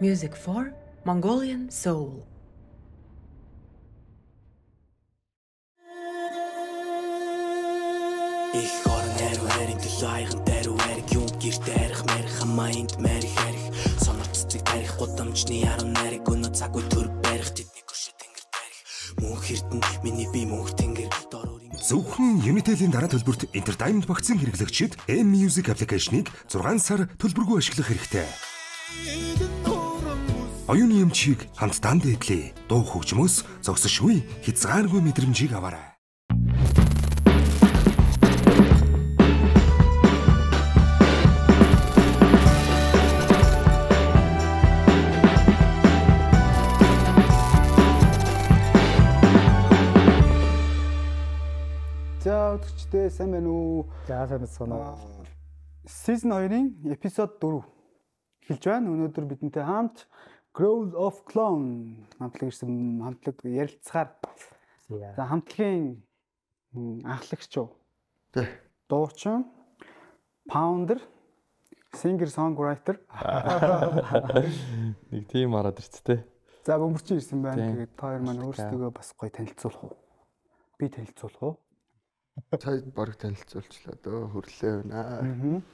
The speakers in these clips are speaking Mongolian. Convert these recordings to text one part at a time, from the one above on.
Music for Mongolian Soul. Ich höre Nero-Hering, die Leichen, Nero-Hering, Junggier-Derich, Merich, am Mind, Merich-Herich, Sonnerzig-Derich, Ottamчны, Aaron-Herich, und Zagu Tur-Berich, Титник-Уши-Тэнгэр-Дерих, Мөнхиртэн, миний би Мөнх-Тэнгэр, Дорорын. Зөвхөн Unitel-ийн дараа төлбөрт Entertainment багцын хэрэглэгчид M-Music аппликейшнийг 6 сар төлбөргүй ашиглах хэрэгтэй. Оюуны эмчийг хамтдаа дээдлээ. Дуу хөгжмөөс зогсошгүй хязгааргүй мэдрэмжийг аваарай. За өдөрчтэй сайн байна уу? За сайн байна уу? Season 2-ын эпизод 4 эхэлж байна. Өнөөдөр бидэнтэй хамт Grove of Clone хамтлаг ирсэн хамтлаг ярилцахаар. За хамтлагийн анхлагч юу? Тэ. Дуучин, founder, singer songwriter. Нэг тийм хараад ирцтэй. За бөмбөрчин ирсэн байна. Тэгээд та хоёр маань өөрсдөө бас гоё танилцуулах уу? Би танилцуулах уу? Цай баг танилцуулчлаа дөө хөрлөө байна.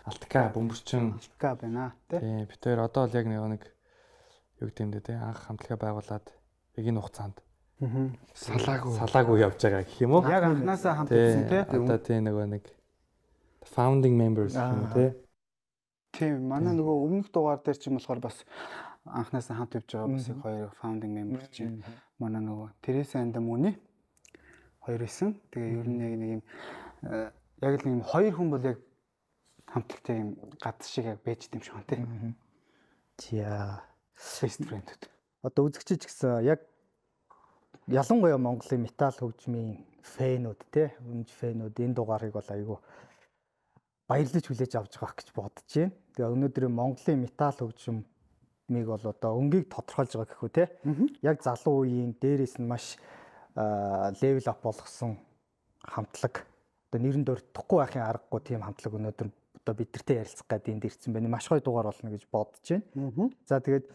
Алтка бөмбөрчин Алтка байна тий. Тийм бид хоёр одоо л яг нэг юу гэмдэ тий анх хамтлагаа байгуулад яг энэ хугацаанд салаагүй явж байгаа гэх юм уу? Яг анханасаа хамт ирсэн тий. Одоо тийм нэг founding members гэх юм тий. Тийм манай нөгөө өмнөх дугаар дээр ч юм болохоор бас анханасаа хамт явж байгаа бас хоёр founding member чинь манай нөгөө Teresa and Moni хоёр исэн. Тэгээ ер нь яг нэг юм яг л нэг хоёр хүн бол яг хамтлагтай юм гад шиг яг байж дим шиг байна тий. Тиа Best friend-үүд. Одоо үзэгчиж гэсэн яг ялангуяа Монголын метал хөгжмийн фэнүүд тий өмж фэнүүд энэ дугаарыг бол айгүй баярлаж хүлээж авч байгаа гэж бодож байна. Тэгээ өнөөдөр Монголын метал хөгжмийг бол одоо өнгийг тодорхойлж байгаа гэхүү тий. Яг залуу үеийн дээрээс нь маш level up болгосон хамтлаг. Одоо нэрэн дөрөхгүй байхын аргагүй тийм хамтлаг өнөөдөр одоо бидэртэй ярилцах гэдэг энд ирсэн байна. Маш гоё дугаар болно гэж бодож байна. За тэгээд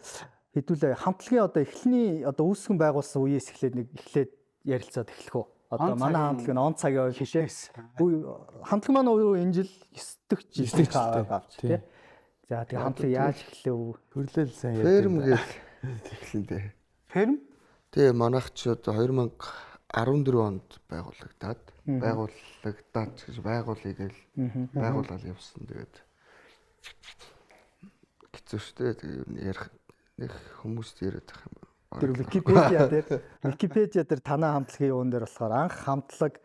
хэдүүлээ хамтлагийн одоо эхлэний одоо үүсгэн байгуулсан үеэс эхлээд ярилцаад эхлэх үү. Одоо манай хамтлаг нь он цагийн үе хишээс. Хамтлаг маань энэ жил 9 дэх авч тий. За тэгээд хамтлаг яаж эхлэв үү? Хөрлөөл сайн ярьдаг. Ферм гэж эхлэн дээ. Ферм? Тэгээ манайх ч одоо 2014 онд байгуулагдаад гэж байгуулъя гэл байгуулаад явсан. Тэгээд хэцүү шттэ. Тэгээ ер нь ярих нэг хүмүүст яриад байх юм. Тэр Википедиа дээр танаа хамтлагийн юун дээр болохоор анх хамтлаг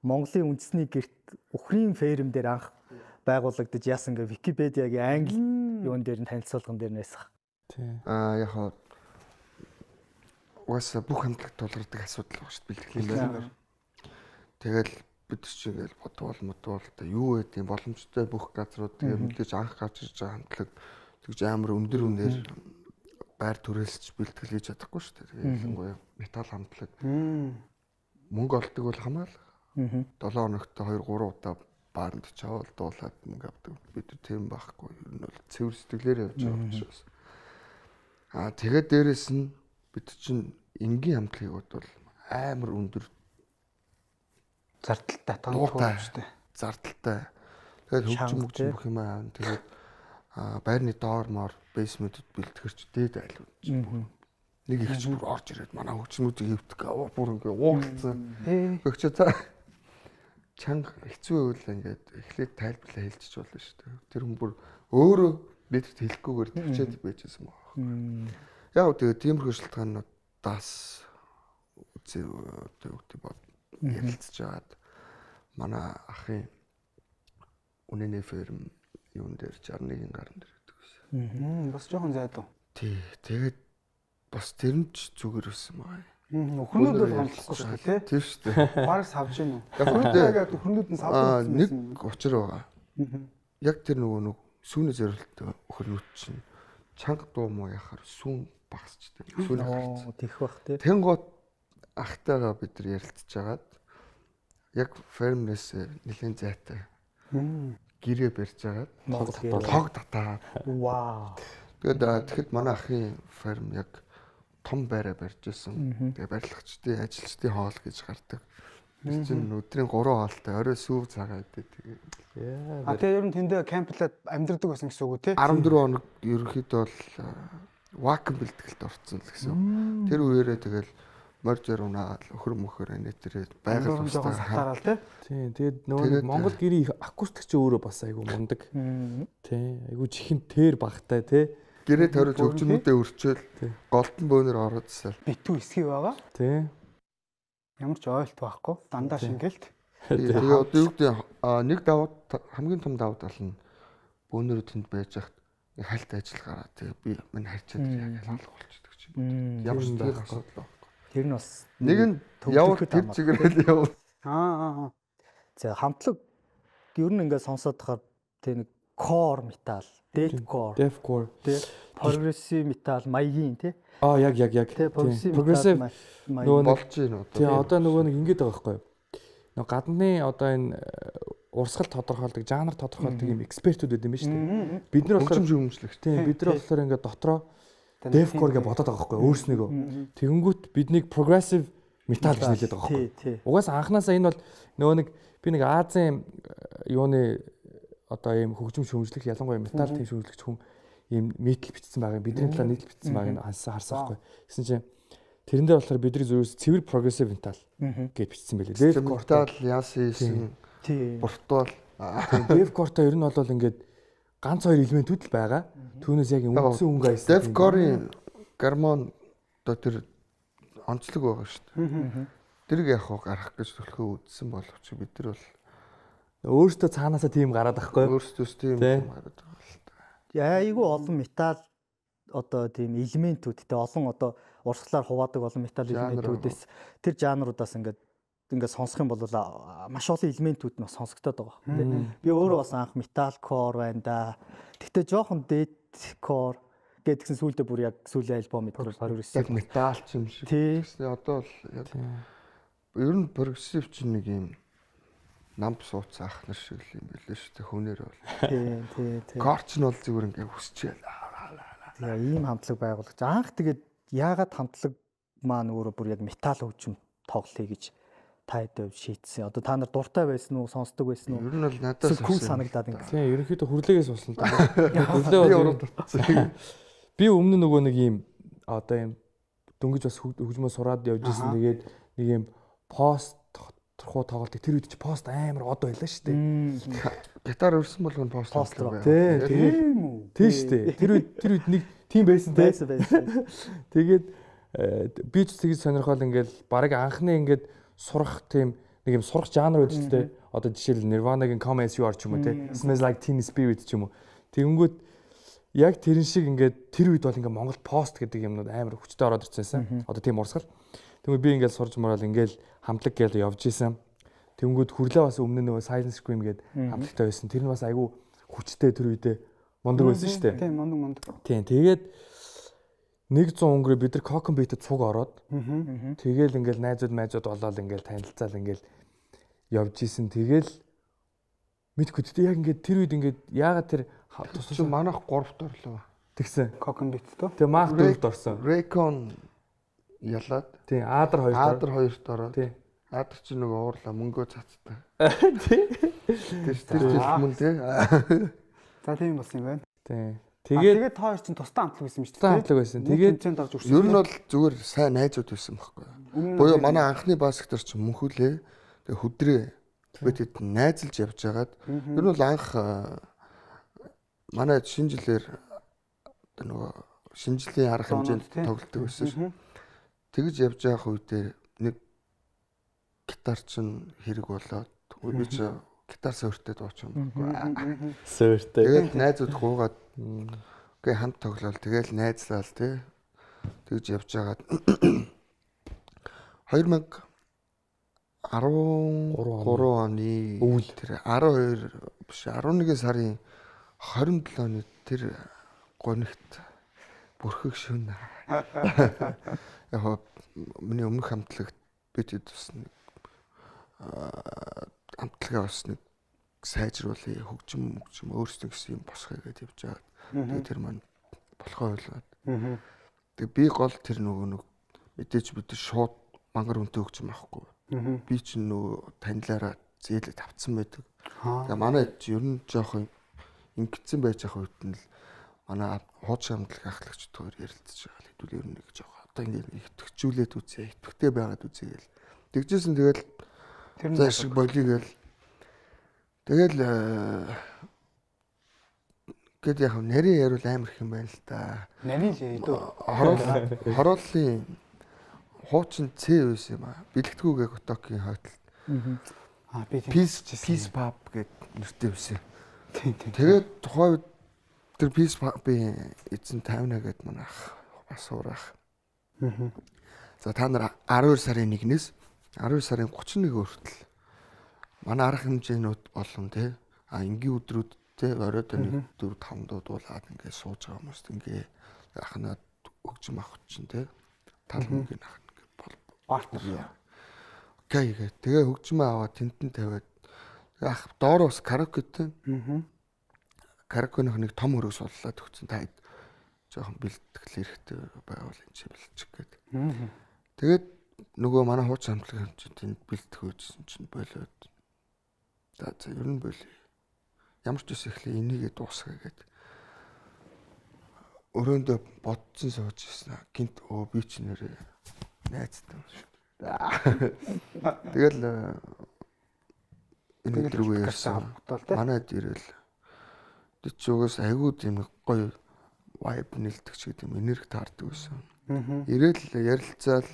Монголын үндэсний гэрт Ухрын ферм дээр анх байгуулагдаж яасан гэ Википедиагийн англи юун дээр нь танилцуулган дээр нээсэх. Тий. Яг угаасаа бүх хамтлаг тулгардаг асуудал байна шүү дээ бэлтгэл байна. Тэгэл бид ч ингээл бодвол та юу гэдэг юм боломжтой бүх газрууд тэгээ мэдээж анх гарч ирж байгаа хамтлаг тэгж амар өндөр үнээр байр түрээлсч бэлтгэл хийж чадахгүй шүү дээ. Тэгээ ялангуяа метал хамтлаг мөнгө олдог бол хамаалал. 7 хоногт 2-3 удаа баарнд чавал дуулаад мөнгө авдаг. Бид тийм байхгүй. Ер нь бол цэвэр сэтгэлээр явж байгаа учраас. Тэгээд дээрэс нь бид чинь энгийн хамтлагууд бол амар өндөр зардалтай тооцоо шүү дээ. Зардалтай. Тэгээд хөгжим бүх юм аа. Тэгээд байрны доормоор бейсментд бэлтгэрч дээд айлууд. Нэг их ч бүр орж ирээд манай хөгжмүүдийг хөвтөх бүр ингээ уугалцсан. Өгчөө та чанга хэцүү үйл ингээд эхлээд тайлбарлаа хэлчих болно шүү дээ. Тэр хүн бүр өөрөө бидэрт хэлэхгүйгээр төвчээд байжсэн байна. Яг тэгээд тиймэрхүү шалтгаануудаас ярилцж байгаад манай ахын үнэний ферм юун дээр 61-ийн гарн дээр гэдэг байсан. Бас жоохон зайдуу. Тий. Тэгээд бас тэр нь ч зүгээр байсан байгаа. Өхрнүүд бол гомдлохгүй шүү дээ. Тийм шүү дээ. Бараг савж гин үү? Яг өхрнүүд нь савж нэг учир байгаа. Яг тэр нөгөө сүүний зорилттой өхрнүүд чинь чанга дуу муу яхаар сүүн багсчдаг. Сүүн ахарч. Тэгэх бах тий. Тэнгууд ахтайгаа бид нар ярилцж агаад яг фермнээс нэлийн зайтай гэрээ барьж агаад тог татаад. Вау. Тэгэхэд манай ахын ферм яг том байраа барьж ирсэн. Тэгээ барилгачдын ажилчдын хоол гэж гардаг. Тэр чинь өдрийн 3 хоолтой орой сүүв цагаа идэ тэгээ. Тэгээ ер нь тэндээ кемплээд амьдэрдэг байсан гэсэн үг үү те? 14 хоног ерөнхийдөө бол вакуум бэлтгэлд орцсон л гэсэн. Тэр үеэрээ тэгэл моржер унаад өхөр мөхөр анитэрээ байгаль жоохон сатаарал те. Тийм тэгээд нөгөө Монгол гэрийн акустик ч өөрөө бас айгүй мундаг. Тийм айгүй чихэн тэр багтай те. Гэрээ тойрол хөгжмөдөө өрчөөл голдон бөөнөр ороодсаа. Битүү эсхий байгаа. Тийм. Ямар ч ойлт байхгүй. Дандаа шингэлт. Тэгээ одоо юу гэдэг нэг давуу хамгийн том давуу тал нь бөөнөр тэнд байж хахад хальт ажил гараад тэгээ би минь харьцаад яг алга болчихдог чинь. Ямар ч тийм асуудал байхгүй. Тэр нь бас нэг нь явал тэр чигээрэл явал. За хамтлаг ер нь ингээд сонсоод тахаар тэг нэг core metal, deathcore, тэг progressive metal маягийн тий. Яг. Progressive нөгөө болж байна одоо. Тий одоо нөгөө нэг ингэж байгаа байхгүй юу? Нөгөө гадны одоо энэ урсгал тодорхойлдог, жанр тодорхойлдог юм экспертүүд байд юм байна шүү дээ. Бид нар болохоор хөгжимчлэгч. Тий бид нар болохоор ингээд дотроо deathcore гэж бодоод байгаа байхгүй юу? Өөрснийгөө. Тэгэнгүүт биднийг progressive metal гэж нэрлэдэг байгаа байхгүй юу? Угаасаа анханасаа энэ бол нөгөө нэг би нэг Азийн юуны одоо ийм хөгжим шүүмжлэх ялангуяа метал тийм шүүмжлэгч хүн ийм метал бичсэн байгаа. Бидний талаар нийтлэл бичсэн байгааг харсан байхгүй. Гэсэн чинь тэрэн дээр болохоор бидний зөвөөс цэвэр прогрессив метал гэж бичсэн байлээ. Метал яасан буртуул. Deathcore-то ер нь бол ингээд ганц хоёр элементүүд л байгаа. Түүнээс яг үндсэн өнгө айсан. Deathcore-ийн гармон одоо тэр онцлог байгаа шүү дээ. Тэрийг яг гарах гэж төлхөө үдсэн боловч бид нар бол өөртөө цаанаасаа тийм гараад байхгүй. Өөртөөс тийм гараад байгаа л та. Айгүй олон метал одоо тийм элементүүд те олон одоо урсгалаар хуваадаг олон метал элементүүдээс тэр жанруудаас ингээд сонсох юм бол маш олон элементүүд нь сонсогдоод байгаа тийм. Би өөрөө бас анх metalcore байна да. Гэхдээ жоохон deathcore гэдгсэн сүүлдээ бүр яг сүүлийн альбом мэдрэл прогрессив яг метал ч юм шиг. Тэгснэ одоо л яг ер нь прогрессив чинь нэг юм намп сууц ах нар шиг юм билээ шүү дээ хүнээр бол. Тийм. Корч нь бол зүгээр ингээ хүсчихээл. Тэгээ ийм хамтлаг байгуулагч анх тэгээд яагаад хамтлаг маань өөрөө бүр яг метал хөгжим тоглоё гэж та хэд шийдсэн. Одоо та нар дуртай байсан уу, сонсдог байсан уу? Ер нь бол надаас cool санагдаад ингээ. Тийм ерөнхийдөө хүрлээгээс болсон та. Би өмнө нөгөө нэг ийм одоо ийм дөнгөж бас хөгжмөө сураад явж исэн. Тэгээд нэг ийм пост турхуу тоглолтыг тэр үед чи пост амар од байлаа шүү дээ. Гитар өрсөн болгоно пост байна. Тийм үү. Тийм шүү дээ. Тэр үед нэг тийм байсан те. Тэгээд би ч тэгж сонирхол ингээл баг анхны ингээд сурах тийм нэг юм сурах жанр байдаг шүү дээ. Одоо жишээл Nirvana-гийн Come As You Are ч юм уу те. Smells Like Teen Spirit ч юм уу. Тэгэнгүүт яг тэрэн шиг ингээд тэр үед бол ингээд Монгол пост гэдэг юмнууд амар хүчтэй ороод ирсэн. Одоо тийм урсгал. Тэгвэл би ингээд сурж морал ингээд хамтлаг гээл явж исэн. Тэнгүүд хүрлээ бас өмнө нөгөө Silent Scream гээд хамтлагтай байсан. Тэр нь бас айгүй хүчтэй тэр үедээ мундаг байсан шүү дээ. Тийм мундаг. Тийм тэгээд 100 өнгөрөө бид нар Cockon Beat-д цуг ороод тэгээл ингээд найзууд болоод ингээд танилцаал ингээд явж исэн. Тэгээл мэдгүй дээ яг ингээд тэр үед ингээд яагаад тэр тусч манайх 3-т орлоо. Тэгсэн. Cockon Beat тоо. Тэгээ Mark 4-т орсон. Raycon ялаад. Тийм Aader 2-т. Aader 2-т ороод. Тийм. Aader чи нөгөө уурлаа мөнгөө цацтай. Тийм. Тэр мөн тий. За тийм болсон юм байна. Тийм. Тэгээд та хоёр чинь тусдаа хамтлаг байсан юм шүү дээ. Тусдаа хамтлаг байсан. Тэгээд тэнцээнд орж үрсэн. Ер нь бол зүгээр сайн найзууд байсан байхгүй. Буюу манай анхны басктор ч мөнхүлээ. Тэгээ хөдрөө бид хэд найзалж явж байгаад ер нь бол анх манай шинэ жилээр нөгөө шинэ жилийн арга хэмжээнд тоглолтог байсан шүү. Тэгж явж байгаа үедээ нэг гитар чинь хэрэг болоод би ч гитар суурьтай дууч юм байхгүй. Суурьтай. Тэгээд найзууд гуугаад гээ хамт тоглоал тэгэл найзлал тий. Тэгж явж байгаад 2013 оны үйл тэр 12 биш 11 сарын 27 оны тэр гонигт бүрхэг шөнө. Яг миний өмнөх хамтлагт бид бас нэг хамтлагаа бас нэг сайжруулъя хөгжим өөрсдөө гэсэн юм босгоё гэж явж байгаа. Тэгээд тэр маань болохоо ойлгоод. Тэгээ би гол тэр нэг мэдээж бид шууд мангар үнтэй өгч юм аахгүй. Би чинь нөгөө танилаараа зээлээ тавцсан байдаг. Тэгээ манай ер нь жоохон ингэсэн байж байгаа үед нь л манай хуучин хамтлаг ахлагч төр ярилцж байгаа л хэдүүл ер нь нэг жоохон одоо ингэ итгэжүүлээд үзье, итгэвтэй байгаад үзье гэл. Тэгжсэн тэгэл тэр шиг болиё гэл. Тэгэл гэд яг нарийн яриул амар их юм байна л да. Нарийн л яа дөө. Хорооллын хуучин C үс юм аа. Бэлэгдэхүүгээ Готокийн хойтол. Би Peace Pub гэдэг нэртэй үсэн. Тэгээд тухайн тэр Peace Pub-ийн эзэн 50 гээд манай ах бас уурах. За та нар 12 сарын 1-ээс 12 сарын 31 хүртэл манай арга хэмжээнүүд болон тий энгийн өдрүүд тий оройд 1 4 5 дуулаад ингээд сууж байгаа хүмүүст ингээд ахнаад өгч мах чинь тий тал мөнгөний ах ингээд партнер. Окей тэгээ хөгжмөө аваад тентэн тавиад ах доор бас караокетэй. Караокеных нэг том хөрөг суллаад өгсөн та жоохон бэлтгэл хэрэгтэй байвал энэ чинь бэлчих гээд. Тэгээд нөгөө манай хуучин хамтлаг хэмжээнд бэлтэх үйсэн чинь болоод. За ер нь болий. Ямар ч үс ихлэ энийгээ дуусгая гээд. Өрөөндөө бодсон сууж ирсэн. Гинт би ч нэрээ найзтай юм шүү. Тэгэл энэ төрөө ярьсан. Манайд ирэл. Тэд ч угаас айгүй тийм гоё vibe нэлдэг ч гэдэг юм энерги таардаг байсан. Ирэл ярилцаал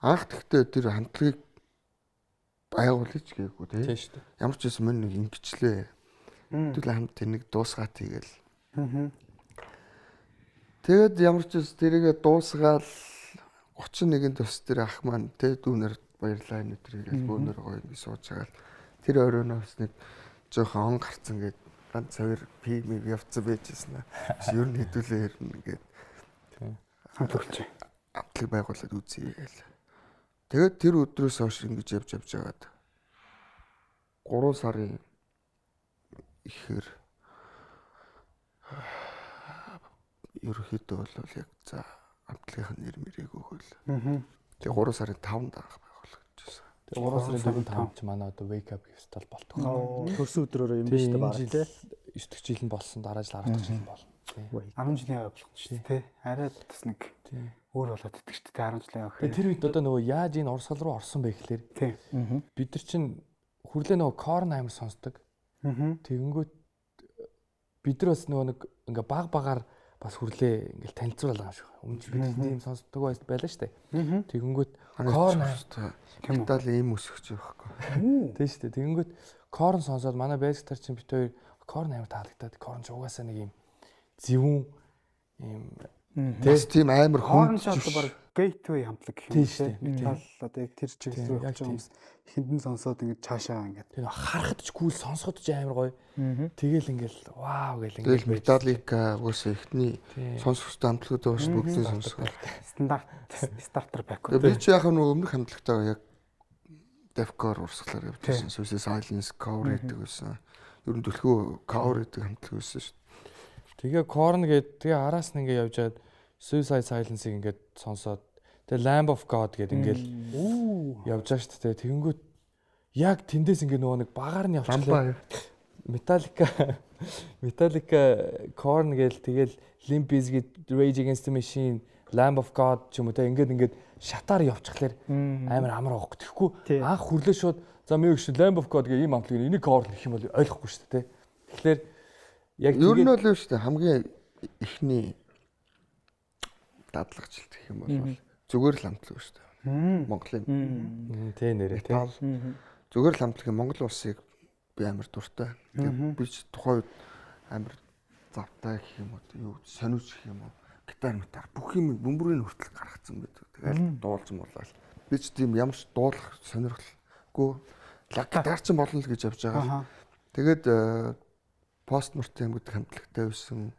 анх тэгтээ тэр хамтлагийг байгуулж гээгүй тийм шүү дээ. Ямар ч юм нэг ингэчлээ. Тэгэл хамт нэг дуусгаад тэгэл. Тэгэд ямар ч тэрийгэ дуусгаал 31-нд төс тэр ах маань тэ дүүнэр баярлаа энэ тэрийг бөөнөр гоё ингэ сууж байгаа. Тэр оройноос нэг жоохон он гарцсан гээд ганц хоёр пим явцсан байжсэн. Ер нь хэдүүлээ хэрнэ гээд хамт өгч. Амтлаг байгуулад үзье гээл. Тэгээд тэр өдрөөс хойш ингэж явж байгаад 3 сарын ихэр ерөөхдөө бол яг за амтлагийн нэр мэрийг өгөөл. Тэгээ 3 сарын 5-нд анх байгуулагдчихсан. Тэгээ 3 сарын 5-нд ч манай одоо wake up festival болтгоо. Төрсөн өдрөөрөө юм биш үү баг тий. 9 жил нь болсон, дараа жил 10 жил нь болно. 10 жилийн яваа болох шүү дээ тий. Арай бас нэг өөр болоод идэх шүү дээ 10 жилийн явах. Тэр үед одоо нөгөө яаж энэ урсгал руу орсон бэ гэхлээр бид нар чинь хүрлээ нөгөө корн амир сонсдог. Тэгэнгүүт бид нар бас нөгөө нэг ингээ баг багаар бас хүрлээ ингээл танилцуулаа юм шиг. Өмнө бид тийм сонсдог байлаа шүү дээ. Тэгэнгүүт корн Итали ийм өсөж байхгүй. Тийм шүү дээ. Тэгэнгүүт корн сонсоод манай байцтар чинь бит хоёр корн амир таалагдаад корн ч угаасаа нэг юм зөвүүн юм тийм амар хүн ч одоо баг gateway хамтлаг гэх юм шүү дээ. Метал одоо яг тэр чиглэл рүү явж байгаа хүмүүс ихэндэн сонсоод ингээд цаашаа ингээд тэр харахад ч cool сонсоход ч амар гоё. Тэгэл ингээл вау гэл ингээл Metallica уусаа ихний сонсохтой хамтлагууд байгаа шүү бүгдийг сонсгоо. стандарт стартер бэк. Би ч яг нэг өмнөх хамтлагтаа яг Defcore урсгалаар явжсэн. Suicide Silence cover гэдэг байсан. Ер нь төлхөө cover гэдэг хамтлаг байсан шүү. Тэгээ Korn гээд тэгээ араас нь ингээ явжгаад Suicide Silence-ийг ингээд сонсоод тэгээ Lamb of God гээд ингээл явж байгаа шүү дээ. Тэгэнгүүт яг тэндээс ингээ нөгөө нэг багаар нь явчихлаа. Metallica Korn гээл тэгэл Limp Bizkit, Rage Against the Machine, Lamb of God ч юм уу те ингээд шатаар явчихлаар амар авахгүй. Тэгэхгүй анх хүрлээ шууд за мэгш Lamb of God гэх ийм амтлагын энийг Korn гэх юм бол ойлгохгүй шүү дээ те. Тэгэхээр яг ер нь бол шүү дээ хамгийн ихний дадлагчлалт гэх юм бол зүгээр л амтлаг шүү дээ. Монголын тий нэрээ тий. Зүгээр л амтлагын Монгол улсыг би амар дуртай. Би ч тухайн үед амар завтай гэх юм уу юу сониуч гэх юм уу гитар бүх юм бөмбөрийн хүртэл гаргацсан байдаг. Тэгэл дуулж муулаад. Би ч тийм ямар ч дуулах сонирхолгүй гитар ч болно л гэж явж байгаа. Тэгээд Postmortem гэдэг хамтлагтай байсан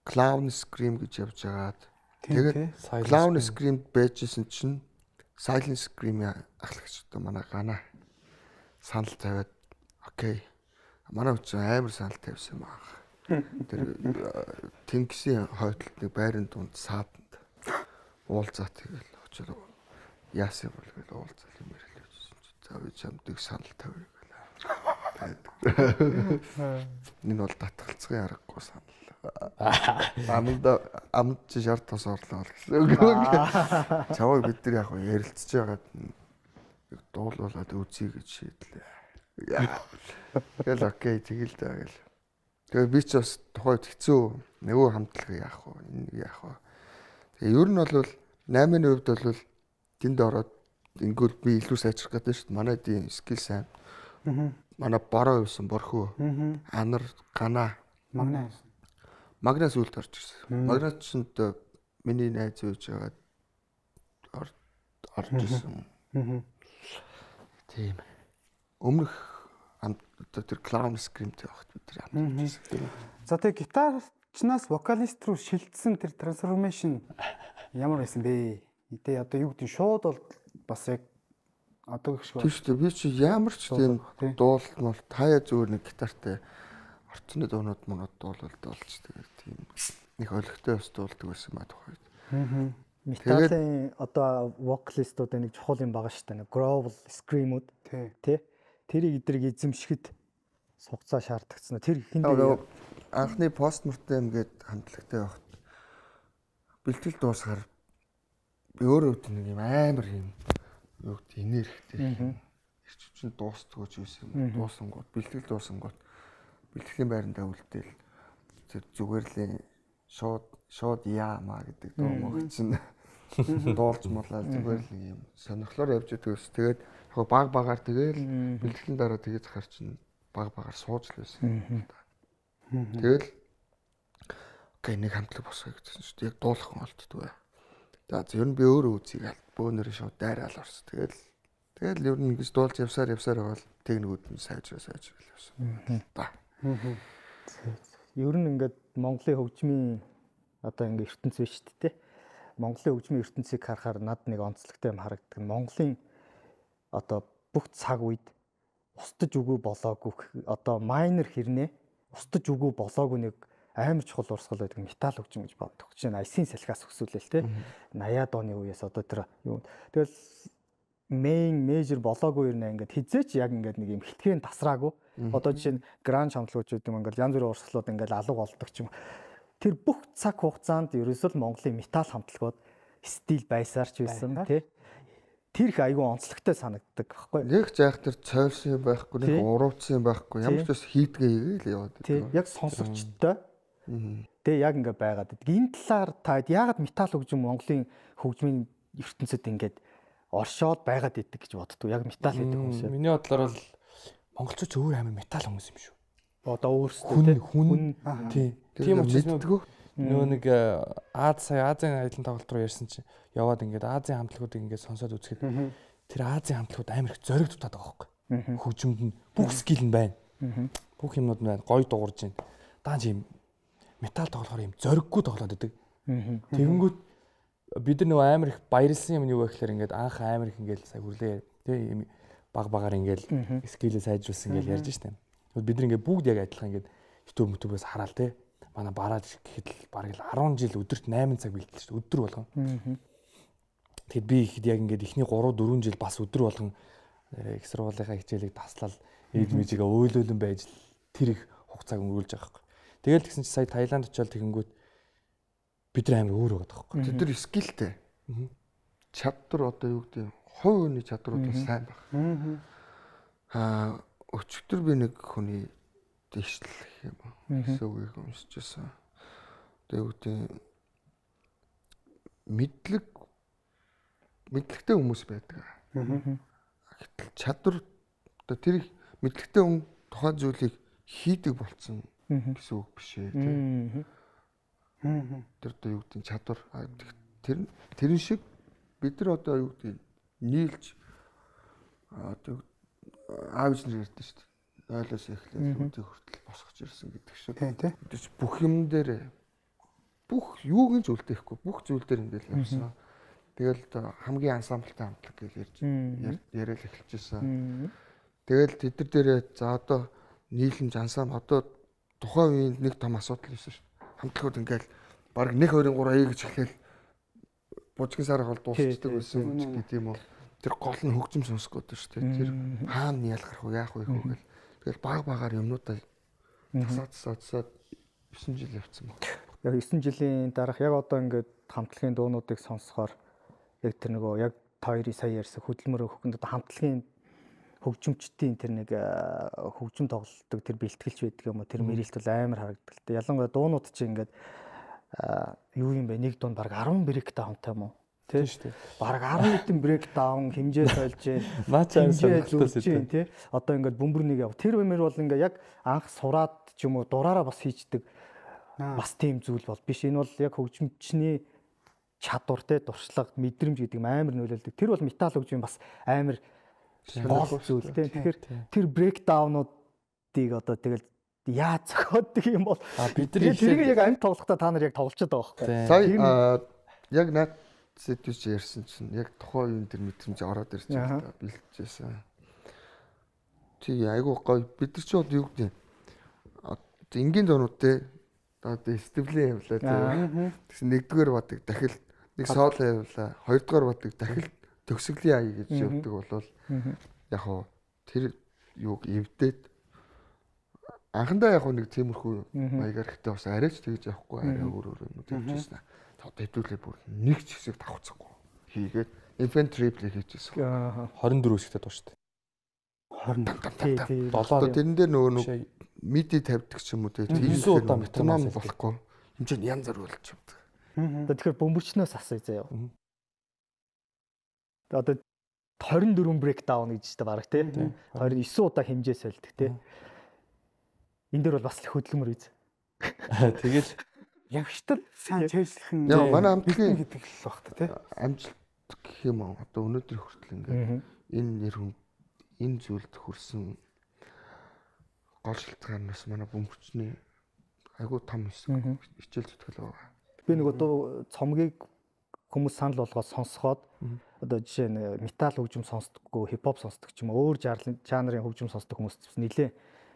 Clown Scream гэж явж байгаад тэгээд Clown Scream байжсэн чинь Silent Scream ахлагч одоо манай гана санал тавиад окей манай хүч амар санал тавьсан баг. Тэр тэнгисийн хойдолд нэг байрын дунд сааданд уулзаа тэгэл очоод яасан бол гэл уулзал юм ярил байсан чи за би чамдыг санал тавья гэлээ. Энэ бол татгалцгын аргагүй санал. Амд чи шарт тос орлоо гэсэн үг. Чаваа бид нар яг ярилцж байгаад дуулуулаад үзье гэж шийдлээ. Тэгэл окей тэгэл даа гэл. Тэгээ би ч бас тухайд хэцүү нөгөө хамтлагыг яах вэ? Энийг яах вэ? Тэгээ ер нь бол 8-ны хувьд бол тэнд ороод ингүүл би илүү сайжрах гэдэг шүү дээ. Манай дийн скил сайн. Манай бороо байсан борхоо. Анар гана магнаас үлд орж ирсэн. Магнаас ч миний найз үйж байгаа орж ирсэн. Тийм. Өмнөх тэр clown scream-тэй багт бид тэр хамт ирсэн. За тэгээ гитарчнаас вокалист руу шилжсэн тэр трансформашн ямар байсан бэ? Тэгээ одоо юу гэдэг нь шууд бол бас яг одоо гэх шиг байна. Тийм шүү дээ. Би чи ямар ч тийм дуулмал таяа зүгээр нэг гитартай орцны дуунууд монод дуулалт болж тэгээд тийм их олигтой бас дуулдаг байсан ба тухайд. Металын одоо вокалистууд нэг чухал юм байгаа шүү дээ. Нэг growl, scream-ууд тий. Тэрийг эдрийг эзэмшихэд сугацаа шаардагдсан. Тэр хиндээ анхны постмортем гээд хамтлагтай байхад бэлтгэл дуусгаар би өөрөө нэг юм амар юм юу гэдэг энергитэй. Ирчвчин дуустдаг ч байсан юм. Дуусангууд бэлтгэл дуусангууд бэлтгэлийн байрандаа үлдээл тэр зүгээр л шууд яамаа гэдэг дуу мөгцөн дуулж муулаад зүгээр л юм сонирхлоор явж байгаа ус. Тэгээд яг баг-багаар тэгэл бэлтгэлийн дараа тэгээд захаар чинь баг-багаар сууж л байсан. Тэгэл окей нэг хамтлаг босгоё гэсэн шүү дээ. Яг дуулах олддгүй. За ер нь би өөрөө үзье гал бөөнөр шууд дайраал орсон. Тэгэл ер нь ингэж дуулж явсаар байвал техникүүд нь сайжраа явсан. Та. Ер нь ингээд Монголын хөгжмийн одоо ингээд ертөнц биш шүү дээ. Монголын хөгжмийн ертөнцийг харахаар над нэг онцлогтой юм харагддаг. Монголын одоо бүх цаг үед устж үгүй болоогүй одоо майнер хэрнээ устж үгүй болоогүй нэг амар чухал урсгал байдаг метал хөгжим гэж боддог. Жишээ нь Айсын салхиас өсвөлээ л те 80-аад оны үеэс одоо тэр юу. Тэгэл мейжер болоогүй юм ингээд хизээч яг ингээд нэг юм хитгэн тасраагүй. Одоо жишээ нь гранж хамтлагч гэдэг юм ингээд янз бүрийн урсгалууд ингээд алга болдог ч юм. Тэр бүх цаг хугацаанд ерөөсөө Монголын метал хамтлагууд стил байсаар ч байсан тий. Тэр их айгүй онцлогтой санагддаг байхгүй. Нэг заах тэр цойрсон юм байхгүй, нэг урууцсан юм байхгүй. Ямар ч бас хийдгээ игээл яваад байдаг. Тий, яг сонсогчтой. Тэгээ яг ингээд байгаад байдаг. Энэ талаар та яагаад метал хөгжим Монголын хөгжмийн ертөнцид ингээд оршоод байгаад идэг гэж боддог. Яг метал гэдэг хүмүүс. Миний бодлоор бол монголчууд өөр амар метал хүмүүс юм шүү. Одоо өөрсдөө хүн тийм учраас нөгөө нэг Азийн аялын тоглолт руу ярьсан чинь яваад ингээд Азийн хамтлагуудыг ингээд сонсоод үзэхэд тэр Азийн хамтлагууд амар их зориг дутаад байгаа байхгүй. Хөгжимд нь бүх скил нь байна. Бүх юмнууд нь байна. Гоё дуурж байна. Даанч юм метал тоглохоор юм зориггүй тоглоод байдаг. Тэгэнгүүт бид нар нөгөө амар их баярлсан юм юу вэ гэхээр ингээд анх амар их ингээд сая хүрлээ тийм баг-багаар ингээд скилээ сайжруулсан ингээд ярьж штэ. Бид нар ингээд бүгд яг адилхан ингээд YouTube мөтөбөөс хараал те. Манай бараад гэхэд л бараг л 10 жил өдөрт 8 цаг бэлдэж шүү дээ. Өдөр болгон. Тэгэд би ихэд яг ингээд эхний 3-4 жил бас өдөр болгон их сургуулийнхаа хичээлийг таслал эд мэжигээ өөлөөлөн байж тэр их хугацааг өнгөрүүлж байгаа хэрэг. Тэгэл тэгсэн чи сая Таиланд очиод тэгэнгүүт бид нар амар өөр байгаа байхгүй. Тэд нар скилтэй. Чадвар одоо юу гэдэг хувь хүний чадварууд бас сайн байх. Өчигдөр би нэг хүний дэвшлэх юм гэсэн үгийг уншиж байсан. Тэгээд мэдлэгтэй хүмүүс байдаг. Гэтэл чадвар одоо тэр мэдлэгтэй хүн тухайн зүйлийг хийдэг болцсон гэсэн үг биш ээ. Тэр одоо юу гэдэг чадвар тэрэн шиг бид нар одоо юу гэдэг нийлж одоо аавч нар ярьдэн шүү дээ. 0-оос эхлээд үдийг хүртэл босгож ирсэн гэдэг шиг. Тийм. Бүх юм дээр бүх юуг нь зүйлдэхгүй бүх зүйл дээр ингээл явсан. Тэгэл хамгийн ансамблтай хамтлаг гэж яриад эхэлчихсэн. Тэгэл тэд нар дээрээ за одоо нийлэмж ансамбл одоо тухайн үеийн нэг том асуудал байсан шүү. Хамтлагууд ингээл баг 1 2 3 гэж эхлээл бужгийн сарах бол дуусчдаг байсан гэдэг юм уу. Тэр гол нь хөгжим сонсгоод байна шүү дээ. Тэр хаана ялгарх вэ, яах вэ гэвэл тэгэл баг багаар юмнуудаа засаад 9 жил явцсан баг. Яг 9 жилийн дараах яг одоо ингээд хамтлагийн дуунуудыг сонсохоор яг тэр нөгөө яг та хоёрын сая ярьсан хөдөлмөр өгөхөнд одоо хамтлагийн хөгжимчдийн тэр нэг хөгжим тоглолтог тэр бэлтгэлч байдаг юм уу тэр мэрэлт бол амар харагддаг л дээ. Ялангуяа дуунууд чинь ингээд юу юм бэ? Нэг дунд баг 10 брейк даунтай юм уу? Тийм шүү дээ. Баг 10 хэдэн брейк даун хэмжээ сольж хэмжээ тий. Одоо ингээд бөмбөрнийг яв. Тэр бэмэр бол ингээд яг анх сураад ч юм уу дураараа бас хийждэг бас тийм зүйл бол биш. Энэ бол яг хөгжимчний чадвар те дуршлаг мэдрэмж гэдэг юм амар нөлөөлдөг. Тэр бол метал хөгжим бас амар гол зүйл те. Тэгэхээр тэр брейкдаунуудыг одоо тэгэл яаж зохиоддаг юм бол бид нар тэрийг яг амьд тоглохдоо та нар яг тоглолцоод байгаа байхгүй. Сая яг наад сэдвч ярьсан чинь яг тухайн үеийн тэр мэдрэмж ороод ирж байгаа бэлтжсэн. Тий айгуу гоё бид нар ч юу гэдэг энгийн зонууд те одоо стеблийн явлаа тий. Тэгсэн нэгдүгээр бадаг дахил нэг сооло явлаа. Хоёрдугаар бадаг дахил төгсгөлийн ая гэж явдаг болвол яг хоо тэр юуг эвдээд анхандаа яг нэг тиймэрхүү маягаар ихтэй бас арайч тэгж явахгүй арай өөр юм тавьчихсан. Одоо хэдүүлээ бүр нэг ч хэсэг давхцахгүй хийгээд infantry play хийжсэн. 24 хэсэгтэй дууштай. 20 7 тэрэн дээр нөгөө миди тавьдаг ч юм уу те 9 удаа метроном болохгүй хэмжээ нь янз бүр болж явдаг. Тэгэхээр бөмбөрчнөөс асууя заяа. Одоо 24 брейкдаун гэж та бараг те 29 удаа хэмжээ сольдог те. Энэ дээр бол бас хөдөлмөр үз. Тэгэл ягштар сайн чэйслэх нь яа манай хамтлагийн гэдэг л багт те. Амжилт гэх юм аа одоо өнөөдөр хүртэл ингээд энэ нэр хүн энэ зүйлд хүрсэн гол шалтгаанаас манай бөмбөрчний айгуу том хичээл зүтгэл байгаа. Би нөгөө цомгийг хүмүүс санал болгоод сонсоход одоо жишээ нь метал хөгжим сонсдоггүй, хипхоп сонсдог ч юм өөр жанрын хөгжим сонсдог хүмүүс нэлээ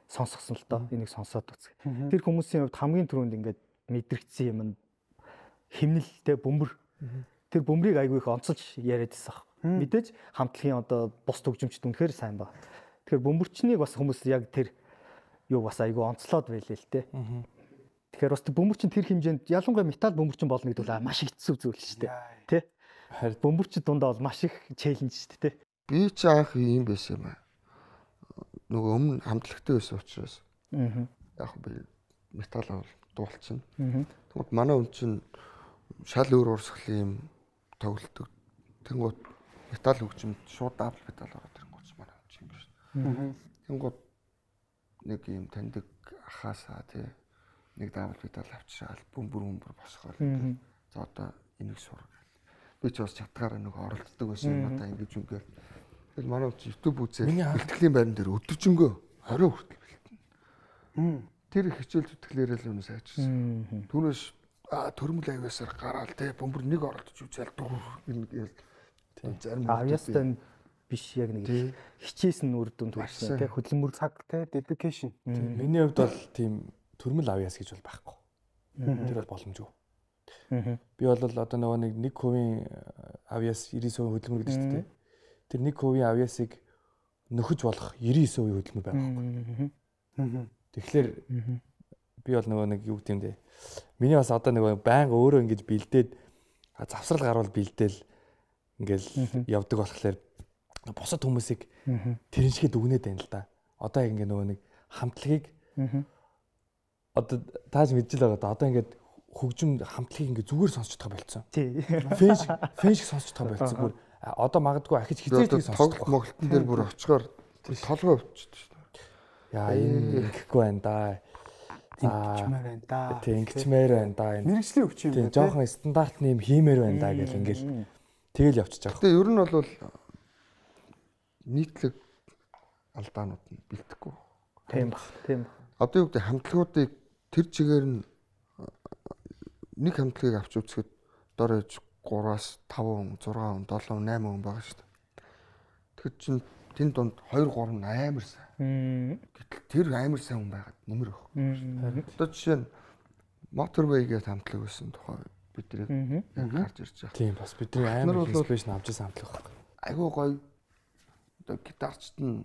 сонсгосон л доо энийг сонсоод үзэх. Тэр хүмүүсийн хувьд хамгийн түрүүнд ингээд мэдрэгдсэн юм химнэлтэй бөмбөр. Тэр бөмбөрийг айгүй их онцолж яриад байсан. Мэдээж хамтлагийн одоо бус хөгжимчд үнэхээр сайн баг. Тэгэхээр бөмбөрчнийг бас хүмүүс яг тэр юу бас айгүй онцлоод байлээ л те. Тэгэхээр бас бөмбөрчин тэр хэмжээнд ялангуяа метал бөмбөрчин болно гэдэг бол маш хэцүү зүйл шүү дээ. Тэ? Харин бөмбөрчин дундаа бол маш их челленж шүү дээ, тэ? Би ч анх юм байсан юм аа. Нөгөө өмнө хамтлагтай байсан учраас. Яг би метал авал дуулчихна. Тэгмэд манай хүн чинь шал өөр урсгалын юм тоглолдог. Тэнгууд метал хөгжимд шууд дабл метал ороод ирэнгүүт манай хүн чинь юм шүү. Тэнгууд нэг юм таньдаг ахаасаа тий нэг дабл метал авчирал бөмбөр босгоор. За одоо энийг сур гэл. Би ч бас чадгаараа нэг оролддог байсан юм надаа ингэж үнгээр. Тэгэл манай хүн YouTube үзээд бэлтгэлийн байран дээр өдөржингөө 20 хүртэл бэлтэн. Тэр хичээл зүтгэлээрээ л өнөө сайжирсан. Түүнээс төрмөл авиасаар гараал те бөмбөр нэг оролдож үзэл дүүр гэл зарим авиастай биш яг нэг хичээсэн үр дүнд хүрсэн те хөдөлмөр цаг те dedication. Миний хувьд бол тийм төрмөл авиас гэж бол байхгүй. Тэр бол боломжгүй. Би бол одоо нөгөө нэг хувийн авиас 99% хөдөлмөр гэдэг чинь те. Тэр нэг хувийн авиасыг нөхөж болох 99% хөдөлмөр байхгүй. Тэгэхээр би бол нөгөө нэг юу гэдэг юм бэ? Миний бас одоо нөгөө байнга өөрөө ингэж бэлдээд завсрал гарвал бэлдээл ингээл явдаг болохоор босод хүмүүсийг тэрншихэд үгнээд байна л да. Одоо яг ингээ нөгөө нэг хамтлагийг одоо тааж мэдчихэл байгаа да. Одоо ингээд хөгжим хамтлагийг ингээ зүгээр сонсож байгаа болцсон. Тий. Фэн шиг сонсож байгаа болцсон. Бүр одоо магадгүй ахиж хизээдэг сонсож байгаа. Тоглолтын дээр бүр очихоор толгой өвчдөг. Яа энэ ихгүй байна да. Ингэчмээр байна да. Тий, ингэчмээр байна да. Мэргэжлийн өвч юм байна. Тий, жоохон стандартны юм хиймээр байна да гэл ингээл тэгэл явчихж байгаа. Тэгээ ер нь бол нийтлэг алдаанууд нь бэлдэхгүй. Тийм баг. Тийм баг. Одоо юу гэдэг хамтлагуудыг тэр чигээр нь нэг хамтлагийг авч үзэхэд дор ээж 3-аас 5 хүн, 6 хүн, 7 хүн, 8 хүн байгаа шүү дээ. Тэгэхээр чинь тэн донд 2 3 амар сайн. Гэтэл тэр амар сайн хүн байгаад нэмэр байхгүй. Одоо жишээ нь Motorway гэдэг хамтлаг байсан тухай бидний яг гарч ирж байгаа. Тийм бас бидний амар инспирэшн авч ирсэн хамтлаг байхгүй. Айгуу гоё одоо гитарчт нь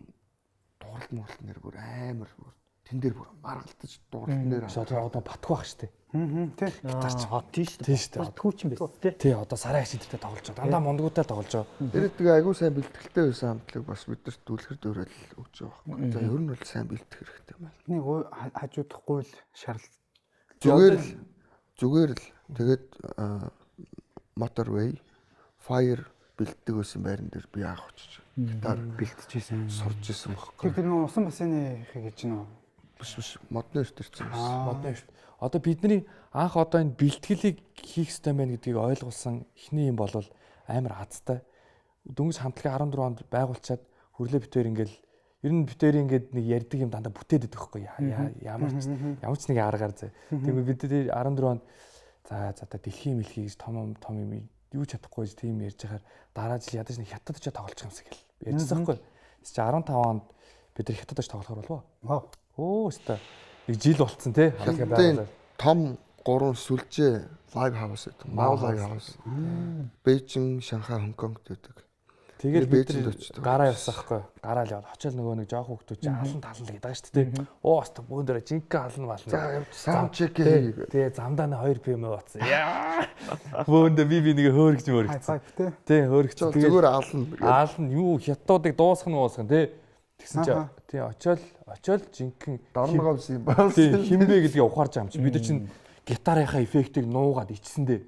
дууралт нэр бүр амар бүр тэн дээр бүр маргалтаж дууралт нэр одоо батгүй байх штэ. Тий. Гитарч хот тийм шүү Тийм штэ. Батгүй ч юм байна тий. Тий одоо сарай хашидтэй тоглож байгаа. Дандаа мондгуудтай тоглож байгаа. Тэр тэгээ айгуу сайн бэлтгэлтэй байсан хамтлаг бас бидэрт дүүлэхэр дөөрөл өгч байгаа байхгүй. За ер нь бол сайн бэлтэх хэрэгтэй байна. Нэг хажуудахгүй л шаардлага. Зүгээр л тэгээд Motorway Fire бэлтдэг байсан байран дээр би анх очиж гитар Бэлтжижсэн. сурж исэн байхгүй. Тэр нэг усан бассейны гэж нөө. Биш модны ирсэн байсан. Модны шүү. Одоо бидний анх одоо энэ бэлтгэлийг хийх ёстой байна гэдгийг ойлгуулсан эхний юм бол амар хацтай. Дөнгөж хамтлагийн 14 онд байгуулчаад хүрлээ битээр ингээл ер нь битээр ингээд нэг ярьдаг юм дандаа бүтээд идэх байхгүй. Ямар ч нэг аргаар зэ. Тэгвэл бид 14 онд за дэлхийн мэлхий гэж том юм юу ч чадахгүй тийм ярьж байхаар дараа жил ядаж нэг хятад ч тоглож юмсаг гэл ярьсан байхгүй. Тэс чи 15 онд бид нар хятадч тоглохоор болов. Өстө нэг жил болцсон тий. Хятадын том 3 сүлжээ лайв хаус гэдэг. Мау лайв хаус. Бээжин, Шанхай, Хонконгт байдаг. Тэгээд бид гараа явсан байхгүй. Гараа л яваад очил нөгөө нэг жоох хүүхдүүд чинь алан талан л гэдэг байгаа шүү дээ. Ост бүүн дээр жинхэнэ алан мална. За саунд чек хийе. Тэгээ замдаа 2 PM батсан. Яа. Бүүн дээр би нэг хөөргч мөргөцсөн. Тий хөөргч. Зүгээр алан. Алан юу хятадуудыг дуусгах тий. Тэгсэн чи тий очил жинхэнэ дорногоо юм байна. Тий хинбэ гэдгийг ухаарч байгаа юм чи. Бид нар чинь гитарынхаа эффектийг нуугаад ичсэн дээ.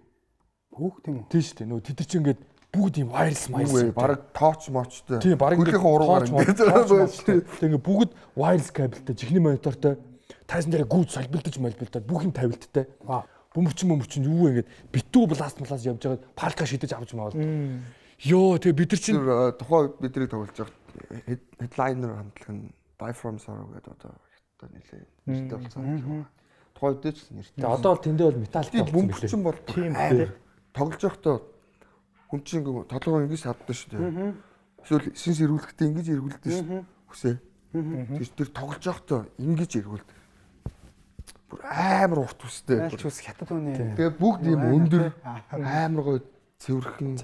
Хүүх тийм үү? Тий шүү дээ. Нөгөө тэд чинь ингээд бүгд юм wireless wireless. Бараг тооч мочтой. Тийм бараг хөрхийн уруугаар ингээд. Тэгээ ингээд бүгд wireless кабелтэй, жихний монитортой, тайзан дээр гүйд солбилдож молбилдаад бүх юм тавилттай. Бөмбөрчин юу вэ ингээд битүү бласт явж байгаад палка шидэж авч маавал. Йоо тэгээ бид нар чинь тухай бидний тоглож байгаа headliner хамтлаг нь Die From Sorrow гэдэг одоо нэлээ нэртэй болсон. Тухай дэвч нэртэй. Тэгээ одоо бол тэндээ бол металлик болсон билээ. Бөмбөрчин бол тийм тоглож байхдаа хүн чинь толгой ингэж хаддаг шүү дээ. Эсвэл шин сэрүүлэхдээ ингэж эргүүлдэг шүү. Хүсээ. Тэр тоглож байхдаа ингэж эргүүлдэг. Бүр амар урт үстэй. Айлч ус хятад үнэ. Тэгээ бүгд юм өндөр амар гоё цэвэрхэн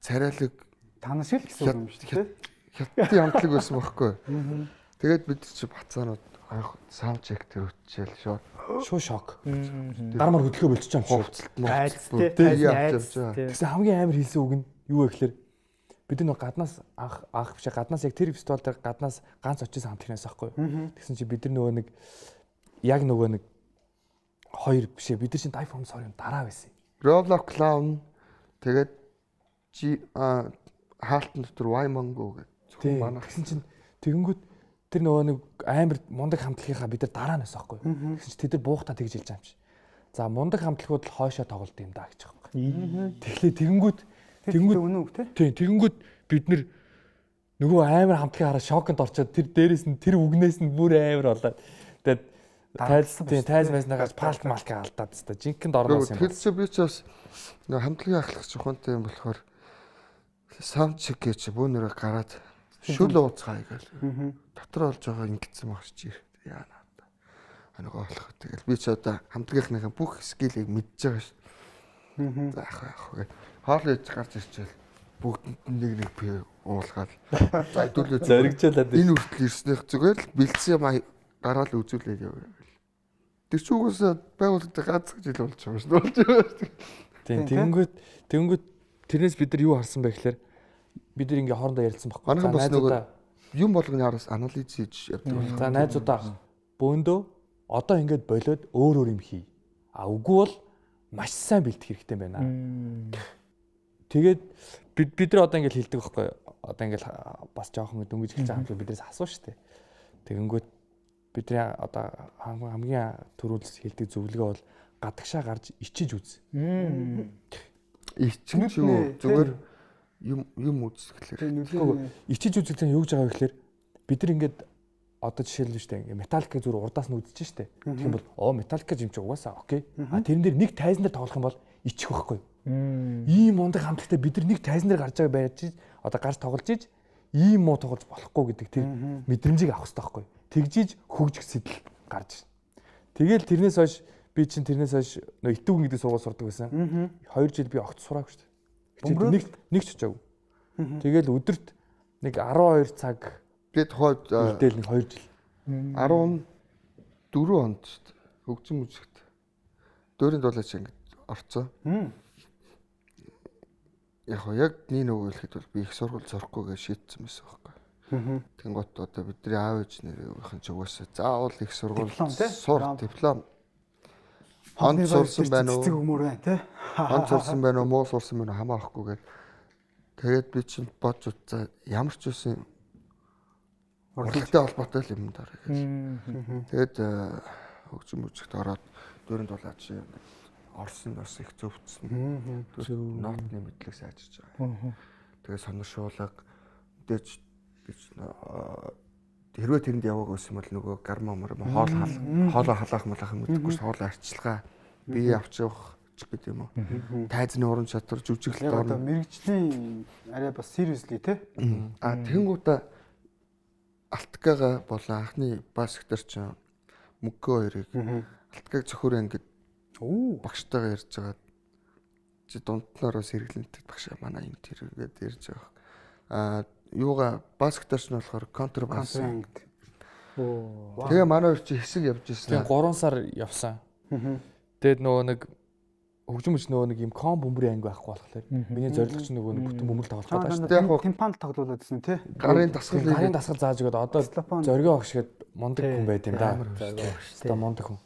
царайлаг танаас шиг л гэсэн юм шүү дээ. Хятадын хамтлаг байсан байхгүй. Тэгээд бид чи бацаанууд анх саунд чек дээр өччихэл шууд шок. Дармаар хөдөлгөө болчих юм шүү. Айцтэй. Тэгсэн хамгийн амар хэлсэн үг нь юу вэ гэхээр бид нэг гаднаас анх биш гаднаас яг тэр фестивал дээр гаднаас ганц очижсэн хамтлагнаас байхгүй. Тэгсэн чи бид нөгөө нэг яг нөгөө нэг хоёр биш бид нар чинь Die From Sorrow дараа байсан. Roblox Clown тэгээд хаалтан дотор Waymongo гэдэг зөвхөн манайх. Тэгсэн чинь тэгэнгүүт тэр нөгөө нэг амар мундаг хамтлагийнхаа бид нар дараа нь байсан байхгүй. Тэгсэн чинь тэд нар буухтаа тэгж хэлж байгаа юм чи. За мундаг хамтлагууд л хойшоо тоглолт юм даа гэж байгаа байхгүй. Тэгэхээр тэгэнгүүт үнэн үг тий. Тэгэнгүүт бид нар нөгөө амар хамтлагийн хараа шоконд орчоод тэр дээрээс нь тэр үгнээс нь бүр амар болоод тэгээд тайз байснаагаас палт малка алдаад тест жинхэнэ орноос юм. Тэр чи би ч бас нөгөө хамтлагийн ахлах чухалтай юм болохоор саунд чек гэж бүүнөрөө гараад шүл ууцгаая гэл. Дотор олж байгаа ингэсэн багш чи яа надаа. Нөгөө болох. Тэгэл би ч одоо хамтлагийнхныхаа бүх скиллийг мэдж байгаа ш. За яах вэ? Хоол ээж гарч ирчихэл бүгд нэг пи уулгаад. За хэдүүлээ зоригжуулаад энэ үртэл ирснэх зүгээр л бэлдсэн юм гараал үзүүлээд яваа. Тэр ч угаасаа байгууллагатай ганц жил болж байгаа ш. Болж байгаа. Тийм тэгэнгүүт тэрнээс бид нар юу харсан бэ гэхээр бид нар ингээ хоорондоо ярилцсан байхгүй. Манайхан бас нөгөө юм болгоны араас анализ хийж явдаг байна. За найзуудаа бөөндөө одоо ингээд болоод өөр юм хий. А үгүй бол маш сайн бэлдэх хэрэгтэй байна. Тэгээд бид нар одоо ингээд хэлдэг байхгүй. Одоо ингээд бас жоохон дөнгөж хэлж байгаа юм биднээс асуу штэ. Тэгэнгүүт бидний одоо хамгийн түрүүлс хэлдэг зөвлөгөө бол гадагшаа гарч ичиж үз. Ичиж юу зүгээр юм үзэхлээр. Ичиж үзэх нь юу гэж байгаа вэ гэхээр бид нар ингээд одоо жишээлбэл шүү дээ ингээд металлик зүгээр урдаас нь үзэж штэ. Тэгэх юм бол металлик юм чи угаасаа окей. А тэрэн дээр нэг тайзан дээр тоглох юм бол ичих байхгүй. Ийм мундаг хамтлагтай бид нар нэг тайзан дээр гарч байгаа байж одоо гарч тоглож иж ийм муу тоглож болохгүй гэдэг тэр мэдрэмжийг авах хэрэгтэй байхгүй. Тэгжиж хөгжих сэтэл гарч ирнэ. Тэгэл тэрнээс хойш би чинь тэрнээс хойш нөө итүүгэн гэдэг сургууль сурдаг байсан. 2 жил би огт сураагүй шүү дээ. Нэг ч очаагүй. Тэгэл өдөрт нэг 12 цаг бид хойд үдэл нэг 2 жил 14 онд шүү дээ. Хөгжим мужигт дөөрийн дуулаач ингэж орцоо. Яг нэг хэлэхэд бол би их сургууль сурахгүйгээ шийдсэн байсан байхгүй. Тэнгуут одоо бидний аав ээж нэрийнхэн ч угаасаа заавал их сургууль сур диплом. Хонд сурсан байна уу? Цэцэг өмөр байна тий. Хонд сурсан байна уу? Муу сурсан байна уу? Хамаахгүйгээд тэгээд би чинь бодж утсаа ямар ч үсэн урлагтай холбоотой юм даа гэж. Тэгээд хөгжим мужигт ороод дөөрийн дулаач орсон бас их зөвцсөн. Нотны мэдлэг сайжирч байгаа. Тэгээд сониршуулга мэдээж хэрвээ тэрэнд яваагүй байсан бол нөгөө гарма хоолоо халаах малах юм гэдэггүй ш хоолоо арчилгаа бие авч явах ч гэдэг юм уу. Тайзны уран чадвар жүжиглэлт одоо мэрэгжлийн арай бас сериусли тий. Тэнгуудаа Алтгага болон анхны бас секретар ч мөнгөө хоёрыг Алтгаг зөвхөр ангид багштайгаа ярьж байгаа. Чи дунднаараа сэргэлэнтэй багш манай юм тэр ингээд ярьж байгаа. Юугаа бас секретарч нь болохоор контрабас. Тэгээ манай хоёр чи хэсэг явж ирсэн. Тэгээ 3 сар явсан. Тэгээд нөгөө нэг хөгжим мөч нөгөө нэг юм ком бөмбөрийн анги байхгүй болохоор миний зорилго чинь нөгөө нэг бүтэн бөмбөр тоглох гэдэг шүү дээ. Тимпан тоглуулад байсан тий. Гарын дасгал зааж өгöd одоо зоргоо огшгээд мундаг хүн байд юм да. Одоо мундаг хүн.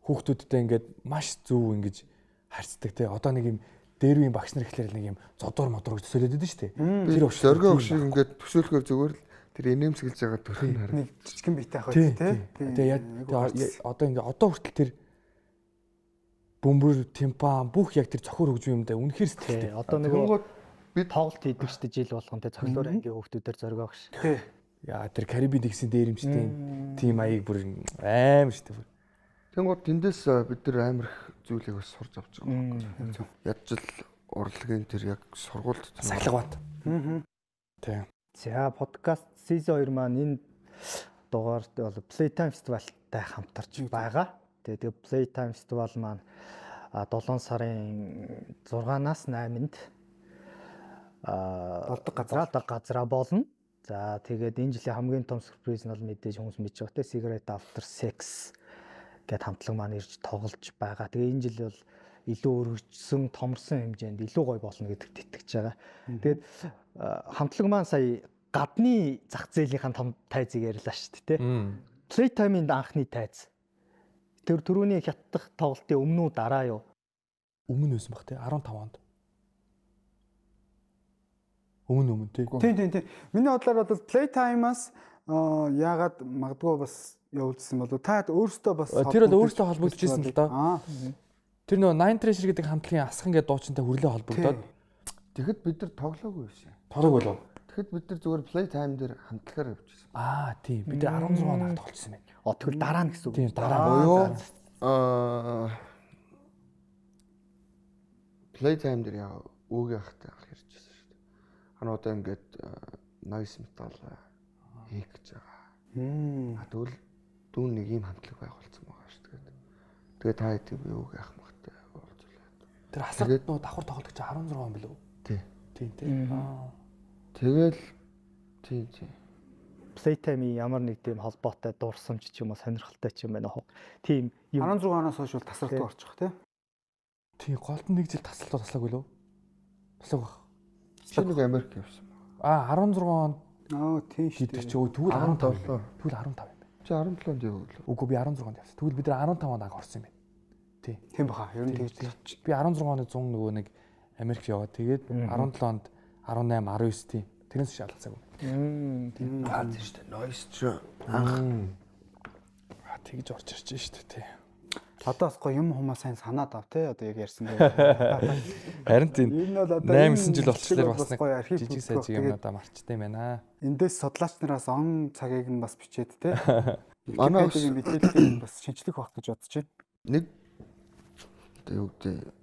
Хүүхдүүдтэй ингээд маш зөв ингэж харьцдаг тий. Одоо нэг юм дээрвийн багш нар ихлээр нэг юм зодуур модуур гэж төсөөлөд байдаг шүү дээ. Тэр зоргоо огшиг ингээд төсөөлөхөөр зүгээр л тэр инээмсэглэж байгаа төрхийг харна. Нэг жижигэн биетэй байх үү тий. Тэгээ одоо ингээд одоо хүртэл тэр бөмбөр, тимпан бүх яг тэр цохор хөгжим юм да үнэхээр сэтгэлтэй. Одоо нөгөө би тоглолт хийдэг шүү дээ жил болгон тэ цоглоор ангийн хүүхдүүдээр зоргоо багш. Тий. Яа тэр Карибын дэгсийн дээрэмчтэй тим аяг бүр аим шүү дээ. Тэнгууд тэндээс бид нар амар их зүйлийг бас сурч авч байгаа. Ядч л урлагийн тэр яг сургуульд сахилгаваад. Тий. За подкаст season 2 маань энэ дугаард бол Playtime Festival-тай хамтарч байгаа. Тэгээ Playtime Festival маань 7 сарын 6-наас 8-нд болдог газраа болно. За тэгээд энэ жилийн хамгийн том сюрприз нь бол мэдээж хүмүүс мэдж байгаа те Cigarette After Sex гэд хамтлаг маань ирж тоглож байгаа. Тэгээ энэ жил бол илүү өргөжсөн, томорсон хэмжээнд илүү гоё болно гэдэгт итгэж байгаа. Тэгээд хамтлаг маань сая гадны зах зээлийнхэн том тайзыг ярьлаа шүү дээ те. Playtime-ийн анхны тайз. Тэр түрүүний хятадх тоглолтын өмнө үү дараа юу? Өмнө байсан баг те 15 онд. Өмнө тий. Тий. Миний бодлоор бол Playtime-аас яагаад магадгүй бас явуулсан болов та өөрөөсөө бас тэр бол өөрөөсөө холбогдчихсэн л доо. Тэр нөгөө Nine Treasure гэдэг хамтлагийн асхан гэдэг дуучинтай хүрлээ холбогдоод тэгэхэд бид нар тоглоогүй байсан. Тоглоогүй болов. Тэгэхэд бид нар зүгээр Playtime дээр хамтлагаар явчихсан. Тийм. Бид нар 16 онд тоглолцсон байна. Тэгвэл дараа нь гэсэн үг. Тийм дараа буюу Playtime дээр яа өөгийн ахтай ярьжсэн шүү дээ. Хануудаа ингээд noise metal хийх гэж байгаа. Тэгвэл дүүн нэг юм хамтлаг байгуулсан байгаа шүү дээ. Тэгээ та хэд би өөгийн ах махтай уулзлаа. Тэр хасарт нөө давхар тоглолт гэж 16 он билүү? Тийм. Тэгэл тийм. Playtime-ийн ямар нэг тийм холбоотой дурсамж ч юм уу сонирхолтой ч юм байна уу. Тийм 16 оноос хойш бол тасралттай орчих тий. Тийм голтон нэг жил тасралтаа таслаагүй лөө. Таслаг баг. Чи нэг Америк явсан. 16 онд тийм шүү дээ. Чи тэгвэл 15 лөө. Тэгвэл 15 юм байна. Чи 17-нд явуулаа. Үгүй би 16-нд явсан. Тэгвэл бид нар 15 онд анх орсон юм байна. Тийм баха. Ер нь тэгж. Би 16 оны 100 нөгөө нэг Америк яваад тэгээд 17 онд 18 19 тийм. Тэрнээс шалгацаагүй. Тийм шүү дээ. Noise ч анх тэгж орж ирж шүү дээ тий. Одоо бас гоё юм хүмүүс сайн санаад ав те одоо яг ярьсан дээр. Харин тийм. Энэ бол одоо 8-9 жил болчихлоо бас гоё архив жижиг сажиг юм надаа марчтай байна. Эндээс судлаач нараас он цагийг нь бас бичээд те. Манай мэдээллийг бас шинжлэх байх гэж бодож байна. Нэг юу гэдэг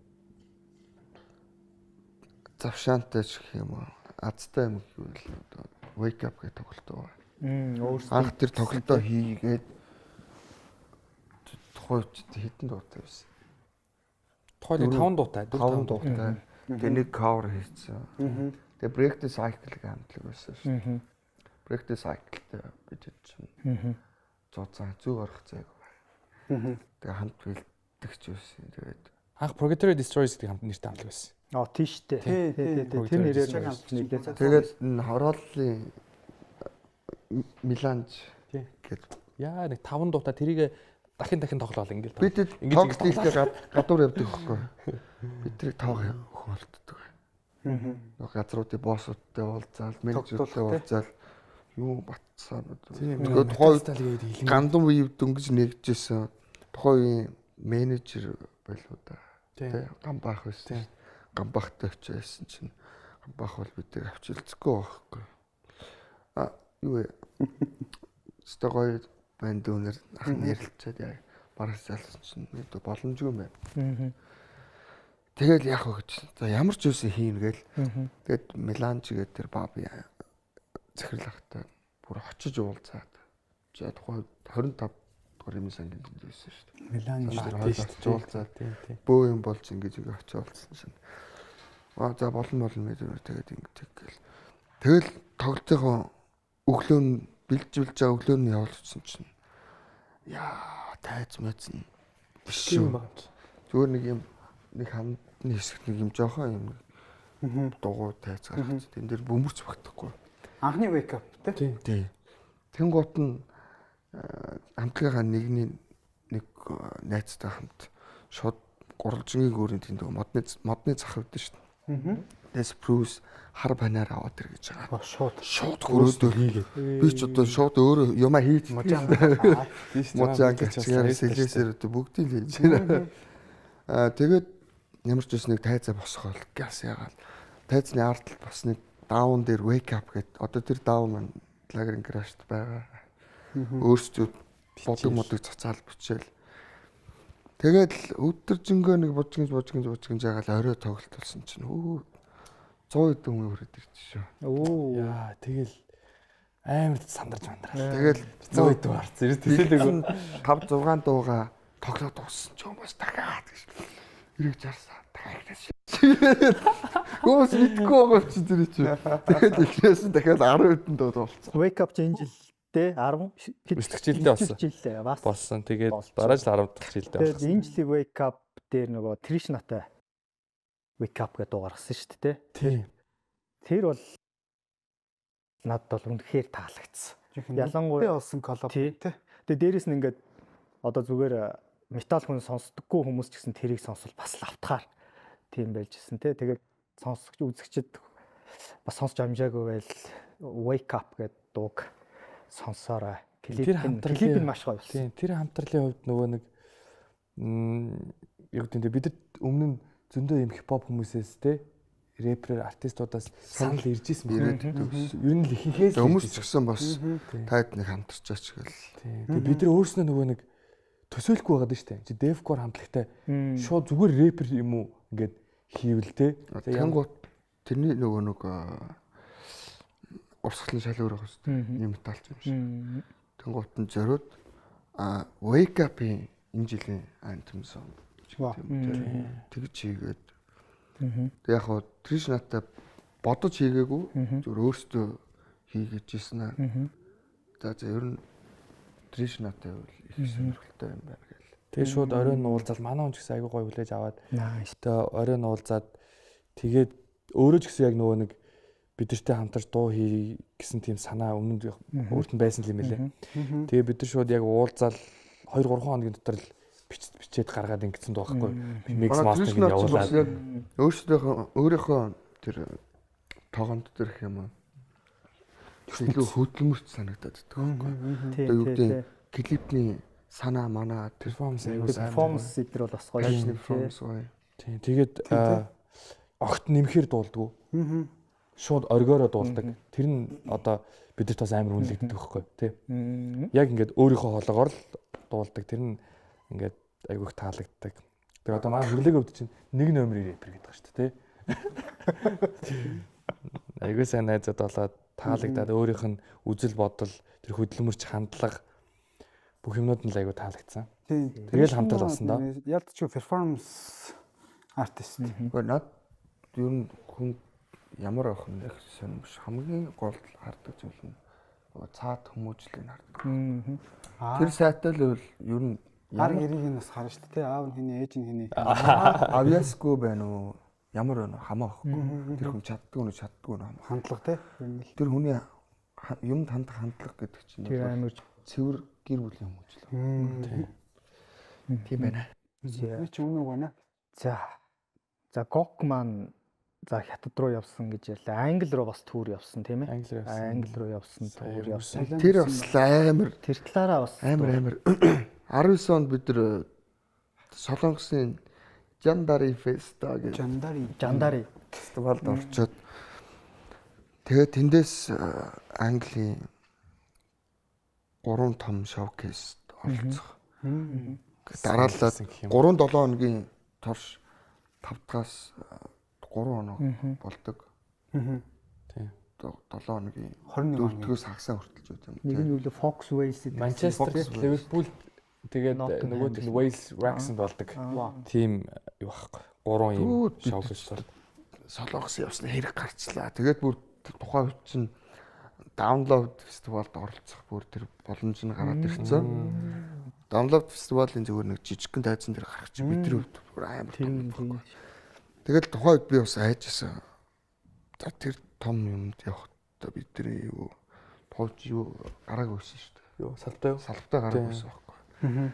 завшаантай ч гэх юм уу азтай юм гэвэл одоо Wake Up гэх тоглолтоо. Өөрсдөө Анх тэр тоглолтоо хийгээд тухайд хэдэн дуутай байсан. Тухайд 5 дуутай. 5 дуутай. Тэгээ нэг cover хийсэн. Тэгээ Break the Cycle-г хамтлаг байсан шүү дээ. Break the Cycle-тэй бид чинь зооцоо зүг орох зайг. Тэгээ хамт бэлтгэж байсан. Тэгээд анх Purgatory Destroyers гэх хамт нэртэй хамтлаг байсан. тийш дээ. Тэр нэрээр хамт нийлээд. тэгээд хорооллын Миланж гэдэг. Яа нэг 5 дуутай тэрийг дахин тоглоол ингээл. Бид тоглолт хийхдээ гадуур явдаг байхгүй. Бид тэрийг тоог хөнөлтдөг. Нэг газруудын боссуудтай уулзаал, менежертэй уулзаал юу батсан. Тэгээд тухайн гандам үе дөнгөж нэгжсэн. Тухайн менежер байлуу да. Тэ гамбах байсан. Гамбахтай очижсэн чинь гамбах бол бидийг авчилцгүй байхгүй. Юу вэ? Стогой банд өнөр нэрлэлцээд яг бараг залсан чинь боломжгүй юм байна. Тэгэл яах вэ гэж. За ямар ч үсэн хийн гээл. Тэгэд Миланч гэдэг тэр баби захирлахтай бүр очиж уулзаад. За тухайн 25 дугаар юм сангийн дэнд байсан шүү дээ. Миланч очиж уулзаад. Бөө юм болж ингэж очиж уулзсан чинь. За болно мэдээ тэгээд ингэж гээл. Тэгэл тоглолтынхоо өглөө бэлжүүлж байгаа өглөөний явуулсан чинь яа тайз мэцэн биш юм байна. Зүгээр нэг хамтны хэсэгт нэг юм жоохон юм дугуй тайз гаргаж тэн дээр бөмбөрч багтахгүй. Анхны Wake Up тий. Тэнгуут нь хамтлагийнхаа нэг найзтай хамт шууд гурвалжингийн гүүрийн тэнд модны зах авдсан шүү дээ. Тэс Bruce хар банаар аваад ир гэж байгаа. Шууд хөрөөдөө хийгээ. Би ч одоо шууд өөрөө юмаа хийж мужаанг чигээр сэлээсээр бүгдийг л хийж байна. Тэгээд ямар ч үс нэг тайзаа босгоол газ ягаал. Тайзны ард бас нэг даун дээр Wake Up гэдэг. Одоо тэр даун маань лагерын крашт байгаа. Өөрсдөө бодог цацаал бичээл. Тэгээд өдөржингөө нэг бужгинж ягаал орой тоглолт болсон чинь 100 хэдэн хүн хүрээд ирчих шүү. Яа тэгэл амар сандарч мандраа. Тэгэл 100 хэдэн харц ирээд 5 6 дууга тоглоод дууссан ч юм бас дахиад гэж. Ирэх жарсаа дахиад. Гоос мэдгүй байгаа чи тэр чи. Тэгээд эхлээс нь дахиад 10 хэдэн дуу болсон. Wake Up энэ жилдээ 10 жилдээ болсон. Тэгээд дараа жил 10 дахь жилдээ болсон. Тэгээд энэ жилийн Wake Up дээр нөгөө Trishnaтай Wake Up гэдэг дуу гаргасан шүү дээ. Тийм. Тэр бол надад бол үнэхээр таалагдсан. Ялангуяа болсон коллаб тий. Тэгээд дээрэс нь ингээд одоо зүгээр метал хүн сонсдоггүй хүмүүс ч гэсэн тэрийг сонсвол бас лавтахаар тийм байжсэн тий. Тэгээд сонсогч үзэгчд бас сонсч амжаагүй байл Wake Up гэдэг дууг сонсоорой. Клип нь маш гоё байсан. Тийм. Тэр хамтрлын хувьд нөгөө нэг яг тийм бид өмнө нь зөндөө юм хипхоп хүмүүсээс те рэпер артистуудаас санал ирж исэн байна. Ер нь л ихэнхээс хүмүүс ч гэсэн бас таад нэг хамтарчаач гэл. Тэгээ бид нар өөрснөө нөгөө нэг төсөөлөхгүй байгаад шүү дээ. Чи Defcore хамтлагтай шууд зүгээр рэпер юм уу ингээд хийвэл те. Тэнгуут тэрний нөгөө нэг урсгалын шал өөр байх шүү дээ. Ийм металч юм шиг. Тэнгуут нь зориуд Wake Up-ийн энэ жилийн anthem song тэгж хийгээд тэг яг хоо Trishnaтай бодож хийгээгүй зөв өөртөө хийгээд ирсэн аа. За ер нь Trishnaтай бол их сонирхолтой юм байна гэл. Тэгээ шууд оройн уулзаад манай хүн ч гэсэн айгүй гоё хүлээж аваад тэгээ оройн уулзаад тэгээд өөрөө ч гэсэн яг нөгөө нэг бидэртэй хамтарч дуу хий гэсэн тийм санаа өмнө өөрт нь байсан юм лээ. Тэгээ бид нар шууд яг уулзаад 2-3 хоногийн дотор л бичээд гаргаад ингэсэн дуухгүй. Микс мастеринг явуулаад өөрийнхөө тэр тоогонд дээрх юм. Илүү хөдөлмөрт санагдаад байгаа байхгүй. Одоо юу гэдэг клипний санаа манаа перформанс эдэр бол бас гоё перформанс гоё. Тийм. Тэгээд огт нэмэхээр дуулдгүй. Шууд оргиороо дуулдаг. Тэр нь одоо бидэрт бас амар үнэлэгддэг байхгүй тий. Яг ингээд өөрийнхөө хоолоогоор л дуулдаг. Тэр нь ингээд айгүйх таалагддаг. Тэгээ одоо манай хөрлөгийн өвд чинь нэг номерын рэпер гэдэг байгаа шүү дээ тий. Айгүй сайн найзууд болоод таалагдаад өөрийнх нь үзэл бодол тэр хөдөлмөрч хандлага бүх юмнууд нь л айгу таалагдсан. Тэгэл хамтал болсон доо. Ялдч перформанс артист. Гэхдээ над ер нь хүн ямар авах юм их сонирмш хамгийн гол хардаг зүйл нь цаад хүмүүжлийг хардаг. Тэр сайтай л ер нь гар гэрийг нь бас харна шүү дээ. Аав нь хэний, ээж нь хэний. Авьяасгүй байна уу? Ямар байна хамаа ахгүй. Тэр хүн чаддгүй нь хамаа. Хандлага те. Тэр хүний юмд хандах хандлага гэдэг чинь тэр амар цэвэр гэр бүлийн хүмүүжлэг. Тийм байна. Би ч өмнө байна. За Гок маань за хятад руу явсан гэж ярьлаа. Англи руу бас туур явсан тийм ээ. Англи руу явсан туур явсан. Тэр бас амар тэр талаараа бас амар 19 онд бид нар Солонгосын Жандари феста гэж Жандари фестивалд орчоод тэгээд тэндээс Английн 3 том шоукейст оролцох. Дараалал 3-7 хоногийн турш 5-аас 3 хоног болдог. Тийм. 7 хоногийн 4-өөс хагасаа хүртэлж байт юм. Нэг нь юу Fox Wales Манчестер, Ливерпул тэгээд нөгөөт нь Wales Wrexham болдог. Тийм юу байхгүй. 3 юм шоукейс бол Солонгос явсны хэрэг гарчлаа. Тэгээд бүр тухайн үед чинь Download фестивалд оролцох бүр тэр боломж нь гараад ирсэн. Download фестивалийн зүгээр нэг жижигхэн тайзан дээр гарах чинь бидний хувьд бүр амар том. Тэгэл тухайн үед би бас айжсэн. За тэр том юмд явахдаа бидний юу туулж юу гараагүй байсан шүү дээ. Юу салбтай гараагүй байсан байхгүй.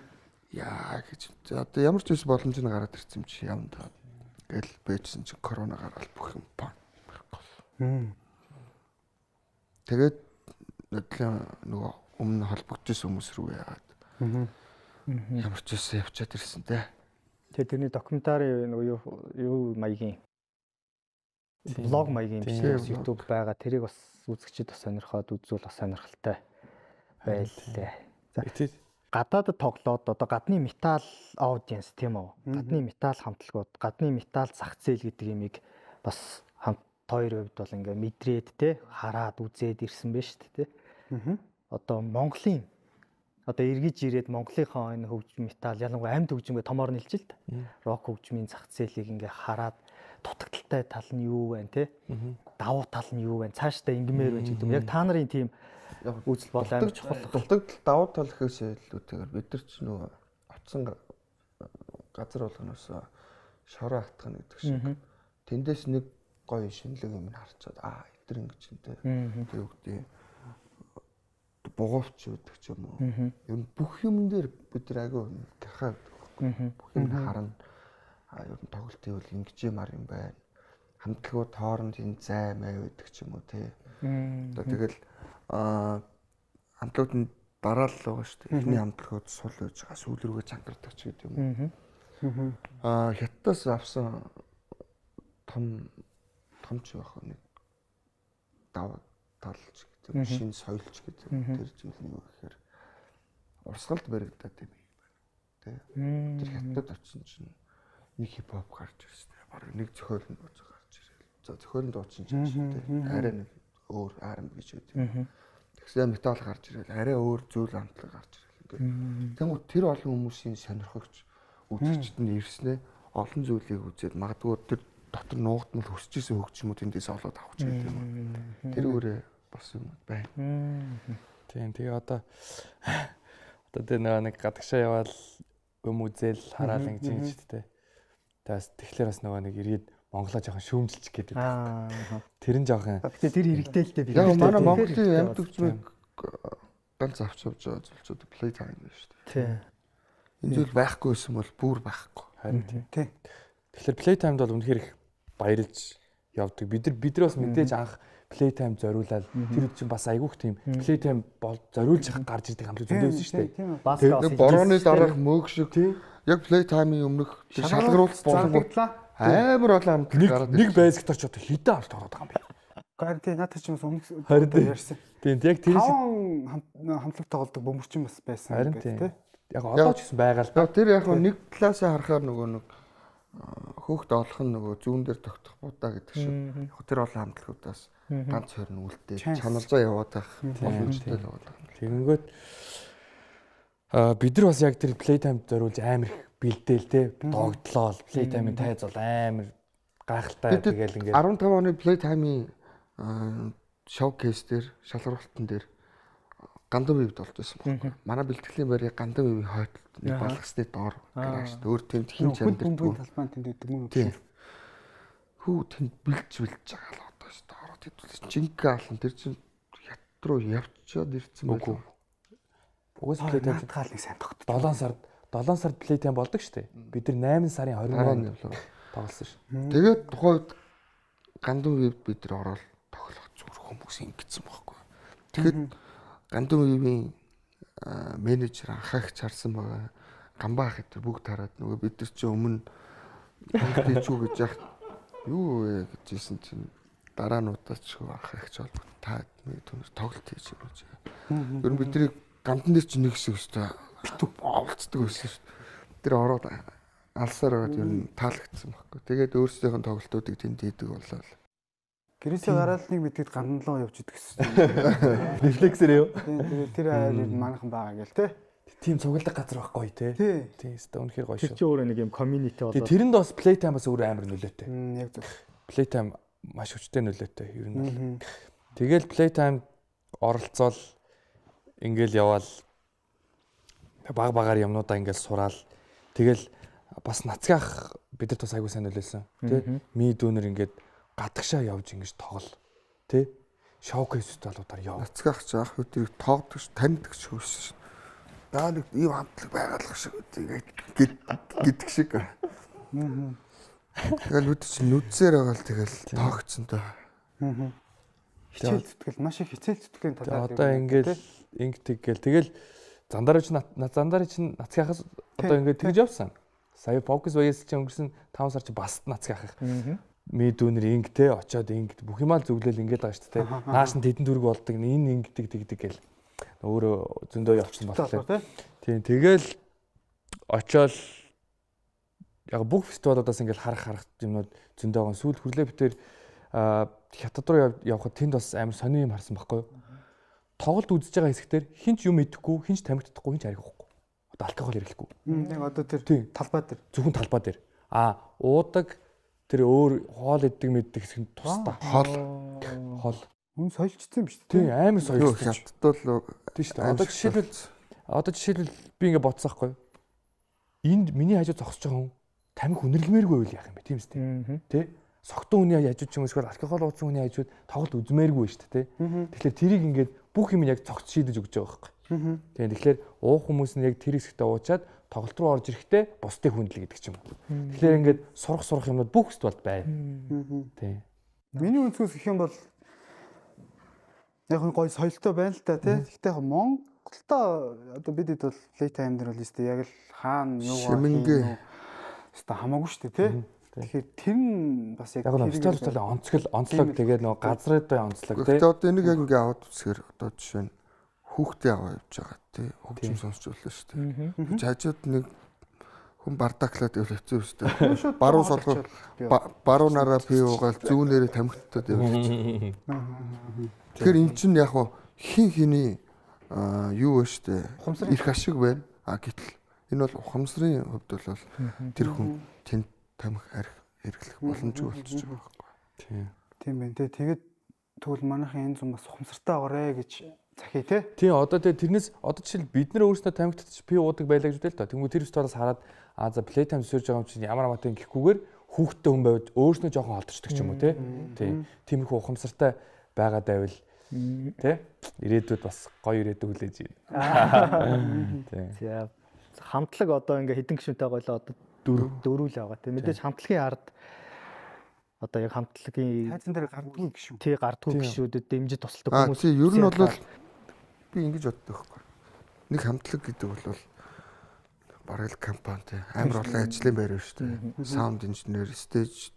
Яа гэж. За одоо ямар ч үс боломж нь гараад ирсэн юм чи явна та. Гэл бэжсэн чи корона гараад бүх юм байхгүй. Тэгээд нөгөө өмнө холбогдсон хүмүүс рүү яагаад. Ямар ч үс явчаад ирсэн те. Тэгээ тэрний докюментари нөгөө юу маягийн блог маягийн биш YouTube байгаа. Тэрийг бас үзэгчид бас сонирхоод үзвэл бас сонирхолтой байлээ. За гадаадд тоглоод одоо гадны метал аудиенс тийм үү? Гадны метал хамтлагууд, гадны метал зах зээл гэдэг юмыг бас хамт хоёр хувьд бол ингээ мэдрээд те хараад үзээд ирсэн байж тээ. Одоо Монголын одоо эргэж ирээд Монголынхаа энэ хөгжим метал ялангуяа амьд хөгжимгээ томоор нэлж л та. Рок хөгжмийн зах зээлийг ингээ хараад дутагдaltaй тал нь юу вэ те? Давуу тал нь юу вэ? Цаашдаа ингмээр байж гэдэг юм. Яг та нарын тийм үзэл бодол амар чухал. Дутагдал давуу тал гэхээс илүүтэйгээр бид нар ч нөгөө оцсон газар болгоноос шороо хатгах гэдэг шиг. Тэндээс нэг гоё шинэлэг юм харчаад эдгээр ингэж нэ. Тэр үгтэй бугуувч гэдэг ч юм уу. Ер нь бүх юм дээр бид нар агай гахаад бүх юм харна. Ер нь тоглолтын үйл ингэж юмар юм байна. Хамтлагууд хооронд энэ зай мэй гэдэг ч юм уу тий. Одоо тэгэл хамтлагууд нь дараалал байгаа шүү дээ. Эхний хамтлагууд сул байж байгаа сүүл рүүгээ чангардаг ч гэдэг юм уу. Хятадаас авсан том ч байх нэг даваа талч гэдэг шинэ соёлч гэдэг тэр зүйл нь юу гэхээр урсгалд баригдаад юм байна. Тэ. Тэр хятад очсон чинь нэг хипхоп гарч ирсэн. Бараг нэг зохиол нь бууж гарч ирэл. За зохиолын дуучин ч юм тий. Арай нэг өөр R&B гэж байдаг. Тэгсэн метал гарч ирэл арай өөр зүйл хамтлаг гарч ирэл ингээд. Тэнгуү тэр олон хүмүүсийн сонирхогч үзэгчд нь ирснээр олон зүйлийг үзээд магадгүй тэр дотор нуугдмал хүсэж исэн хөгжмүүд эндээс олоод авах гэдэг юм. Тэр өөрөө бас юм байна. Тийм тэгээ одоо тэр нэг гадагшаа яваал юм үзэл хараал ингэж юм шүү дээ. Тэгээс тэгэхээр бас нөгөө нэг иргэд Монголоо жоохон шүүмжилчих гээд байдаг. Тэр нь жоохон. Гэтэ тэр хэрэгтэй л дээ би. Яг манай Монголын амьд хөгжмийг ганц авч явж байгаа зүйлчүүд play time байна шүү дээ. Тийм. Энэ зүйл байхгүй байсан бол бүр байхгүй. Харин тийм. Тэгэхээр play time-д бол үнэхээр их баярлж явдаг. Бид нар бас мэдээж анх play time зориулаад тэр чинь бас айгүйх тийм play time бол зориулж гарч ирдэг хамтлаг зөндөөсөн шүү дээ. Тэр борооны дараах мөг шиг яг play time-ийн өмнөх шалгаруулалт болгогдлаа. Амар олон хамтлаг гараад нэг байзагт очоод хитэ авт ороод байгаа юм байна. Гаранти надад ч юм өмнө ярьсан. Тийм яг тэр хамтлаг тоглодог бөмбөрчин бас байсан гэдэг тийм. Яг одоо ч гэсэн байгаа л. Тэр яг нэг талаасаа харахаар нөгөө нэг хөөхд олох нь нөгөө зүүн дээр тогтох будаа гэдэг шиг. Яг тэр олон хамтлагуудаас ганц хоёр нь үлдээ чаналзаа яваад байх боломжтой л байна. Тэгэнгүүт бид нар бас яг тэр playtime зориулж амар их бэлдээл те догтлоо playtime-ийн тайз бол амар гайхалтай тэгэл ингээд 15 оны playtime-ийн showcase дээр шалгуултан дээр гандам ивд болж байсан байхгүй. Манай бэлтгэлийн байрыг гандам ивийн хойдолд нэг балгасны доор гараж өөр тэнд хин чамдэрдгүй талбайн тэнд идэг мөн. Хүү тэнд бэлж байгаа л одоо шүү дээ. Ороод хэдүүлсэн жинхэнэ алан тэр чинь ят руу явчаад ирсэн байх. Угаас playtime хаалныг сайн тогт. 7 сард playtime болдог шүү дээ. Бид нар 8 сарын 20-нд тоглосон шүү. Тэгээд тухайн үед гандам ивд бид нар ороод тоглох зүрх хүмүүс ингэсэн байхгүй. Тэгэхэд гандам ивийн менежер анхаагч харсан байгаа. Гамбаа ах гэдэг бүгд хараад нөгөө бид нар чи өмнө тийчүү гэж яах юу вэ гэжсэн чинь дараа нь удаач анхаагч бол та түнэр тоглолт хийж юм гэж. Ер нь бидний гамдан дээр чи нэг хэсэг өстой олцдог байсан шүү. Тэр ороод алсаар байгаа ер нь таалагдсан байхгүй. Тэгээд өөрсдийнх нь тоглолтуудыг тэнд хийдэг болоо. Гэрээсээ гараад нэг мэдгээд гандлоо явж идэг гэсэн. Рефлексээр юу? Тэгээд тэр аяар манайхан байгаа гэл те. Тим цуглаг газар байхгүй те. Тийм өстой үнэхээр гоё шүү. Тэр чинь өөрөө нэг юм community болоо. Тэрэнд бас playtime бас өөр амар нөлөөтэй. Яг зөв. Playtime маш хүчтэй нөлөөтэй ер нь бол. Тэгэл playtime оролцоол ингээл яваал баг багаар юмнуудаа ингээл сураал. Тэгэл бас нацгаах бидэрт бас айгуу сайн нөлөөлсөн. Тэ? Ми дүүнер ингээд гадагшаа явж ингэж тоглол. Тэ? Showcase талуудаар яв. Нацгаах ч ах өдрийг тоогдог ш таньдаг ч хөөсөн ш. Даа нэг ийм хамтлаг байгалах шиг гэдэг шиг. Тэгэл үд чи нүдсээр байгаа л тэгэл тоогцсон доо. Хичээл зүтгэл маш их хичээл зүтгэлийн талаар. Одоо ингээл ингэдэг гэл тэгэл зандарч нацгаахаас одоо ингээд тэгж явсан. Сая фокус баяс чи өнгөрсөн 5 сар чи бас нацгаах. Ми дүүнэр инг те очоод инг бүх юмаа зөвлөл ингээд байгаа шүү дээ. Нааш нь тэдэн дүрг болдог энэ ингэдэг тэгдэг гэл. Өөрөө зөндөө явчихсан болохоор. Тийм тэгэл очоод яг бүх фестивалуудаас ингээл харах юмнууд зөндөө байгаа. Сүүл хүрлээ битэр хятад руу явхад тэнд бас амар сони юм харсан байхгүй юу? Тоглолт үзэж байгаа хэсэгтэр хинч юм идэхгүй, хинч тамигддаггүй, хинч аригахгүй. Одоо алкогол хэрэглэхгүй. Нэг одоо тэр талбай дээр. Зөвхөн талбай дээр. Уудаг тэр өөр хоол иддэг мэддэг хэсэг нь тусдаа. Хоол. Хүн соёлжсон юм шүү дээ. Тийм амар соёлжсон. Хятадд бол тийм шүү дээ. Одоо жишээлбэл би ингээ бодсон байхгүй. Энд миний хажуу зогсож байгаа хүн тамиг үнэрлэмээргүй байл яах юм бэ? Тийм үстэй. Тэ? Согтун хүний хажууд ч юм эсвэл алкогол уусан хүний хажууд тоглолт үзмээргүй шүү дээ. Тэгэхээр тэрийг ингээд бүх юм яг цогц шийдэж өгч байгаа байхгүй. Тийм тэгэхээр уух хүмүүс нь яг тэр хэсэгтээ уучаад тоглолт руу орж ирэхдээ бусдыг хүндлээ гэдэг ч юм уу. Тэгэхээр ингээд сурах юмнууд бүх фестивалд байна. Тийм. Миний өнцгөөс гэх юм бол яг гоё соёлтой байна л та тий. Гэхдээ яг Монголдоо одоо бидэд бол playtime дээр бол өстэй яг л хаана юу шимэнгээ өстэй хамаагүй шүү дээ тий. Тэгэхээр тэр нь бас яг фестивал онцлог тэгээд нөгөө газруудын онцлог тий. Тэгээд одоо энийг яг ингээ аваад үзэхээр одоо жишээ нь хүүхдээ аваа явж байгаа тий. Хөгжим сонсч болно шүү дээ. Гэж хажууд нэг хүн бардаклаад явж хэцүү шүү дээ. Баруун солгоо баруунаараа пи уугаал зүүнээрээ тамхитад явж. Тэгэхээр эн чинь яг хин хиний юу вэ штэ их ашиг байна. Гэтэл энэ бол ухамсарын хувьд бол тэр хүн тэнд тамхи арх хэрэглэх боломжгүй болчихж байгаа байхгүй. Тийм байна. Тэгээд тэгвэл манайхын энэ зам бас ухамсартай байгаарэ гэж захий тий. Тийм одоо тэрнээс одоо жишээл бид нар өөрсдөө тамхи татчих пи уудаг байлаа гэж үтэй л та. Тэнгүү тэр фестивалаас хараад за playtime сөрж байгаа юм чинь ямар амаатай гэхгүйгээр хүүхдтэй хүн байвал өөрснөө жоохон холдчихдаг ч юм уу тий. Тиймэрхүү ухамсартай байгаад байвал тий ирээдүйд бас гоё ирээдүй хүлээж байна. За хамтлаг одоо ингээ хэдэн гишүүнтэй гойлоо одоо дөрвөл байгаа тий. Мэдээж хамтлагийн ард одоо яг хамтлагийн тайзан дээр гардгүй гişүү. Тий гардгүй гişүүдэд дэмжиж тусалдаг хүмүүс. Тий ер нь бол би ингэж боддог байхгүй. Нэг хамтлаг гэдэг бол бараг компани тий амар олон ажлын байр шүү дээ. Саунд инженер, стейж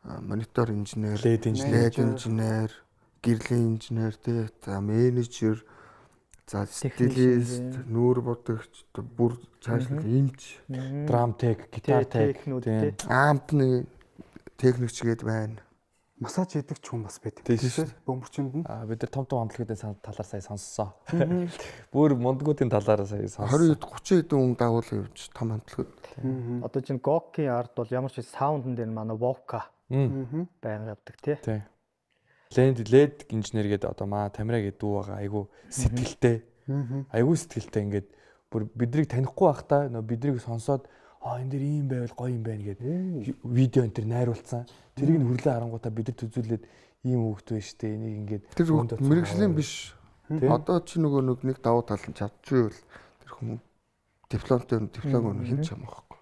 монитор инженер, LED инженер, гэрлийн инженер тий за менежер За стилист, нүүр бодогч, бүр цаашлал эмч, драм тех, гитар тех, ампны техникч гээд байна. Массаж хийдэг ч хүн бас байдаг. Тийм шүү. Бөмбөрчөнд нь. Бид нар том амтлагуудын талаар сая сонссоо. Бүр мондгуудын талаар сая сонссоо. 20-30 хэдэн хүн дагуулсан явж том амтлагууд. Одоо чинь Гоки арт бол ямар ч саундн дээр манай Вока байнга явдаг тий. Лед инженер гэдэг одоо маа Тамира гэдэг дүү байгаа. Айгу сэтгэлтэй. Айгу сэтгэлтэй ингээд бүр биднийг танихгүй байхдаа нөө биднийг сонсоод энэ дэр ийм байвал гоё юм байна гэдэг видео энэ төр найруулсан. Тэрийг нь хүрлээ харангуйтаа бид нар төзүүлээд ийм хөвгт байна штэ. Энийг ингээд тэр мэрэгжлийн биш. Одоо чи нөгөө нэг давуу тал нь чадчихвэл тэр хүмүүс диплом өгөх хин ч юм аахгүй.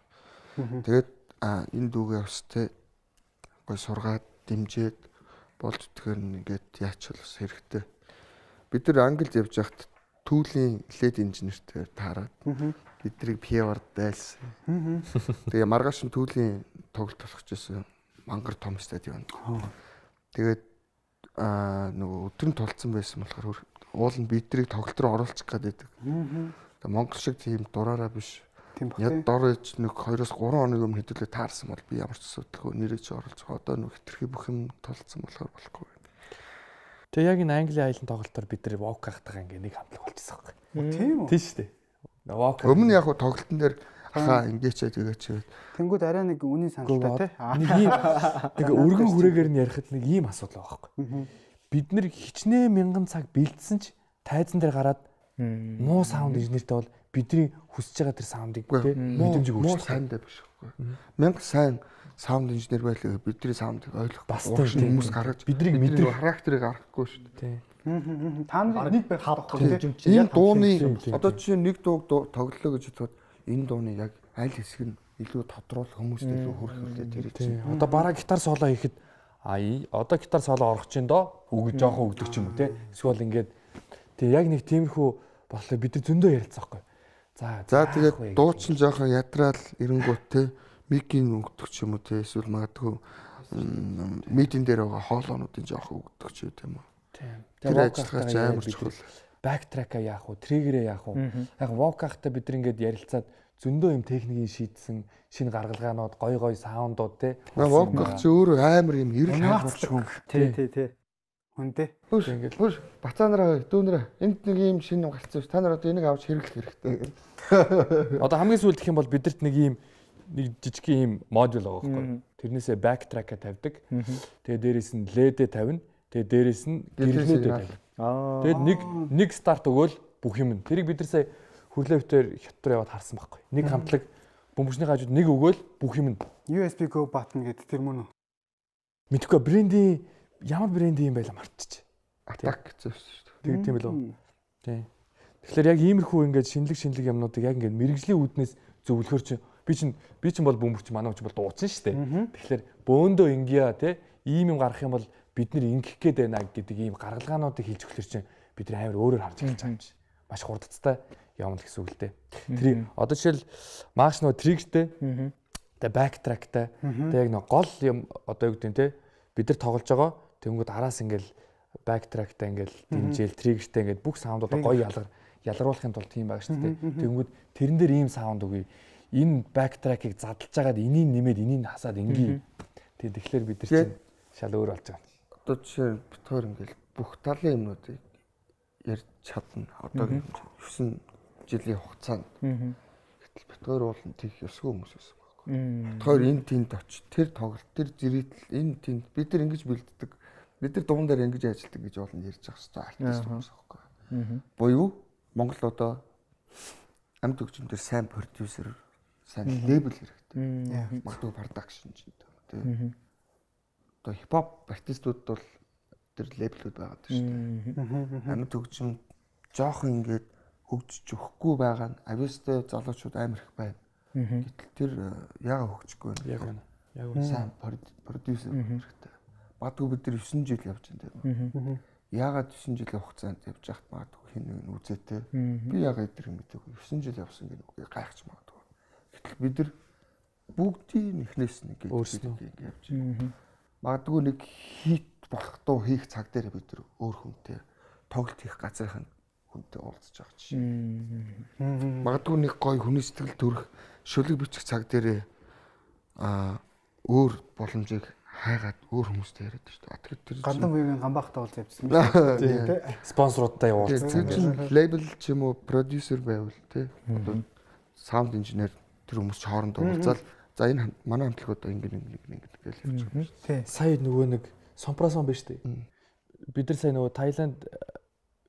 Тэгээд энэ дүүгээ өстэй гоё сургаад дэмжээд болж тэгэхээр ингээд яач бас хэрэгтэй. Бид нар Англид явж байхад түүлийн лед инженертэй таарад биднийг пиавар дайлсан. Тэгээ маргааш нь түүлийн тоглолт болох гэсэн мангар том стадион. Тэгээд нөгөө өдөр нь тулцсан байсан болохоор уул нь биднийг тоглолт руу оруулах гэдэг. Тэгээ Монгол шиг тийм дураараа биш. Яг дор ээж нэг 2-3 хоног өмнө хэдүүлээ таарсан бол би ямар ч асуудалгүй нэрэж оруулж байгаа. Одоо нэг хитрхи бүх юм тулцсан болохоор болохгүй. Тэгээ яг энэ Английн аялын тоглолтоор бид нар вок хахтайгаа ингээ нэг хамтлаг болчихсон байхгүй. Тийм үү? Тийм шүү дээ. Вок. Өмнө яг тоглолтын дээр хаа ингээчээ тэгээч. Тэнгүүд арай нэг үнийн саналтай тий. Нэг ийм нэг өргөн хүрээгээр нь ярихад нэг ийм асуудал байгаа байхгүй. Бид нар хичнээн мянган цаг бэлдсэн ч тайзан дээр гараад муу саунд инженертэй бол бидний хүсэж байгаа тэр саундыг мэдрэмжийг өгч сайндаа биш байхгүй. Мянга сайн саунд инженер байлаа бидний саундыг ойлгох бас хүмүүс гаргаж биднийг мэдрэх характерыг харахгүй шүү дээ. Та нар нэг байх хавтах тийм. Энэ дууны одоо чинь нэг дууг тоглолоо гэж бодоход энэ дууны яг аль хэсэг нь илүү тодруулах хүмүүст илүү хүрэх үлдээ тэр чинь. Одоо бараа гитар соло хийхэд одоо гитар соло орох чинь доо өгж жоохон өгдөг ч юм уу те. Эсвэл ингээд тэг яг нэг тиймэрхүү болохоор бид нар зөндөө ярилцсан байхгүй. За тэгээд дуучин жоохон ядраал эренгүүт те микийн өгдөг ч юм уу те эсвэл магадгүй мидийн дээр байгаа хоолоонуудын жоохон өгдөг ч юм уу. Тэр ажиллагаа амар чухал. Бэктрека яах вэ? Триггерээ яах вэ? Яг вокахтай бид нар ингээд ярилцаад зөндөө юм техникийн шийдсэн шинэ гаргалгаанууд, гой саундууд те. Воках чи өөрөө амар юм эрэл хаагч хүн. Тий. Хүнтэй. Хөөш бацаанараа дүүнэрээ энд нэг юм шинэ гарцсан ш. Та нар одоо энийг авч хэрэглэх хэрэгтэй. Одоо хамгийн сүүлд гэх юм бол бидэрт нэг жижиг юм модуль байгаа байхгүй. Тэрнээсээ бэктрека тавьдаг. Тэгээ дээрээс нь ледэ тавина. Тэгээ дээрээс нь гэрлүүдэд тавина. Тэгээд нэг старт өгөөл бүх юм. Тэрийг бид нар сая хүрлээвтээр хятад яваад харсан байхгүй. Нэг хамтлаг бөмбөрчний хажууд нэг өгөөл бүх юм. USB go button гэдэг тэр мөн үү? Мэдхгүй брендийн ямар брэнд юм байла мартчих. Атак гэсэн шүү дээ. Тийм билүү? Тийм. Тэгэхээр яг иймэрхүү ингээд шинэлэг юмнуудыг яг ингээд мэрэгжлийн үүднээс зөвлөхөр чи би чинь бол бөмбөрч манай ч бол дууцсан шүү дээ. Тэгэхээр бөөндөө ингия те ийм юм гарах юм бол бид нар ингэх гээд байна гэдэг ийм гаргалгаануудыг хийж өгөхлөр чинь бид нар амар өөрөөр харж эхэлж байгаа юм чи. Маш хурдцтай явна гэсэн үг л дээ. Тэр одоо жишээл маш нөө триггертэй тэгээ бэктректэй тэгээ яг нөө гол юм одоо юу гэдэг нь те бид нар тоглож байгаа тэнгүүд араас ингээл бэктректэй ингээл дэмжээл триггертэй ингээд бүх саундуудаа гоё ялгаруулахын тулд тийм байгаа шүү дээ. Тэнгүүд тэрэн дээр ийм саунд өгье. Энэ бэктрекийг задлж агаад энийг нэмээд энийг хасаад ингийн. Тэгэхээр бид нар чинь шал өөр болж байгаа. Одоо жишээ битгаар ингээл бүх талын юмнуудыг ярьж чадна. Одоо 9 жилийн хугацаанд. Гэтэл битгаар бол тийх ёсгүй хүмүүс байсан байхгүй. Битгаар энэ тэнд очиж тэр тоглолт тэр зэрэгтэл энэ тэнд бид нар ингэж бэлддэг. Бид нар дуун дээр ингэж ажилладаг гэж болно ярьж байгаа хэрэгтэй артист хүмүүс байхгүй. Буюу Монгол одоо амьд хөгжмөндөр сайн продюсер, сайн лейбл хэрэгтэй. Магадгүй продакшн ч гэдэг. Одоо хипхоп артистууд бол тэр лейблүүд байгаа шүү дээ. Амьд хөгжим жоохон ингээд хөгжиж өгөхгүй байгаа нь авьяастай залуучууд амар их байна. Гэтэл тэр яага хөгжихгүй байна. Яг сайн продюсер хэрэгтэй. Магадгүй бид нар 9 жил явж байна. Яагаад 9 жилийн хугацаанд явж байхад магадгүй хин нэг үзээтэй. Би яагаад эдгээр юм мэдээгүй 9 жил явсан гэдэг үгийг гайхаж магадгүй. Гэтэл бид нар бүгдийн эхнээс нэг ингэ явж байна. Магадгүй нэг хит болох туу хийх цаг дээр бид нар өөр хүнтэй тоглолт хийх газрын хүнтэй уулзж байгаа жишээ. Магадгүй нэг гоё хүний сэтгэл төрөх шүлэг бичих цаг дээрээ өөр боломжийг хайгаад өөр хүмүүстэй яриад шүү дээ. Тэгэхээр тэр гандан буйгийн гамбахтай уулз явчихсан байх тийм. Спонсоруудтай явуулсан. Тэр лейбл ч юм уу продюсер байвал тий. Одоо саунд инженер тэр хүмүүс ч хоорондоо уулзаад за энэ манай хамтлагууд ингэ гэж явж байгаа. Тий. Сая нөгөө нэг Сомпрасон биш үү? Бид нар сая нөгөө Таиланд,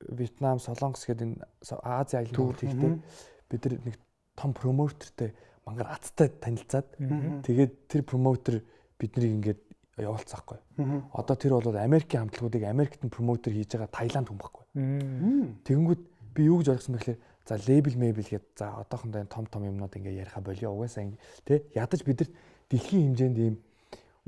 Вьетнам, Солонгос гэдэг энэ Ази аялалд хийхдээ бид нар нэг том промотертэй мангар аттай танилцаад тэгээд тэр промотер биднийг ингээд явуулцаахгүй. Одоо тэр бол Америкийн хамтлагуудыг Америкт нь промотер хийж байгаа Таиланд хүн байхгүй. Тэгэнгүүт би юу гэж ойлгосон бэ гэхээр за лейбл гэд за одоохондоо том юмнууд ингээ яриха болио угаасаа тий ядаж бидэрт дэлхийн хэмжээнд ийм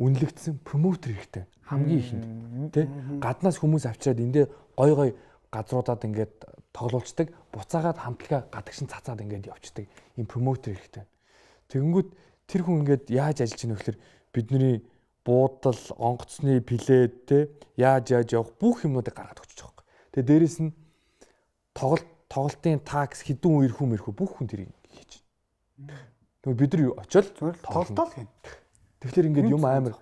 үнэлэгдсэн промотер хэрэгтэй хамгийн ихэнд тий гаднаас хүмүүс авчираад эндээ гой газруудад ингээд тоглуулцдаг буцаагаад хамтлага гадагшин цацаад ингээд явцдаг ийм промотер хэрэгтэй. Тэгэнгүүт тэр хүн ингээд яаж ажиллаж ийнө гэхээр бидний буудал, онгоцны плед те яаж явах бүх юмнуудыг гаргаад өгч байгаа юм. Тэгээ дээрэс нь тоглолтын такс хэдэн үе ирэх бүх хүн тэрийг хийж байна. Тэгвэл бид нар очиод тоглолтоо л хийн. Тэгэхээр ингээд юм амар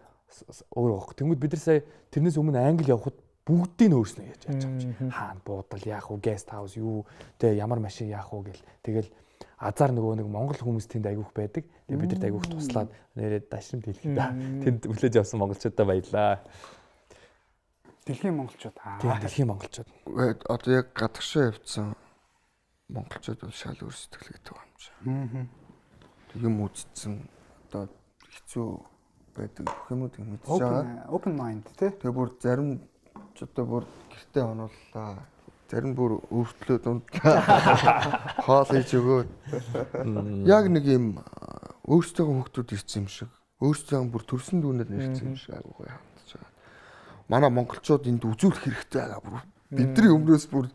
өөр байхгүй. Тэгвэл бид нар сая тэрнээс өмнө англи явхад бүгдийг нь өөрснөө яаж яаж байгаа юм. Хаана буудал яах вэ, гест хаус юу, те ямар машин яах вэ гэл. Тэгэл азар нөгөө нэг монгол хүмүүс тэнд айгүйх байдаг. Тэгээ бид нарт айгүйх туслаад нэрээ дашрамт хэлэх да. Тэнд хүлээж авсан монголчуудаа баярлаа. Дэлхийн монголчууд. Тийм дэлхийн монголчууд. Одоо яг гадагшаа явцсан монголчууд бол шал өөр сэтгэлгээтэй байгаа юм шиг. Юм үзсэн одоо хэцүү байдаг бүх юмыг мэдж байгаа. Open mind тий. Тэгээ бүр зарим ч одоо бүр гэртээ онууллаа. Зарим бүр өөртлөө дундлаа. Хоол хийж өгөөд. Яг нэг юм өөрсдөө хүмүүсд ирсэн юм шиг. Өөрсдөө бүр төрсөн дүүнээр нэрсэн юм шиг агуу хандж байгаа. Манай монголчууд энд үзүүлэх хэрэгтэй байгаа бүр. Бидний өмнөөс бүр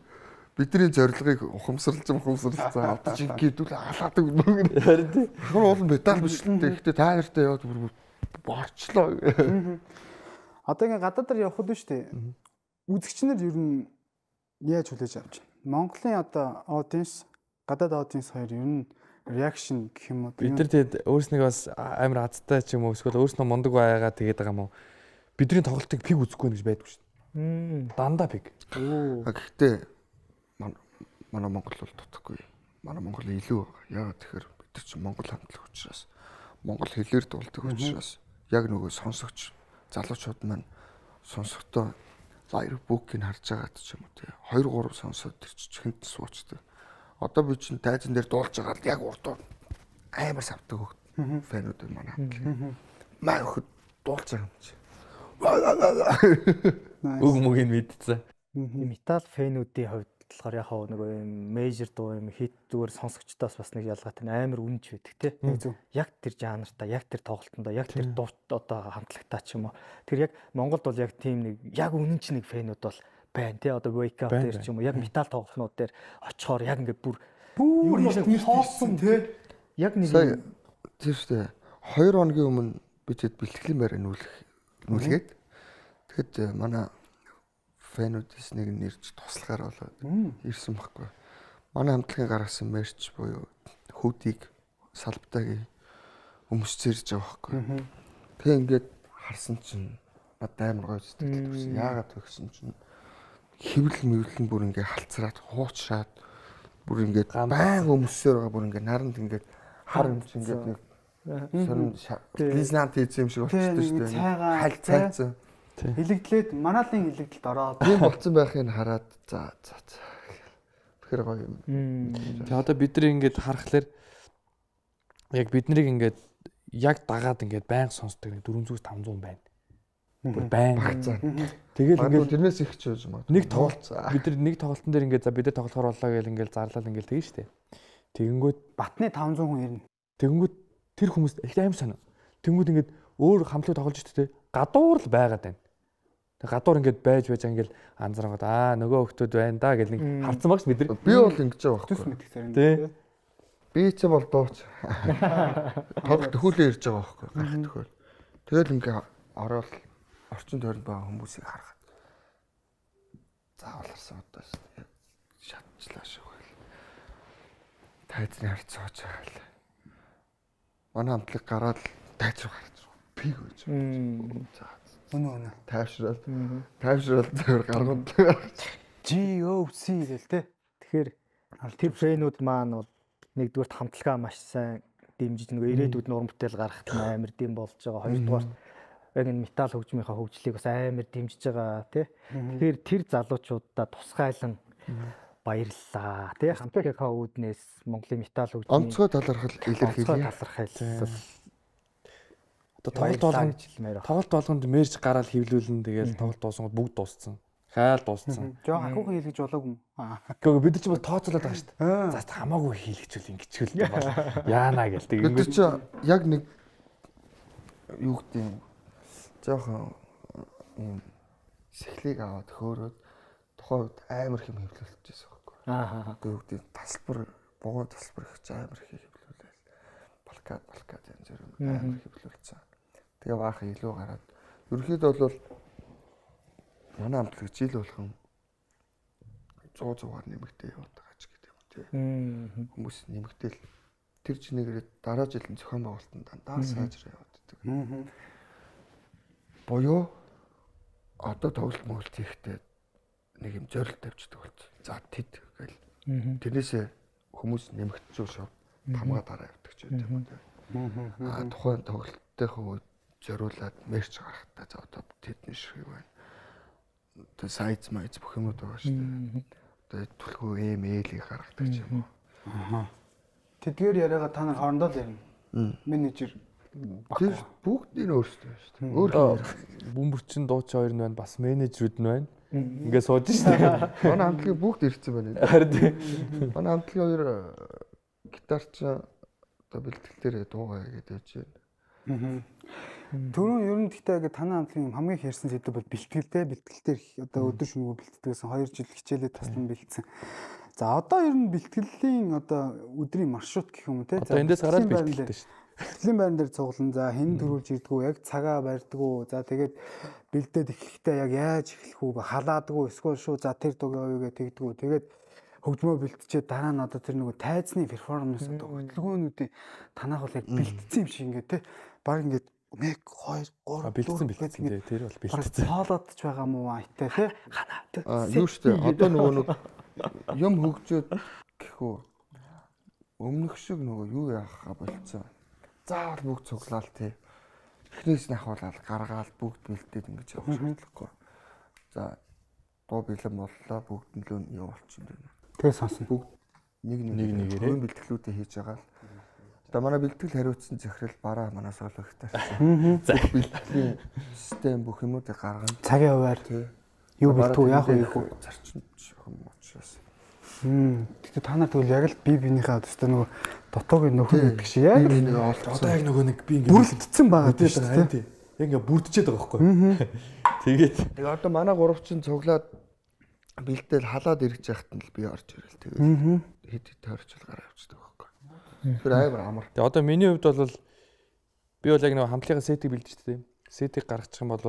бидний зорилгыг ухамсарлсан авдаж ингэдүүл халаадаг нүг. Харин тийм. Хөр уул медаль бичлэнтэй. Гэхдээ та нартай яваад бүр борчлоо. Одоо ингээ гадаадаар явхад нь шүү дээ. Үзэгчнэр ер нь яаж хүлээж авч байна? Монголын одоо аудиенс, гадаад аудиенс хоёр ер нь реакшн гэх юм уу? Бид нар тэгээд өөрснөө бас амар азтай ч юм уу эсвэл өөрснөө мундаг байгаад тэгээд байгаа юм уу? Бидний тоглолтыг пиг үзэхгүй гэж байдгүй шүү дээ. Дандаа пиг. Гэхдээ манай Монгол бол тутахгүй. Манай Монгол илүү байгаа. Яагаад тэгэхээр бид нар чинь монгол хамтлаг учраас монгол хэлээр дуулдаг учраас яг нөгөө сонсогч залуучууд маань сонсохдоо лайв бүкийг харж байгаад ч юм уу тий 2 3 сонсоод тэр чихэнд суучдаг. Одоо би чинь тайзан дээр дуулж байгаа л яг урд амар савдаг хөх фэнүүд манай хамтлаг. Маа хөхд дуулж байгаа юм чи. Үг мөгийг мэдсэн. Метал фэнүүдийн хувьд болохоор яг нөгөө юм мейжер дуу юм хит зүгээр сонсогчдоос бас нэг ялгаатай амар үнж байдаг тий. Яг тэр жанртаа, яг тэр тоглолтондоо, яг тэр дуу одоо хамтлагтаа ч юм уу. Тэр яг Монголд бол яг тийм нэг яг үнэнч нэг фэнүүд бол байна тий. Одоо wake up дээр ч юм уу, яг метал тоглолтнууд дээр очихоор яг ингээд бүр хоосон тий. Яг нэг тийм шүү дээ. 2 хоногийн өмнө бидэд бэлтгэлийн байраа нүүлгээд тэгэхэд манай фэнүүдээс нэг нэрч туслахаар болоод ирсэн байхгүй. Манай хамтлагийн гаргасан мерч буюу хүүдийг салбтайг өмсчээрж байгаа байхгүй. Тэгээ ингээд харсан чинь надад амар гоё сэтгэл төрсөн. Яагаад вэ гэсэн чинь хэвлэл мэвлэн бүр ингээд халцраад хуучраад бүр ингээд баян өмсөөр байгаа бүр ингээд наранд ингээд хар юм чинь ингээд нэг сонин лизнант хийсэн юм шиг болчихсон шүү дээ. Хальт цайцсан. Хилэгдлээд манаалын хилэгдэлд ороод тийм болцсон байхыг хараад за. Тэгэхээр гоё юм. Тэгээ одоо бид нар ингээд харахаар яг бид нарыг ингээд яг дагаад ингээд байнга сонсдог 400-500 байна. Бүр байнга. Тэгэл ингээд тэрнээс их ч байж магадгүй. Нэг тоглолт бид нар нэг тоглолтын дээр ингээд за бид нар тоглохоор боллоо гэл ингээд зарлал ингээд тэгэн штэ. Тэгэнгүүт батны 500 хүн ирнэ. Тэгэнгүүт тэр хүмүүст их аим санаа. Тэгэнгүүт ингээд өөр хамтлаг тоглож штэ. Гадуур л байгаад байна. Гадуур ингээд байж ингээд анзааргаад нөгөө хөлтүүд байна да гэл нэг харцсан багш бид нар. Би бол ингэж байгаа Төс байхгүй. мэдэх зарим. Тий. Би ч бол дууч. Тоглох төхөөлөө ирж байгаа байхгүй. Гарах төхөөл. Тэгэл ингээ ороод орчин тойронд байгаа хүмүүсийг харахад заавал харсан одоо шатчлаа шүү гэл. Тайзны хард сууж байгаа л. Манай хамтлаг гараад тайз руу гарч пиг гэж. За. Үнэ. Тайвшрал зөвөр гаргууд. GOC гэл те. Тэгэхээр тэр фрэнүүд маань бол нэгдүгürt хамтлагаа маш сайн дэмжиж нөгөө ирээдүйд нуран бүтээл гаргахт амар дэм болж байгаа. Хоёрдугаар яг энэ метал хөгжмийнхаа хөгжлийг бас амар дэмжиж байгаа тий. Тэгэхээр тэр залуучуудаа тусгайлан баярлалаа тий. Хамтлагийнхаа үүднээс Монголын метал хөгжмийн онцгой талархал илэрхийлээ. Тоглолт болгонд мэрж гараад хөвлүүлэн тэгэл тоглолт дуусангууд бүгд дууссан. Хайл дууссан. Жоо ахуухан хийлгэж болоогүй юм. Гэхдээ бид нар ч бол тооцоолоод байгаа шүү дээ. За хамаагүй хийлгэжүүл ингэчүүл юм бол яана гэл тэг. Бид ч яг нэг юу гэдэг юм. Жохон юм сэхлийг аваад хөөрөөд тухайн үед амар хэм хөвлөлтөжсэн байхгүй. Тэг үгдээ тасалбар богоо тасалбар их амар их хөвлүүлээл. Балкад энэ зэрэг амар хөвлүүлсэн. Тэгээ баахан илүү гараад ерөөхдөө бол манай хамтлаг жил болгон 100-100-аар нэмэгдээ яваад байгаа ч гэдэг юм тий. Хүмүүс нэмэгдээл тэр чинээгээр дараа жилийн зохион байгуулалтанд дандаа сайжраа яваад байдаг. Боёо одоо тоглолт мөглөлт хийхдээ нэг юм зорилт тавьчихдаг болсон. За тэд гэл. Тэрнээсээ хүмүүс нэмэгдчихв шүү. Тамгаа дараа явдаг ч гэдэг юм тий. Тухайн тоглолтынхаа үед зориулаад мерч гаргахтаа за одоо тэдний ширхэг байна. Одоо сайз майз бүх юмуд байгаа шүү дээ. Одоо түлхүү ээл гаргадаг ч юм уу. Тэдгээр яриагаа та нар хоорондоо л ярина. Менежер тэр бүгдийн өөрсдөө шүү дээ. Өөр бөмбөрчин дууч хоёр нь байна, бас менежерүүд нь байна. Ингээ сууж шүү дээ. Манай хамтлагийн бүгд ирсэн байна. Харин манай хамтлагийн хоёр гитарч одоо бэлтгэлээр дуугаа гэдэг байж байна. Түрүүн ер нь гэхдээ яг танай хамтлагийн хамгийн хэрсэн сэдв бол бэлтгэлтэй. Бэлтгэлтэр одоо өдөр шөнөгүй бэлтгэсэн 2 жил хичээлээ таслан бэлдсэн. За одоо ер нь бэлтгэлийн одоо өдрийн маршрут гэх юм те. За эндээс гараад бэлтгэлтэй шүү. Бэлтгэлийн байран дээр цуглан за хэн төрүүлж ирдгүү, яг цагаа барьдгүү. За тэгээд бэлдээд эхлэхдээ яг яаж эхлэх үү, халаадгүү, эсвэл шүү за тэр дуг явъя гэж тэгдгүү. Тэгээд хөгжмөө бэлтчихэд дараа нь одоо тэр нөгөө тайзны перформанс одоо хөдөлгөөнүүдийн танах бол яг бэлтцсэн юм шиг ингээд те. Баг ингээд 1 2 3 бэлтцсэн тэр бол бэлтцсэн. Хоолоод ч байгаа мó айтай те. Юу штэ одоо нөгөө нэг юм хөгжөөд гэхүү өмнөх шиг нөгөө юу яахаа болцсон. Заавал бүгд цуглаал те. Эхнээс нь ахуулаад гаргаал бүгд бэлдээд ингэж явах шаардлагагүй. За дуу бэлэн боллоо бүгд нь л юу болчихсон бэ. Тэгээ сонсон. Бүгд нэг бэлтгэлүүдээ хийж байгаа л. Одоо манай бэлтгэл хариуцсан захирал бараа манаас олох хэрэгтэй. За бэлтгэлийн систем бүх юмудыг гаргана. Цагийн хуваар юу бэлтгүү яах вэ гэх үү? Зарчимч юм учраас. Тэгтээ та нар тэгвэл яг л бие биенийхээ одоо нөгөө дутуугийн нөхөр гэдэг шиг яг одоо яг нөгөө нэг би ингэ бүрдсэн байгаа тийм тийм. Яг ингэ бүрдчихэд байгаа байхгүй. Тэгээд тэгээ одоо манай гуравчин цуглаад бэлдээл халаад ирж яхад нь л би орж ирэл тэгээд хэд тойрчл гараа явчихдаг байхгүй. Тэр амар амар. Тэгээ одоо миний хувьд бол би бол яг нэг хамтлагын сетийг бэлдэж штэ тийм. Сетийг гаргачих юм бол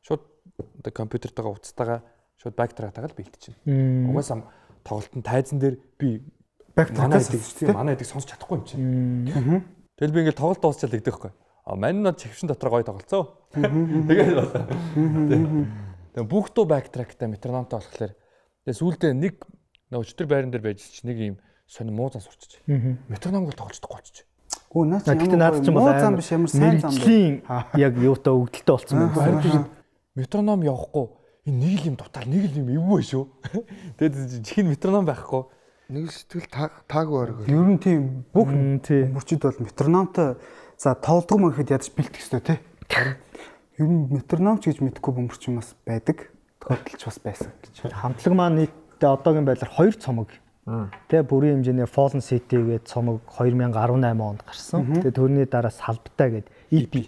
шууд одоо компьютертойгоо уцтайгаа шууд бактрактайгаа л бэлдчихэв. Угаасаа тоглолтын тайзан дээр би манай эдэг сонсч чадахгүй юм чинь. Тэгэл би ингээл тоглолт дуусчаал гэдэг байхгүй. Мань нь чившин дотор гоё тоглолцоо. Тэгээд болоо. Тэгээ бүх дуу бактракттай метрономтой болохоор тэгээ сүүлдээ нэг өчтөр байран дээр байж чи нэг юм сонир муу зан сурчиж. Метрономгоор тоглож болчих. Өө наач ямар муу зам биш ямар сайн зам бэ? Яг юутай өгдөлтөй болцсон байна. Метроном явахгүй энэ нэг л юм дутаал нэг л юм эвгүй шүү. Тэгээд чихэн метроном байхгүй. Нэг сэтгэл таагүй оргоо. Ер нь тийм бүх мөрчид бол метрономтой за тоглодгоо мөн гэхэд ядаж бэлтэх ёстой тий. Ер нь метрономч гэж мэдхгүй бөмбөрч юм бас байдаг. Тохиолдолч бас байсан гэж. Хамтлаг маань нийтдээ одоогийн байдлаар 2 цомог. Тэ бүрийн хэмжээний Fallen City гэдэг цомог 2018 онд гарсан. Тэгээ тэрний дараа Салбтай гэдэг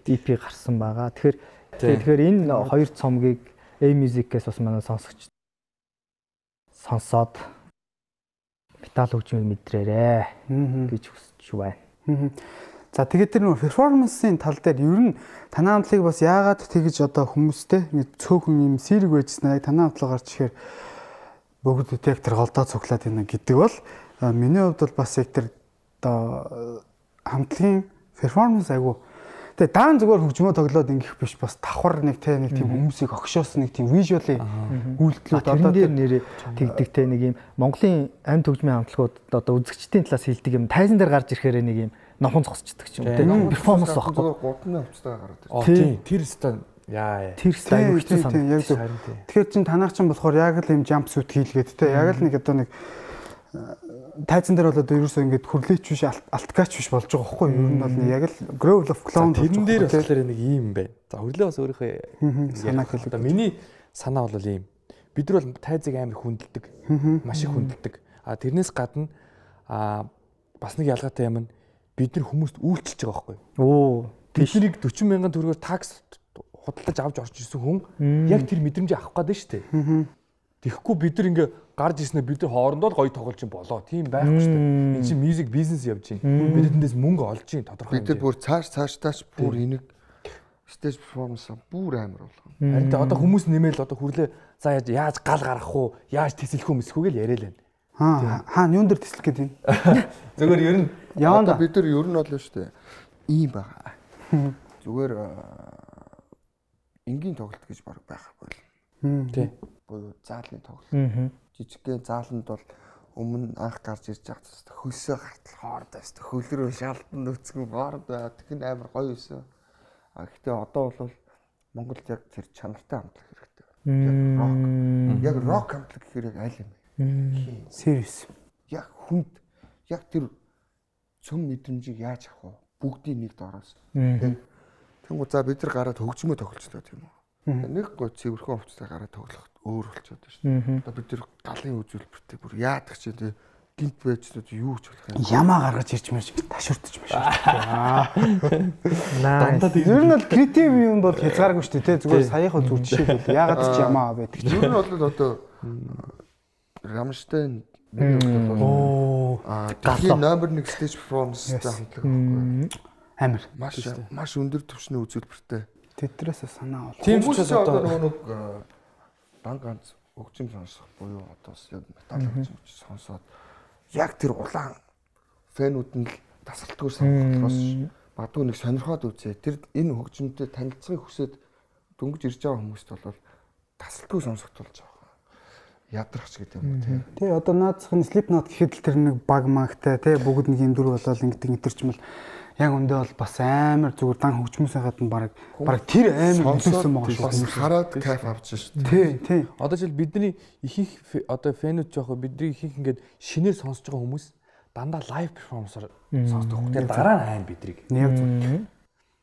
EP гарсан байгаа. Тэгэхээр энэ 2 цомгийг A-Music-ээс бас манай сонсогч сонсоод метал хөгжмийг мэдрээрээ гэж хүсэж байна. За тэгээд тэр нөх перформансын тал дээр ер нь танай хамтлагийг бас яагаад тэгэж одоо хүмүүстэй ингэ цөөхөн юм сэрэг байжснаа танай хамтлаг гарч ихээр бүгд яг тэр голдоо цуглаад байна гэдэг бол миний хувьд бол бас яг тэр одоо хамтлагийн перформанс айгу. Тэгээ даан зүгээр хөгжмөө тоглоод ингэх биш бас давхар нэг тийм хүмүүсийг огшоос нэг тийм вижуалын үйлдэлүүд одоо дээр нэрээ тэгдэгтэй нэг юм Монголын амт хөгжмийн хамтлагууд одоо үзэгчдийн талаас хилдэг юм тайзан дээр гарч ирэхээр нэг юм номхон зогсчдаг ч юм тийм перформанс багхгүй. Гудны хувцастайгаа гараад байна. Тийм тэр стан яа. Тэр стайл хэцүү санагдав. Яг зөв. Тэгэхээр чин танаач чинь болохоор яг л юм jump suit хийлгээд те яг л нэг одоо нэг тайзан дээр бол одоо ерөөсөө ингэж хүрлээч биш алткач биш болж байгаа байхгүй юу? Ер нь бол яг л Grove of Clown тэрэн дээр болохоор нэг юм байна. За хөрлөө бас өөрийнхөө санаа хэлээ. Одоо миний санаа бол ийм. Бид нар бол тайзыг амар хүндэлдэг. Маш их хүндэлдэг. А тэрнээс гадна бас нэг ялгаатай юм нь бид нар хүмүүст үйлчилж байгаа байхгүй юу? Оо. Тэднийг 40 мянган төгрөгөөр такс худалдаж авч орж ирсэн хүн яг тэр мэдрэмжийг авах гээд шүү дээ. Тэгэхгүй бид нар ингээ гарч ирснээр бид нар хоорондоо л гоё тоглож юм болоо. Тийм байхгүй шүү дээ. Энд чинь мьюзик бизнес явж байна. Бид эндээс мөнгө олж байна тодорхой. Бид нар бүр цааш бүр энийг стейж перформанс бүр амар болгоно. Харин одоо хүмүүс нэмэл одоо хүрлээ за яаж гал гаргах уу? Яаж тэсэлэх үү мэсхүү гэл яриа л байна. Хаана юун дээр тэслэх гээд байна? Зүгээр ер нь яанда бид нар ер нь бол шүү дээ. Ийм байгаа. Зүгээр энгийн тоглолт гэж баг байхгүй л. Тий. Буюу заалны тоглолт. Жижигхэн зааланд бол өмнө анх гарч ирж байгаа хөлсөө гартал хоорд байсан. Хөлрөө шаалтан нүцгэн хоорд байгаад тэгин амар гоё байсан. Гэхдээ одоо бол Монголд яг тэр чанартай хамтлаг хэрэгтэй. Яг рок хамтлаг гэхээр яг аль юм бэ? Serious. Яг хүнд яг тэр цөм мэдрэмжийг яаж авах вэ? Бүгдийн нэг дороос. Тэнгүү за бид нар гараад хөгжмөө тоглолцлоо тийм үү? Нэг гоо цэвэрхэн хувцастай гараад тоглох өөр болчиход байна шүү дээ. Одоо бид нар галын үзүүлбэртэй бүр яадаг ч тийм гинт байжнууд юу ч болох юм. Ямаа гаргаж ирж мэж ташуурдаж маш шүү. Дандаа ер нь бол креатив юм бол хязгааргүй шүү дээ. Зүгээр саяхан зүр жишээлбэл яагаад ч ямаа байдаг. Ер нь бол одоо Рамштайн дэлхийн номер 1 stage performance-тай хамтлаг байхгүй. Амар. Маш өндөр түвшний үзүүлбэртэй. Тэдрээс санаа бол. Тийм ч одоо нэг дан ганц хөгжим сонсох буюу одоо яг метал хөгжим сонсоод яг тэр улаан фэнүүд нь л тасралтгүй сонсохоос бадгүй нэг сонирхоод үзээ. Тэр энэ хөгжимтэй танилцахыг хүсээд дөнгөж ирж байгаа хүмүүст бол тасралтгүй сонсох тулж байгаа. Ядрахч гэдэг юм уу тий. Одоо наацх нь Slipknot гэхэд л тэр нэг баг магтай тий бүгд нэг юм дүр болол ингэдэг интерчмэл яг өндөө бол бас амар зүгээр дан хөгжмөөсөө гадна баг тэр амар нөлөөсөн байгаа шүү. Хараад кайф авч шүү. Тий. Одоо жишээл бидний ихэнх одоо фэнүүд жоох бидний ихэнх ингээд шинээр сонсож байгаа хүмүүс дандаа лайв перформансаар сонсдог. Тэгээ дараа нь хайн бидрийг. Яг зөв.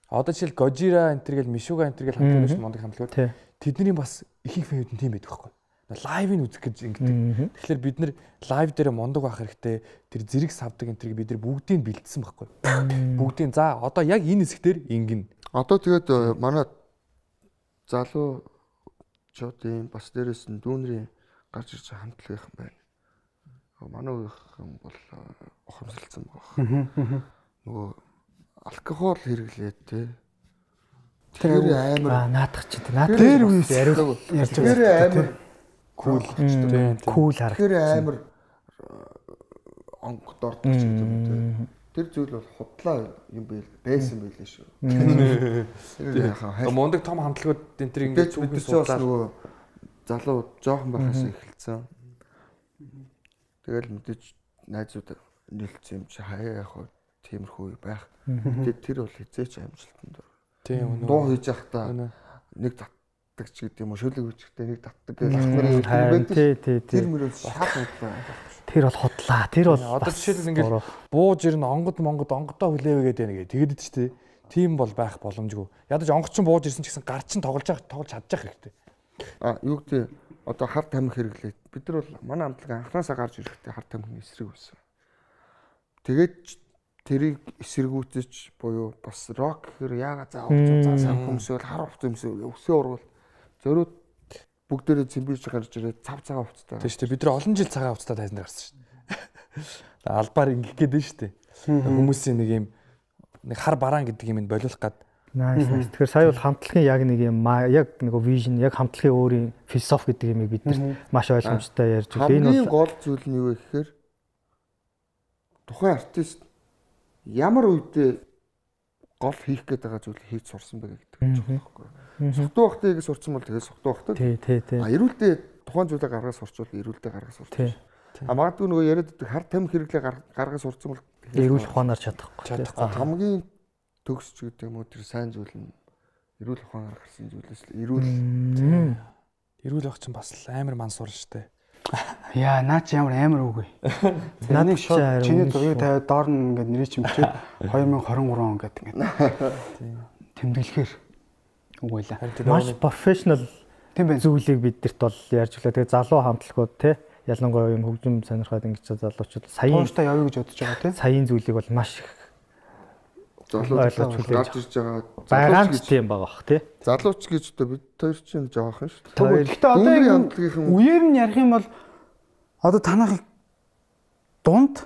Одоо жишээл Gojira энтер гэл Meshuggah энтер гэл хамтлагч мондөг хамтлагууд тэдний бас ихэнх фэнүүд нь тийм байдаг байхгүй. Лайвыг үзэх гэж ингэдэг. Тэгэхээр бид нэр лайв дээр мондог байх хэрэгтэй. Тэр зэрэг савдаг энтрийг бид нар бүгдийг бэлдсэн байхгүй. Бүгдийг за одоо яг энэ хэсгээр ингэн. Одоо тэгээд манай залуу чотын бас дээрээс нь дүүнрийн гарч ирж хамтлах юм байна. Манай үеийнхэн бол ухамсарлцсан байгаа. Нөгөө алкогол хэрэглээд те. Тэр амар наадах ч наад дээр үес ярьж байгаа. Тэр амар кул харагдав. Тэр амар онгод ордог ч гэдэг юм. Тэр зүйл бол худлаа юм байсан байлээ шүү. Тэр мондөг том хамтлагууд энэ төр ингэж үгээс бас нөгөө залуу жоохон байхаас эхэлсэн. Тэгэл мэдээж найзууд нэлцсэн юм чи хаяа яг тиймэрхүү байх. Тэгээд тэр бол хизээч амжилтанд ор. Тийм дуу хийж явахдаа нэг татдаг ч гэдэг юм уу шөлөг үжигтэй нэг татдаг гэж ах нарын байдаг. Тэр мөрөө шал худлаа. Тэр бол худлаа. Тэр бол одоо жишээлбэл ингээд бууж ирнэ онгодоо хүлээвэ гэдэг нэг тэгэд ч тий. Тийм бол байх боломжгүй. Ядаж онгоч ч бууж ирсэн ч гэсэн гар чин тоглож чадчих хэрэгтэй. Юу гэдэг одоо хар тамхи хэрэглээд бид нар бол манай хамтлаг анхнаасаа гарч ирэхдээ хар тамхины эсрэг байсан. Тэгээд тэрийг эсэргүүцэж буюу бас рок гэхээр яагаад заавал сайн хүмүүсэл хар хувц юмсэл өсөө урвал зөрүүд бүгдээрээ цэмбирж гарч ирээд цав цагаан хувцтай. Тийм шүү дээ. Бид нар олон жил цагаан хувцтай тайзан дээр гарсан шүү дээ. Албаар ингэх гээд байна шүү дээ. Хүмүүсийн нэг юм нэг хар бараан гэдэг юм болиулах гад Nice. Тэгэхээр сая бол хамтлагийн яг нэг юм яг нэг vision яг хамтлагийн өөрийн философи гэдэг юмыг бид нар маш ойлгомжтой ярьж байна. Энэ гол зүйл нь юу вэ гэхээр тухайн артист ямар үедээ гол хийх гээд байгаа зүйлийг хийж сурсан бэ гэдэг юм байна. Сухтуу бахтыг сурсан бол тэгээд сухтуу бахтаг. Тий. Эрүүлдээ тухайн зүйлээ гаргаж сурчвал эрүүлдээ гаргаж сурч. Магадгүй нөгөө яриад байдаг хар тамхи хэрэглээ гаргаж сурсан бол эрүүл ухаанаар чадахгүй. Хамгийн төгсч гэдэг юм уу тэр сайн зүйл нь эрүүл ухаанаар гарсан зүйлээс л эрүүл байх чинь бас амар мансуур штэ. Яа, наа чи ямар амар үг вэ? Наад шууд чиний зургийг тавиад доор нь ингээд нэрийг чимчээд 2023 он гэдэг ингээд тэмдэглэхээр үг байлаа. Маш профешнл тийм байх зүйлийг бидэрт бол ярьж өглөө. Тэгээ залуу хамтлагууд те ялангуяа юм хөгжим сонирхоод ингэж залуучууд саяын тууштай явъя гэж бодож байгаа те. Саяын зүйлийг бол маш их залууч гарч ирж байгаа. Байгаан ч тийм байгаа бах тий. Залууч гэж одоо бид хоёр чинь жоохон шүү дээ. Гэхдээ одоо энэ үеэр нь ярих юм бол одоо танах дунд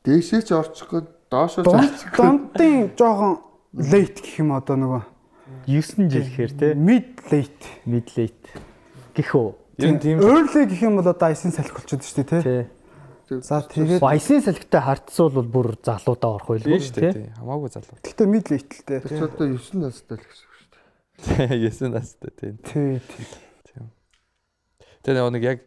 дээшээ ч орчих гээд доошоо дундын жоохон late гэх юм одоо нөгөө 9 жил гэхээр тий. Mid late гэх үү. Тийм early гэх юм бол одоо айсын салхи болчиход шүү дээ тий. За тэгээд айсын салхитай хартсуул бол бүр залуудаа орох байлгүй шүү дээ. Хамаагүй залуу. Гэхдээ mid late л дээ. Тэр ч одоо 9 настай л гэсэн үг шүү дээ. 9 настай тийм. Тийм. Тэгээ нэг яг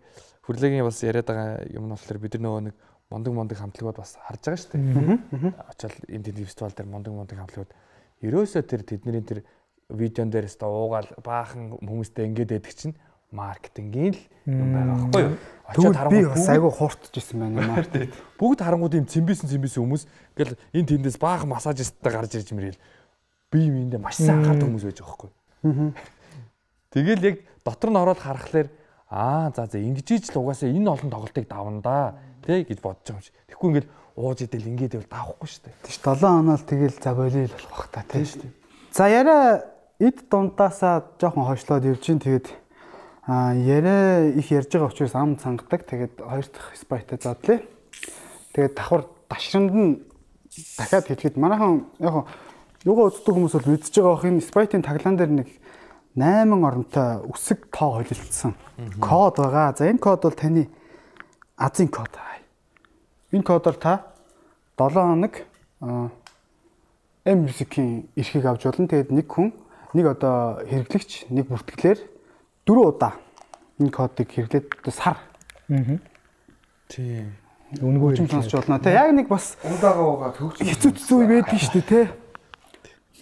хүрлэгийн бас яриад байгаа юм нь болохоор бид нар нэг мондөг хамтлагууд бас харж байгаа шүү дээ. Очоод энэ фестивал дээр мондөг хамтлагууд ерөөсөө тэдний тэр видеон дээрээс та уугаал баахан хүмүүстэй ингээд байдаг чинь маркетингийн л юм байгаа байхгүй юу? Очоод харангуй бас айгүй хууртж исэн байна маркет. Бүгд харангууд юм цэмбисэн хүмүүс ингээл энэ тэндээс баахан массажисттай гарч ирж мэрэл бие биендээ маш сайн анхаардаг хүмүүс байж байгаа байхгүй. Тэгэл яг дотор нь ороод харахаар за ингэж л угаасаа энэ олон тоглолтыг давна да тий гэж бодож байгаа юм шиг. Тэгэхгүй ингээл ууж идэл ингээд байвал давахгүй шүү дээ. Тийш 7 хоног тэгэл заволил болох бах та тий шүү дээ. За яриа эд дундаасаа жоохон хойшлоод явж гин тэгээд яриа их ярьж байгаа учраас ам цангадаг. Тэгээд хоёр дахь спайтай задлаа. Тэгээд давхар дашрамд нь дахиад хэлэхэд манайхан яг юугаа үздэг хүмүүс бол мэдж байгаа бох энэ спайтын таглаан дээр нэг 8 оронтой үсэг тоо холилдсон код байгаа. За энэ код бол таны азийн код. Энэ кодоор та 7 хоног M-Music-ийн эрхийг авч болно. Тэгээд нэг хүн нэг одоо хэрэглэгч нэг бүртгэлээр 4 удаа энэ кодыг хэрэглээд сар. Тийм. Үнгөө юм сонсч болно. Тэ яг нэг бас удаагаа төгсөж хэцүү байдаг шүү дээ, тэ.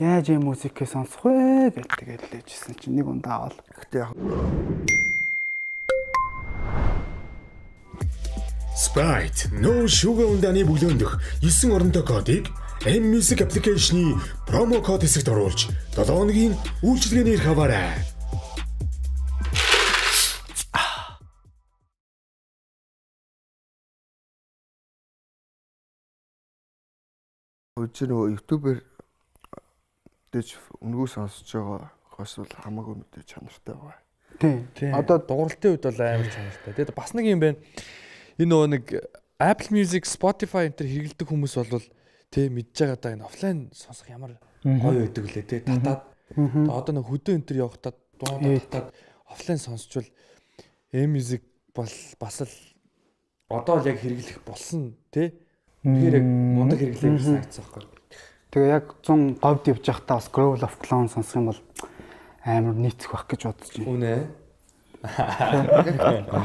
Яаж юм музикээ сонсох вэ гэдэг тэгэл лээжсэн чинь нэг ундаа авал. Гэтэ яг Sprite no sugar ундааны бүлөөндөх 9 оронтой кодыг M-Music application-ы промо код хэсэгт оруулж 7 хоногийн үйлчилгээний эрх аваарай. нөгөө YouTube-ээр дэж өнгөө сонсож байгаа хос бол хамаагүй мэдээ чанартай байгаа. Тийм. Одоо дууралтын үед бол амар чанартай. Тэгээд бас нэг юм байна. Энэ нөгөө нэг Apple Music, Spotify энэ төр хэрэглэдэг хүмүүс бол тий мэдж байгаа даа энэ офлайн сонсох ямар гоё байдаг лээ тий татаад. Одоо нэг хөдөө энэ төр явахтаа дуудаад офлайн сонсчвал M-Music бас л одоо л яг хэрэглэх болсон тий. Тэгэхээр яг мундаг хэрэглээ гэсэн агцсан байхгүй. Тэгээ яг 100 говьд явж байхдаа бас Growl of Clown сонсох юм бол амар нийцэх байх гэж бодож байна. Үнэ.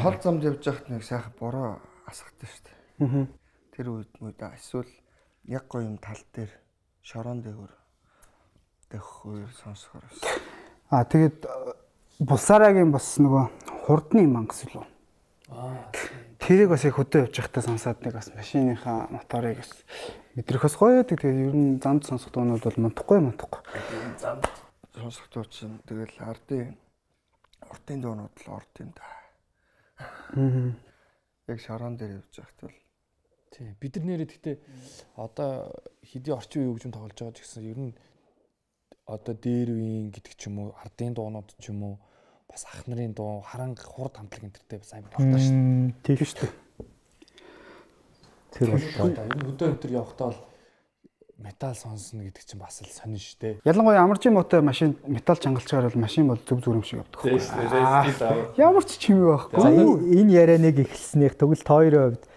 Хол замд явж байхад нэг сайхан бороо асахтай шүү дээ. Тэр үед эсвэл яг гоё юм тал дээр шорон дээгүүр дэх сонсохоор. Тэгээд Булсарагийн бас нөгөө хурдны мангас лөө. Тэрийг бас яг хөдөө явж байхдаа сонсоод нэг бас машиныхаа моторыг бас мэдрэх бас гоё байдаг. Тэгээд ер нь замд сонсох дуунууд бол мунтахгүй. Замд сонсох дуу чинь тэгэл уртын дуунууд л орд юм да. Яг шорон дээр явж байхад бол тий бид нар нэрээ гэхдээ одоо хэдий орчин үеийн хөгжим тоглож байгаа ч гэсэн ер нь одоо дээр үеийн гэдэг ч юм уу ардын дуунууд ч юм уу бас ах нарын дуу харанг хурд хамтлаг энтертэй бас амар тавтай шүү дээ. Тийм шүү дээ. Тэр бол одоо энэ өдөө өнтер явахдаа бол метал сонсно гэдэг чинь бас л сонин шүү дээ. Ялангуяа амаржийн мотой машин метал чангалчгаар бол машин бол зүг зүг юм шиг явдаг. Ямар ч чимээ байхгүй. За энэ ярианыг эхэлснээр тэгвэл тойрын хувьд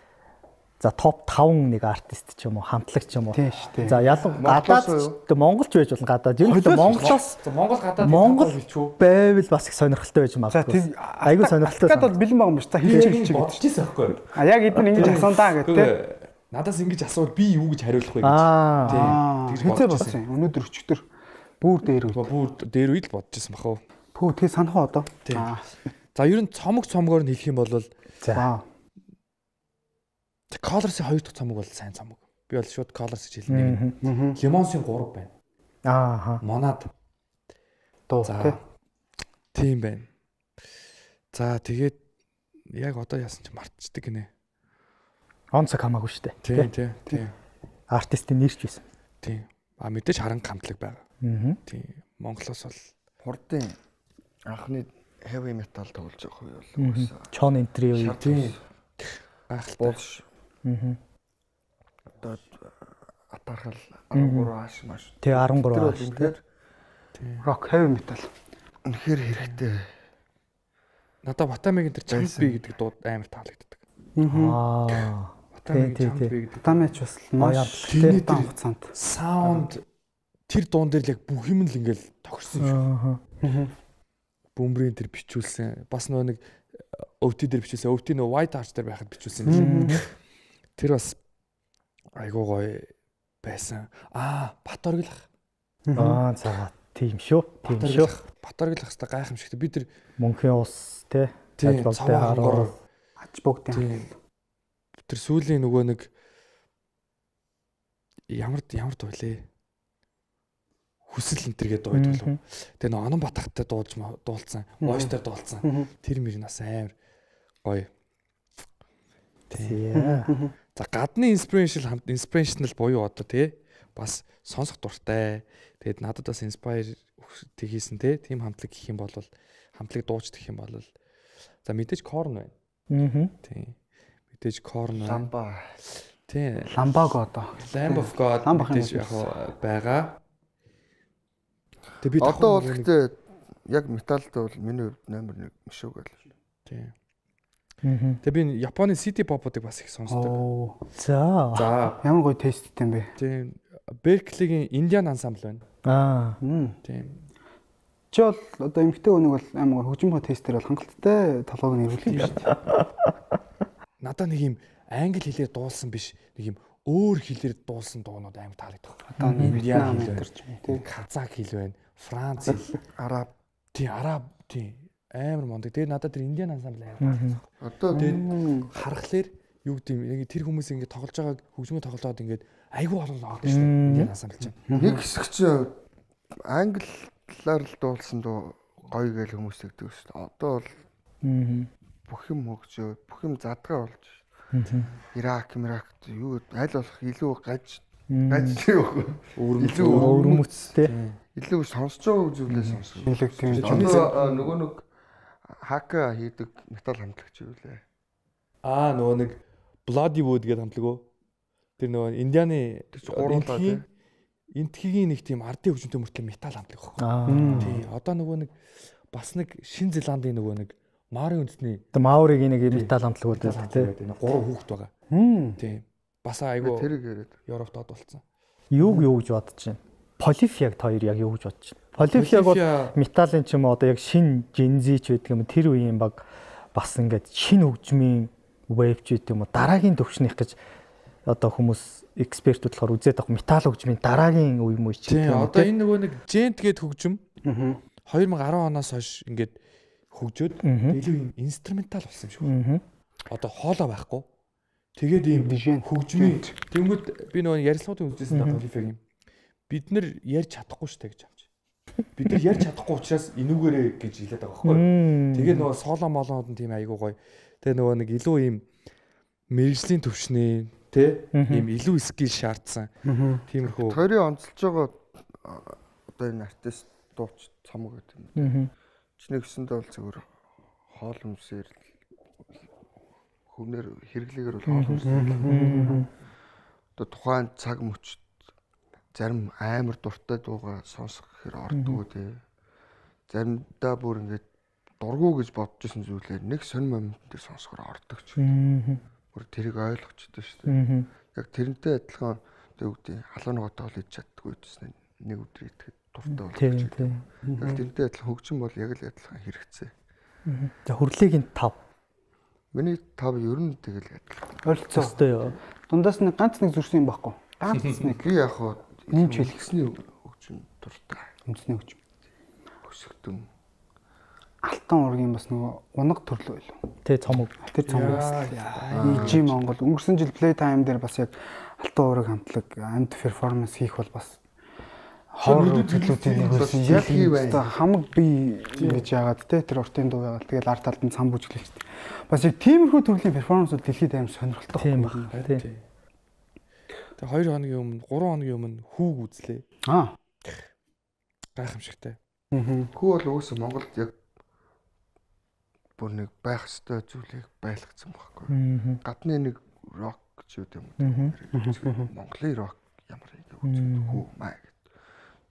за топ 5 нэг артист ч юм уу, хамтлагч ч юм уу. Тийм шүү дээ. За гадаад монголч байж болно гадаад. Ер нь Монголоос Монгол гадаад Монгол байвал бас их сонирхолтой байж магадгүй. Айгүй сонирхолтой. Гадаад бол бэлэн байгаа юм биш. За хийж бодож ирсэн байхгүй юу? А яг эдгээр ингэж асуунаа гэдэг. Надаас ингэж асуувал би юу гэж хариулах вэ гэж. Тэгж бодож ирсэн. Өнөөдөр өчигдөр бүр дээр дээр үед л бодож ирсэн бах уу. Пүү тэг санах уу одоо? За ер нь цомогоор нь хэлэх юм бол за Colors-ийн 2 дахь цомог бол сайн цомог. Би бол шууд Colors гэж хэлнэ. Lemons-ийн 3 байна. Monad. За. Тийм байна. За тэгээд яг одоо яасан чи мартчихдаг гинэ. Онцог хамаагүй шүү дээ. Тийм. Артистийн нэрч байсан. Тийм. Мэдээж харанга хамтлаг байгаа. Тийм. Монголоос бол хурдын анхны heavy metal тоглож байгаа үе бол уусаа. Chon Entry үе. Тийм. Гайхалтай. Одоо атархал 13 ааш маш. Тэг 13 ааш. Тийм. Rock heavy metal. Үнэхээр хэрэгтэй. Надад Батамигийн тэр Champi гэдэг дууд амар таалагддаг. Батамигийн Champi гэдэг. Батамич бас маш тийм хугацаанд саунд тэр дуун дээр л яг бүх юм л ингээл тохирсон шүү. Бөмбөрийн тэр бичүүлсэн. Бас нэг өвти дээр бичүүлсэн. Өвти нөө White Arch дээр байхад бичүүлсэн юм. Тэр бас айгуу гоё байсан. Бат оргилах. За тийм шүү. Бат оргилах хэвээр гайхамшигтай. Би тэр мөнхийн ус те ажбалтай хараа. Ач бүгдийн. Тэр сүүлийн нөгөө нэг ямар дуулээ. Хүсэл энтергээ дууд болов. Тэгээ нөгөө Онон Батхтай дуулсан, Voice-таар дуулсан. Тэр мөр нас амар гоё. Тийм. За гадны inspirational буюу одоо тий бас сонсох дуртай. Тэгээд надад бас inspire хийсэн тийм хамтлаг гэх юм бол хамтлаг дууч гэх юм бол за мэдээж Korn байна. Тийм. Мэдээж Korn байна. Ламба. Тийм. Lamb одоо. Lamb of God мэдээж яг байгаа. Тэгээ би одоо бол гэхдээ яг металд бол миний хувьд номер 1 мишүүг байл. Тийм. Тэгээ би Японы city pop-уудыг бас их сонсдог. За. Ямар гоё тесттэй юм бэ? Тийм. Berkeley-гийн Indian ensemble байна. Тийм. Чи бол одоо эмэгтэй хүнийг бол амар хөгжим тестээр бол хангалттай толгойг нь эргүүлэх юм шүү дээ. Надад нэг юм англи хэлээр дуулсан биш, нэг юм өөр хэлээр дуулсан дуунууд амар таалагддаг. Одоо Indian хэл тийм. Казак хэл байна, Франц хэл, Араб. Тийм. Амар мондөг. Тэгээ надад тэр Indian ensemble амар. Одоо тэгээд харахаар юу гэдэг юм тэр хүмүүс ингэ тоглож байгааг хөгжмөө тоглоод ингээд айгүй олон авдаг шүү дээ. Indian ensemble чинь. Нэг хэсэг чинь англиар л дуулсан дуу гоё гэж хүмүүс тэгдэг шүү дээ. Одоо бол бүх юм хөгжөө, бүх юм задгаа болж шүү. Ирак юу аль болох илүү гаж илүү өвөрмөцтэй. Илүү сонсож байгаа зүйлээ сонсох. Одоо нөгөө нэг хака хийдэг метал хамтлагч юу лээ. Нөгөө нэг Bloody Wood гэдэг хамтлаг уу? Тэр нөгөө Индианы энтхийн нэг тийм ардын хөгжмөнтэй мөртлөө метал хамтлаг байхгүй. Тий. Одоо нөгөө нэг бас нэг Шинэ Зеландын нөгөө нэг Маори үндэсний Маоригийн нэг метал хамтлагууд байдаг тий. 3 хүүхэд байгаа. Тий. Бас айгүй тэрийг яриад. Европт болсон. Юу гэж бодож байна? Polyphia хоёр яг юу гэж бодож байна? Polyphia бол металын ч юм уу одоо яг шин Gen Z ч байдаг юм тэр үеийн баг бас ингээд шин хөгжмийн wave ч гэдэг юм уу дараагийн төвчнийх гэж одоо хүмүүс экспертүүд болохоор үзээд байгаа метал хөгжмийн дараагийн үе мөч ч гэдэг юм. Одоо энэ нөгөө нэг Gent гээд хөгжим 2010 оноос хойш ингээд хөгжөөд илүү юм инструментал болсон юм шиг. Одоо хоолоо байхгүй. Тэгээд ийм хөгжмийн тэнгүүд би нөгөө ярилцлагуудын үзсэн даа Polyphia-гийн. Бид нар ярьж чадахгүй шүү дээ гэж авч. Бид нар ярьж чадахгүй учраас энүүгээрээ гэж хэлээд байгаа байхгүй. Тэгээд нөгөө соло молоод нь тийм айгуу гоё. Тэгээ нөгөө нэг илүү ийм мэрэгжлийн төвшний тий ийм илүү скил шаардсан. Тиймэрхүү. Тойрын онцолж байгаа одоо энэ артист дууч цомог гэдэг юм. Чиний гэсэндээ бол зөвхөн хоол хүнсээр хүнээр хэрэглээгээр бол хоол хүнсээр одоо тухайн цаг мөчд зарим амар дуртай дуугаа сонсох гэхээр ордгоо тий. Заримдаа бүр ингээд дургу гэж бодож исэн зүйлээ нэг сонир момент дээр сонсохоор ордог ч. Бүр тэрийг ойлгочтой шүү дээ. Яг тэрнтэй адилхан тэг үгдээ халуунагаатай бол иж чаддгүй гэсэн нэг өдөр итгэхэд дуртай болох ч. Яг тэрнтэй адилхан хөгжим бол яг л адилхан хэрэгцээ. За хүрлэгийн 5. Миний 5 ер нь тэгэл адилхан. Ойлцоо. Дундаас нэг ганц нэг зүрсэн юм байхгүй. Ганц нэг. Би яг хоо нэмж хэлгэсний хөгжим дуртай. Үндэсний хөгжим. Өсөлтөн. Алтан ургийн бас нөгөө унаг төрлөө байлаа. Тэ цомог. Тэр цомог. EG Монгол өнгөрсөн жил Playtime дээр бас яг алтан ураг хамтлаг амт перформанс хийх бол бас хоор төлөвлөлтийн нэг байсан. Яг хийвээ. Хамаг би ингэж яагаад те тэр уртын дуу яагаад тэгэл арт талд нь цам бүжиглэж. Бас яг тиймэрхүү төрлийн перформансууд дэлхийд аим сонирхолтой байна. Тийм. Тэгээ 2 хоногийн өмнө 3 хоногийн өмнө хүүг үзлээ. Гайхамшигтай. Хүү бол өөөсөө Монголд яг бүр нэг байх ёстой зүйлийг байлгацсан байхгүй. Гадны нэг рок ч юм уу. Монголын рок ямар ингэ үздэг хүү маа гэдэг.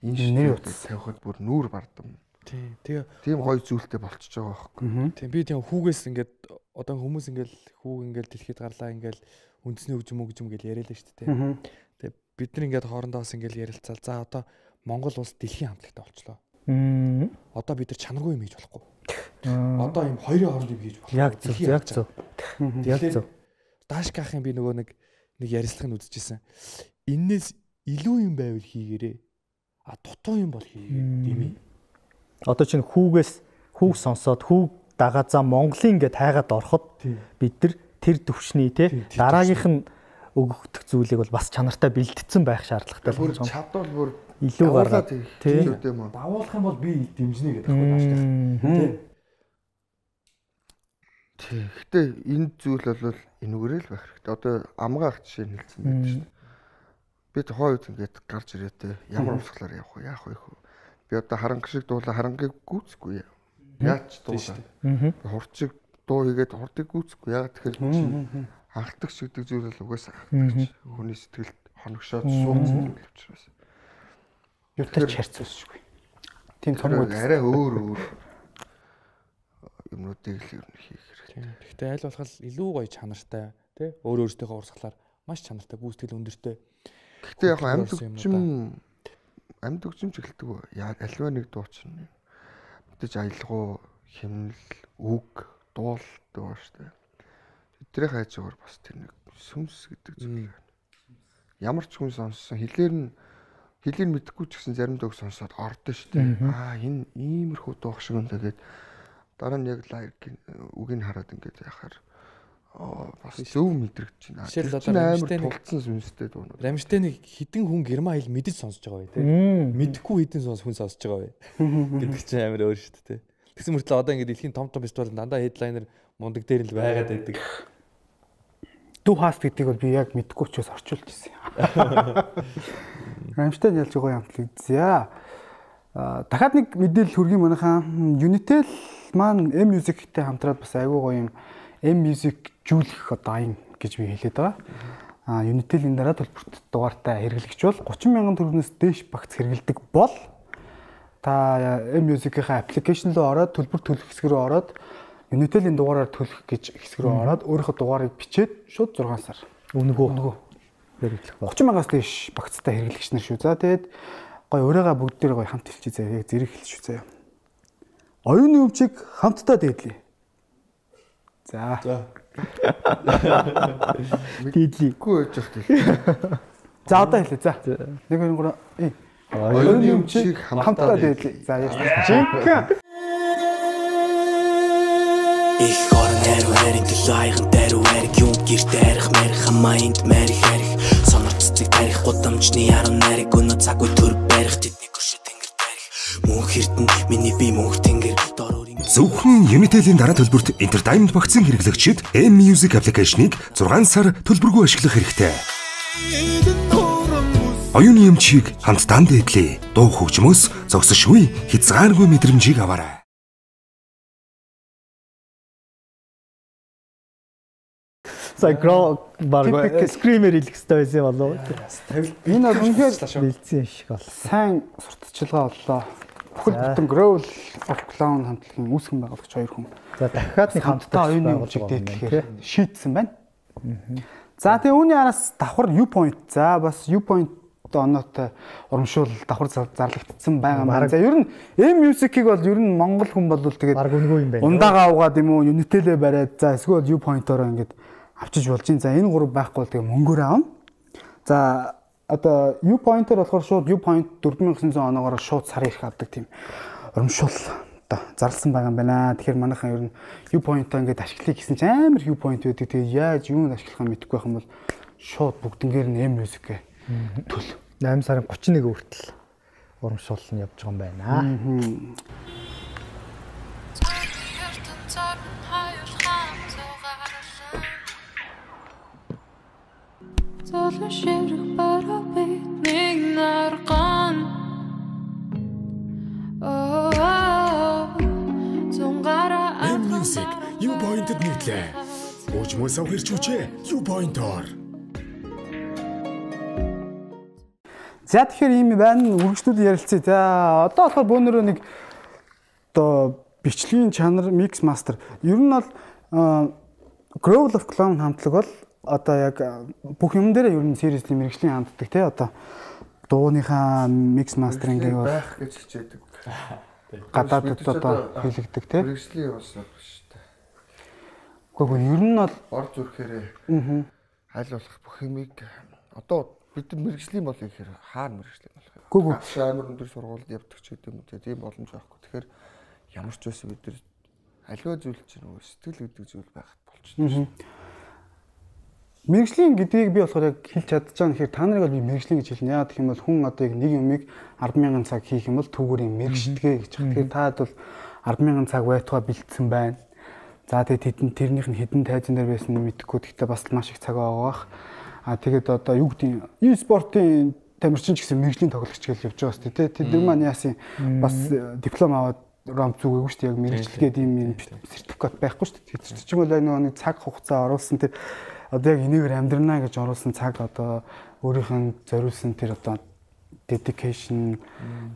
Энэ нэр тавихад бүр нүүр бардам. Тийм гоё зүйлтэй болчихж байгаа байхгүй. Тийм би тийм хүүгээс ингээд одоо хүмүүс ингээд хүүг ингээд дэлхийд гарлаа ингээд үндэсний хөгжим гэж яриалаа шүү дээ. Тэгээ бид нар ингээд хоорондоо бас ингээд ярилцаал. За одоо Монгол улс дэлхийн хамтлагтай болчлоо. Одоо бид нар чанаргүй юм хийж болохгүй. Одоо юм хоёрын хооронд юм хийж болох. Яг зөв. Яг зөв. Даашкахын би нөгөө нэг ярилцлагыг үзчихсэн. Иннээс илүү юм байвал хийгээрээ. А дутуу юм бол хийгээ. Одоо чинь хүүг сонсоод хүүг дагаазаа Монголын ингээд хайгаад ороход бид нар тэр төвшний те дараагийнх нь өгөгдөх зүйлийг бол бас чанартай бэлтгэсэн байх шаардлагатай байна. Бүр чадвал бүр илүү гаргаад тийм давуулах юм бол би дэмжнэ гэдэг байхгүй тий. Гэхдээ энэ зүйл бол энүүгээрээ л байх хэрэгтэй. Одоо амгаах жишээ нь хэлсэн байдаг шүү дээ. Бид хойд ингээд гарч ирээтэй ямар урсгалаар явах вэ? Яах вэ? Би одоо харанга шиг дуулаа харангийг гүйцэхгүй. Яаж дуулаа? Хурцыг дуу хийгээд хурдыг гүйцэхгүй. Яагаад тэгэхээр анхдагч гэдэг зүйл бол угаасаа анхдагч. Хүний сэтгэлд хоногшоод суудсан зүйл учраас. Юутай ч харьцуулшгүй. Тийм цомгууд арай өөр юмнуудыг л ер нь хийх хэрэгтэй. Гэхдээ аль болох илүү гоё чанартай тий өөртөөхөө урсгалаар маш чанартай гүйцэтгэл өндөртэй. Гэхдээ яг амьд хөгжим ч эхэлдэг үү? Альва нэг дуу чинь мэдээж аялгау, хэмнэл, үг, дуул дуу шүү дээ. Тэдний хайжгаар бас тэр нэг сүмс гэдэг зүйл байна. Ямар ч хүн сонссон хэлээр мэдэхгүй ч гэсэн заримдаа үг сонсоод ордоо шүү дээ. Энэ иймэрхүү дуу шиг юм тэгээд дараа нь яг лайк үгийг хараад ингээд яхаар бас зөв мэдрэгдэж байна. Тэр амар тулцсан сүнстэй дуунууд. Рамштейнийг хідэн хүн герман хэл мэдэж сонсож байгаа бай тээ. Мэдэхгүй хідэн хүн сонсож байгаа бай. Гэдэг чинь амар өөр шүү дээ. Тэгсэн мөртлөө одоо ингээд дэлхийн том фестивал дандаа хедлайнер мундаг дээр л байгаад байдаг. Дүү хаст гэдгийг бол би яг мэдэхгүй ч бас орчуулж ирсэн. Рамштейн ялж байгаа юм за. Дахиад нэг мэдээлэл хүргэе манайхаа. Unitel маань M-Music-тэй хамтраад бас айгүй гоё юм M-Music жүүлэх одоо аян гэж би хэлээд байгаа. Unitel энэ дараа төлбөрт дугаартай хэрэглэгч бол 30,000 төгрөгнөөс дээш багц хэрэглэдэг бол та M-Music-ийн аппликейшн руу ороод төлбөр төлөх хэсэг рүү ороод Unitel-ийн дугаараар төлөх гэж хэсэг рүү ороод өөрийнхөө дугаарыг бичээд шууд 6 сар өнгөө хэрэглэх бол 30,000-аас дээш багцтай хэрэглэгч нар шүү. За тэгээд гоё өрөөгөө бүгд дээр гоё хамт хэлчихье заяа. Яг зэрэг хэлчихв заяа. Оюуны өмчийг хамтдаа дээдлээ. За. Дээдлийгүй байж байна. За одоо хэлээ. За. 1 2 3. Оюуны өмчийг хамтдаа дээдлээ. За яа. Жинхэнэ. Ich орон хариу харин төлөө айган даруй хариг юм гэрт арих марих хамаанд марих харих сонорццыг тарих гудамжны 10 нариг өнөө цаггүй төр барих тэдний гүшээ тэнгэр тарих мөнх эрдэн миний би мөнх тэнгэр зөвхөн Unitel-ийн дараа төлбөрт Entertainment багцын хэрэглэгчид M-Music аппликейшнийг 6 сар төлбөргүй ашиглах хэрэгтэй. Оюуны өмчийг хамтдаа дээдлээ. Дуу хөгжмөөс зогсошгүй хязгааргүй мэдрэмжийг аваарай. Сая баг скример хэлэх хэрэгтэй байсан болов. Энэ бол үнэхээр бэлдсэн шиг бол. Сайн сурталчилгаа боллоо. Бүхэл бүтэн Growl of Clown хамтлагийн үүсгэн байгуулагч хоёр хүн. За дахиад нэг хамтдаа оюуны хөгжиг дээдлэхээр шийдсэн байна. За тэгээ үүний араас давхар U-point. За бас U-point оноотой урамшуул давхар зарлагдсан байгаа маань. За ер нь M-Music-ийг бол ер нь монгол хүн бол тэгээд баг үнгүй юм байна. Ундаага авгаад юм уу, Unitel-ээ бариад за эсвэл U-point-ороо ингээд авчиж болж байна. За энэ гурав байхгүй бол тэгээ мөнгөөр аавна. За одоо U-point-оор болохоор шууд U-point 4900 оноогоор шууд сар ирэх авдаг тийм урамшуул одоо зарласан байгаа юм байна. Тэгэхээр манайхан ер нь U-point-аа ингээд ашиглая гэсэн чинь амар U-point байдаг. Тэгээ яаж юунд ашиглахаа мэдэхгүй байх юм бол шууд бүгднгээр нь M-Music төл 8 сарын 31 хүртэл урамшуул нь явж байгаа юм байна. M-Music U-point-д нийтлээ. Уужмал сав хэрчүүчээ U-point-оор. За тэгэхээр ийм байна. Үргэлжлүүлэн ярилцъя. За одоо болохоор бөөнөрөө нэг одоо бичлэгийн чанар mix master. Ер нь бол Growl of Clown хамтлаг бол одоо яг бүх юм дээр ер нь seriously мэргэжлийн ханддаг тий одоо дууныхаа mix master-ing байх гэж хичээдэг. Гадаадд одоо хэлэгдэг тий. Мэргэжлийн бас биш үү. Гэхдээ ер нь бол ор зүрхээрээ аль болох бүх юмыг одоо бид мэргэжлийн бол ихээр хаар мэргэжлийн болох юм. Гүг амар өндөр сургуульд явдаг ч гэдэг юм үү. Тийм боломж байхгүй. Тэгэхээр ямар ч байсан бид нар аливаа зүйл чинь нөгөө сэтгэл гэдэг зүйл байхад болчихсон. Мэргэжлийн гэдгийг би болохоор яг хэлж чадчихсан. Тэгэхээр та нарыг бол би мэргэжлийн гэж хэлнэ. Яа гэх юм бол хүн одоо яг нэг юмыг 100000 цаг хийх юм бол түүгээрийн мэргэжлэгээ гэж. Тэгэхээр таад бол 100000 цаг байтугай бэлдсэн байна. За тэгээд тэрнийх нь хэдэн тайзан дээр байсан нь мэдэхгүй. Гэхдээ бас маш их цаг байгаа. Тэгээд одоо юу гэдэг e-спортын тамирчин ч гэсэн мэргэжлийн тоглогч гэж явж байгаа шүү дээ. Тэд маань яасан бас диплом аваад ромп зүгээгүй шүү дээ. Яг мэргэжлэгээд ийм сертификат байхгүй шүү дээ. Тэр чинь бол нэг цаг хугацаа оруулсан тэр одоо яг энийгээр амьдрнаа гэж оруулсан цаг одоо өөрийнх нь зориулсан тэр одоо dedication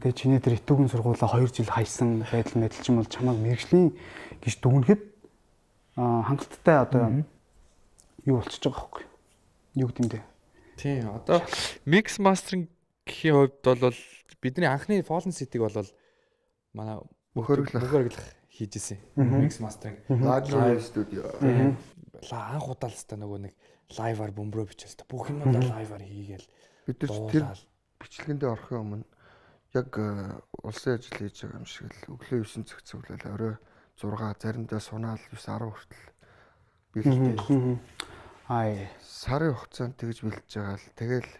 тэгээ чиний тэр итүүгийн сургуулаа 2 жил хайсан байдал мэдл ч юм бол чамайг мэргэжлийн гэж дүгнэхэд хангалттай одоо юу болчихж байгаа байхгүй юу гэдэг юм бэ? Тийм одоо mix mastering-ийн хувьд бол бидний анхны Fallen City-г бол манай мөхөрөглөх хийж исэн. Mix mastering live studio. Анх удаалстай нөгөө нэг лайваар бөмбөрөө бичээс бүх юм одоо лайваар хийгээл бид нар тэр бичлэгэндээ орохын өмнө яг улсын ажил хийж байгаа юм шиг л өглөө 9 цаг цэглэл орой 6 заримдаа сунаал 9 10 хүртэл бэлдээ. Сарын хугацаанд тэгж бэлдэж байгаа л тэгэл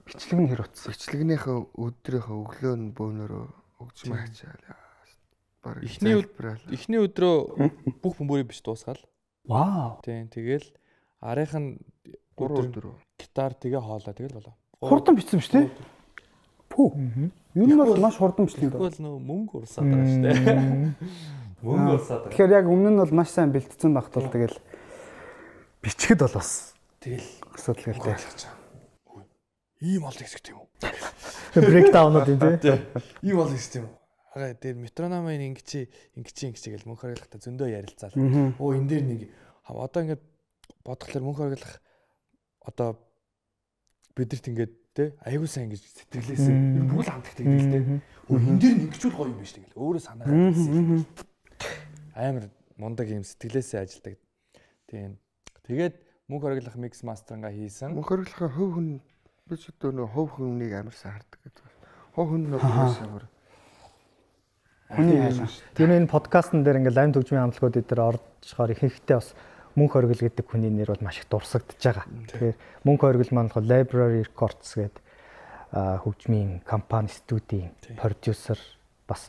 бичлэг нь хэр утсан. Бичлэгнийхээ өдрийнхөө өглөө нь бөөнөрөө өгчмээ хачаал. Эхний өдрөө бүх бөмбөрийг биш дуусгаал. Вау. Тийм тэгэл арийнх нь 3 өдөр гитар тэгээ хоолоо тэгэл болоо. Хурдан бичсэн биз дээ. Пүү. Юу нь бол маш хурдан бичлэг байна. Тэгвэл нөө мөнгө урсаад байгаа шүү дээ. Мөнгө урсаад байгаа. Тэгэхээр яг өмнө нь бол маш сайн бэлдсэн багт бол тэгэл бичгэд бол бас тэгэл асуудал гэлтэй. Ийм олон хэсэг тийм үү? Брейкдаунууд юм тий. Ийм олон хэсэг тийм үү? Тэгээд метрономын ингэж гэл мөнх харгалахтай зөндөө ярилцаал. Оо энэ дээр нэг одоо ингээд бодглохлоор мөнх харгалах одоо бидэрт ингээд те аягүй сайн ингэж сэтгэлээсэн. Бүгд хамтдаг тэгэл те. Энэ дээр ингэж үл гоё юм биш тэгэл. Өөрөө санаагаа хэлсэн. Амар мундаг юм сэтгэлээсээ ажилдаг. Тийм. Тэгээд мөнх харгалах mix master-га хийсэн. Мөнх харгалахын хөв хүн би ч одоо нөө хөв хүнийг амар сайн хардаг гэдэг. Хөв хүн нөгөө амар хүний айлаа. Тэр энэ подкастн дээр ингээл лайв төгжмийн хамтлагууд дээр оржхоор ихэнхдээ бас мөнх оргил гэдэг хүний нэр бол маш их дурсагдж байгаа. Тэгэхээр мөнх оргил маань болохоор Library Records гэдэг хөгжмийн компани студийн продюсер бас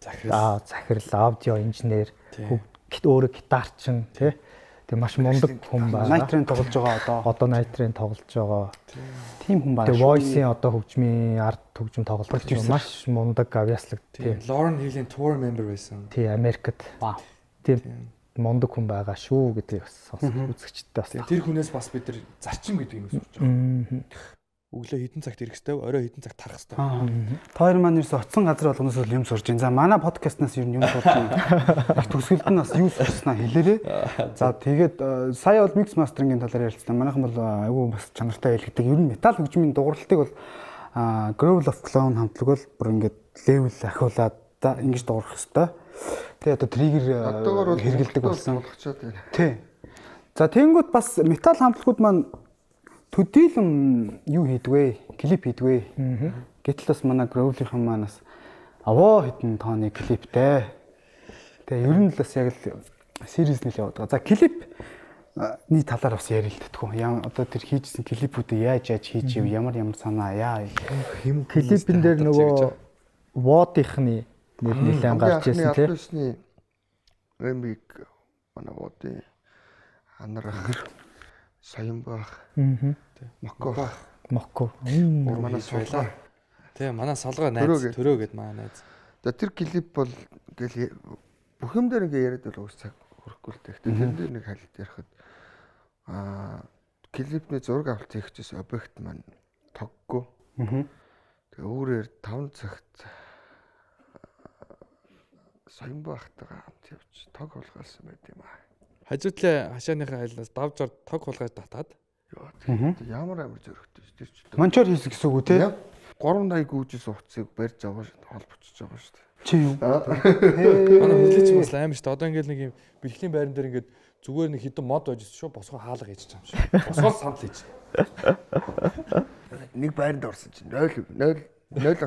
захирал аудио инженер өөрөө гитарчин тий. Тэгээ маш мундаг хүн байна. Night-ын тоглож байгаа одоо Night-ын тоглож байгаа. Тим хүн байна. Тэгээ Voice-ийн одоо хөгжмийн арт хөгжим тоглож байгаа. Маш мундаг авьяаслаг тий. Lauren Hill-ийн tour member байсан. Тий, Америкт. Тийм. мундаг хүн байгаа шүү гэдгийг бас сонсох үзэгчтэй бас. Тэр хүнээс бас бид нар зарчим гэдэг юм сурч байгаа. Өглөө хэдэн цагт ирэх хэвээр, орой хэдэн цагт тарах хэвээр. Та хоёр маань ерөөсө оцсон газар болгоноос юм сурж байна. За манай подкастнаас ер нь юм сурж байна. Их төгсгөлд нь бас юу сурснаа хэлээрээ. За тэгээд сая бол микс мастерингийн талаар ярилцсан. Манайхан бол айгүй бас чанартай хэлдэг. Ер нь метал хөгжмийн дууралтыг бол Growl of Clown хамтлаг бол бүр ингээд левел ахиулаад ингэж дуурах хэвээр. Тэгээ одоо триггер хэрэгэлдэг болсон. Тий. За тэгэнгүүт бас метал хамтлагууд маань төдийлөн юу хийдвэ? Клип хийдвэ? Гэтэл бас манай Growl-ийн маань бас аваа хитэн тооны клиптэй. Тэгээ ер нь л бас яг л сериэснэл яваад байгаа. За клипний талаар бас ярил л тэтгүү. Одоо тэр хийжсэн клипүүдээ яаж хийж ив, ямар санаа яа. Клипэн дээр нөгөө Водийнхны нэр нэлээд гарч ирсэн тийм. Рембик манай Водын анарах Саянбах. Моко. Манай солгоо. Тий, манай солгоо найз төрөө гэд манай найз. За тэр клип бол ингээл бүх юм дээр ингээ яриад бол уус цаг хүрэхгүй л дээ. Тэр дээр нэг хайлт ярихад клипний зураг авалт хийхчээс объект маань тоггүй. Тэгээ өөрөөр 5 цагт Саянбахтайгаа хамт явж тог хулгайлсан байт юм аа. Хажуудлаа хашааныхаа хайлнаас давж ор тог хулгай татаад. Ямар амар зөрөгтэй ш тэр ч. Мончор хийсэн гэсэн үг үү те? 380 гүйжсэн утсыг барьж аваа холбоцож байгаа шүү дээ. Чи юу? Манай хүлээч бас амар шүү дээ. Одоо ингээл нэг юм бэлтгэлийн байран дээр ингээд зүгээр нэг хідэн мод байж шүү. Босгоо хаалга хийж байгаа юм шиг. Босгоо самт хийж. Нэг байранд орсон чинь 0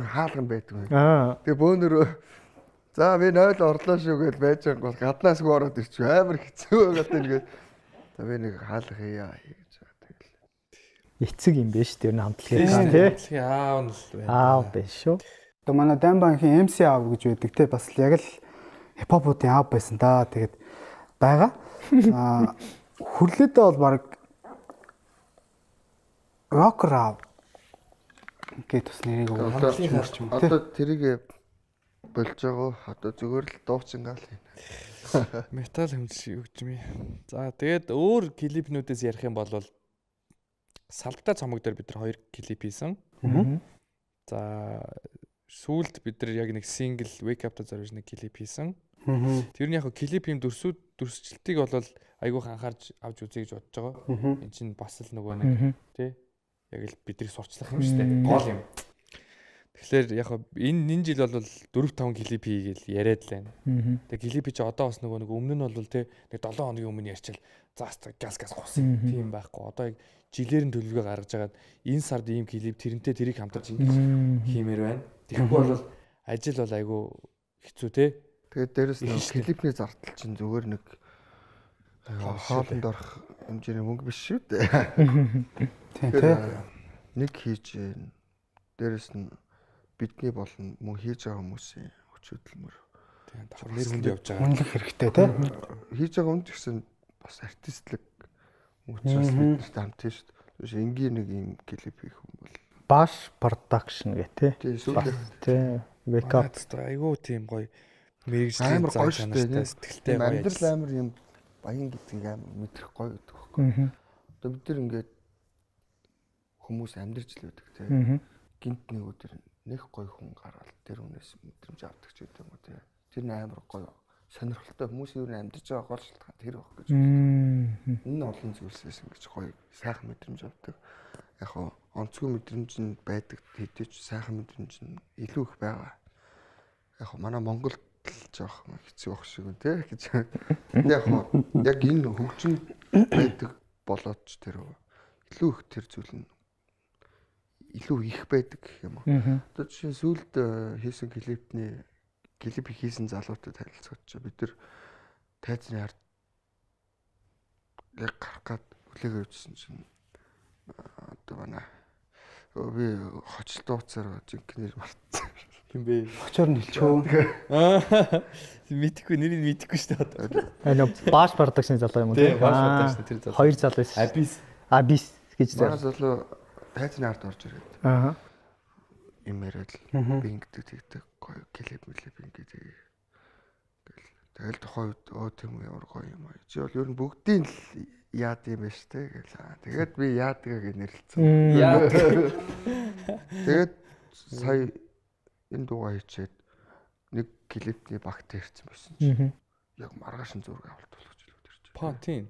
хаалган байдаг. Тэгээ бөөнөрөө за би 0 орлоо шүү гэж байж байгаа бол гаднаас гоо ороод ирчих амар хэцүү байгаад ингээд за би нэг хаалга хийя гэж тэгэл. Эцэг юм биш тэр нь хамтлагийн тий. Аав нь л байна. Аав биш шүү. Одоо манай Дамбанхийн MC аав гэж байдаг те бас яг л хипхопуудын аав байсан да. Тэгээд байгаа. Хүрлээдээ бол баг рокер аав гэдэг бас нэрийг өгөх юм. Одоо тэрийг болж байгаа. Одоо зүгээр л дуучин гал хийнэ. Метал хөгжмийн. За тэгээд өөр клипнүүдээс ярих юм бол Салбтай цомог дээр бид нар 2 клип хийсэн. За сүүлд бид нар яг нэг сингл Wake Up-та зориулж нэг клип хийсэн. Тэр нь яг клип юм дүрсчлэлтийг бол айгүйх анхаарч авч үзье гэж бодож байгаа. Энд чинь бас л нөгөө нэг тий яг л бидрийг сурчлах юм шүү дээ. Гол юм. Тэгэхээр яг энэ жил бол 4-5 клип хийгээл яриад л байна. Тэгээ клип чи одоо бас нөгөө нэг өмнө нь бол тий нэг 7 хоногийн өмнө ярьчил заас газ хусан тийм байхгүй. Одоо яг жилээр нь төлөвлөгөө гаргаж агаад энэ сард ийм клип тэрнтэй тэрийг хамтарч ингэж хиймээр байна. Тэгэхгүй бол ажил бол айгүй хэцүү тий. Тэгээд дээрэс нь клипний зардал чинь зүгээр нэг хоолнд орох хэмжээний мөнгө биш шүү дээ. Тий. Нэг хийж дээрэс нь бидний болон мөн хийж байгаа хүмүүсийн хүч хөдөлмөр тийм давхар нэр хүнд явж байгаа. Үнэлэх хэрэгтэй тий. Хийж байгаа хүн гэсэн бас артистлэг мөчөөс биднэрт хамт тийм шүү дээ. Энгийн нэг юм клип хийх юм бол Bash Production гэх тий. Тий. Wake Up айгүй тийм гоё мэрэгжлийн зам чанартай сэтгэлтэй гоё. Амьдрал амар юм баян гэдгийг амар мэдрэх гоё гэдэг байхгүй. Одоо бид нар ингээд хүмүүс амьдарч л байдаг тий. Гинт нэг өдөр нэг гоё хүн гараад тэр хүнээс мэдрэмж авдаг ч гэдэг юм уу тий. Тэр нь амар гоё сонирхолтой хүмүүс юу н амьдарч байгаа гол шалтгаан тэр байх гэж байна. Энэ олон зүйлсээс ингэж гоё сайхан мэдрэмж авдаг. Яг хоо онцгүй мэдрэмж нь байдаг хэдийч сайхан мэдрэмж нь илүү их байгаа. Яг хоо манай Монголд л жоох хэцүү байх шиг үү тий гэж. Яг хоо яг энэ хөгжим байдаг болоод ч тэр илүү их тэр зүйл нь илүү их байдаг гэх юм уу. Одоо жишээ сүүлд хийсэн клип хийсэн залуутад харилцагч бид нар тайзны ард яг гарах гад хүлээгээ өгсөн чинь одоо манай би хоцол дууцаар жинхэнээр мартсан. Хин бэ? Очоор нь хэлчихөө. Мэдхгүй нэрийг мэдхгүй шүү дээ. Энэ Bash Production залуу юм уу тий? Bash Production тэр залуу. Хоёр залуу байсан. Abyss гэж манай залуу тайзны ард орж ирээд. Имэрэл би ингэдэг тэгдэг гоё клип ингээд Тэгэл тухайн үед тийм ямар гоё юм аа. Чи бол ер нь бүгдийн л яад юм байна штэ гэл. Тэгээд би яадгаа нэрлэлцэн. Тэгээд сая энэ дугаа хийчээд нэг клипний багт ирсэн байсан чинь яг маргаашин зураг авалт болгож илүүд ирж байна. Па тийм.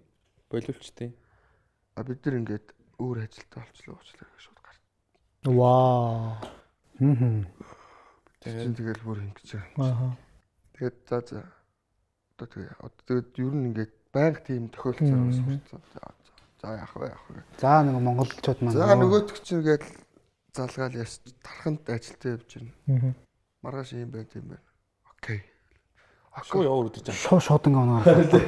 Боловчтой. Бид нар ингээд өөр ажилтаа олчлоо гэж шууд гарт. Вау. Тэгэл бүр ингэж байгаа. Тэгээд за тэгээд ер нь ингээд байнга тийм тохиолдсон сурцсан. За яах вэ? За нэг монголчууд маань. За нөгөөтг чинь ингээд залгаал яс тарханд ажилтаа явж байна. Маргааш юм байна тийм байна. Окей. Ашгүй яваа өдөрж байгаа. Шуудан гоноо.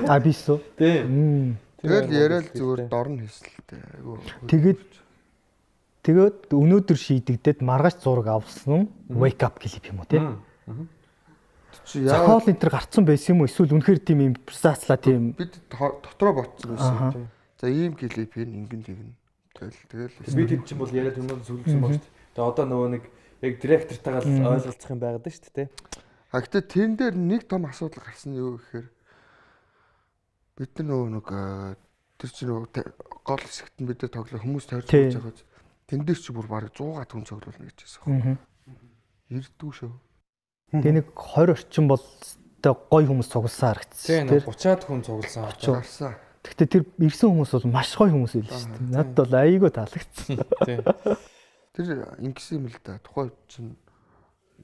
А бисо. Тийм. Тэгэл яриад зүгээр дорн хийсэлтэй. Тэгээд өнөөдөр шийдэгдээд маргааш зураг авсан wake up клип юм уу те? Хоол энэ төр гарцсан байсан юм уу? Эсвэл үнэхээр тийм импровизацлаа тийм бид дотроо ботсон байсан. За ийм клип ингэн тэгнэ. Тэгэл бид хэд ч юм бол яриад юм зүрхсэн баг шүү дээ. Тэгээ одоо нөгөө нэг яг директортайгаа л ойлголцох юм байгаад шүү дээ. Гэхдээ тэрэн дээр нэг том асуудал гарсан нь юу гэхээр бид нар нөгөө тэр чинь нөгөө гол хэсэгт нь бид нар тоглоо хүмүүс тойрч байгаа. Тэн дээр чи бүр бараг 100 хүн цоглуулна гэж хэлсэн. Ирдүү шүү. Тэгээ нэг 20 орчим бол гоё хүмүүс цугласан харагдсан. Тийм 30-аад хүн цугласан. Гарсан. Гэхдээ тэр ирсэн хүмүүс бол маш гоё хүмүүс байл шүү дээ. Надад бол айгүй таалагдсан. Тийм. Тэр ингэсэн юм л да. Тухайн чинь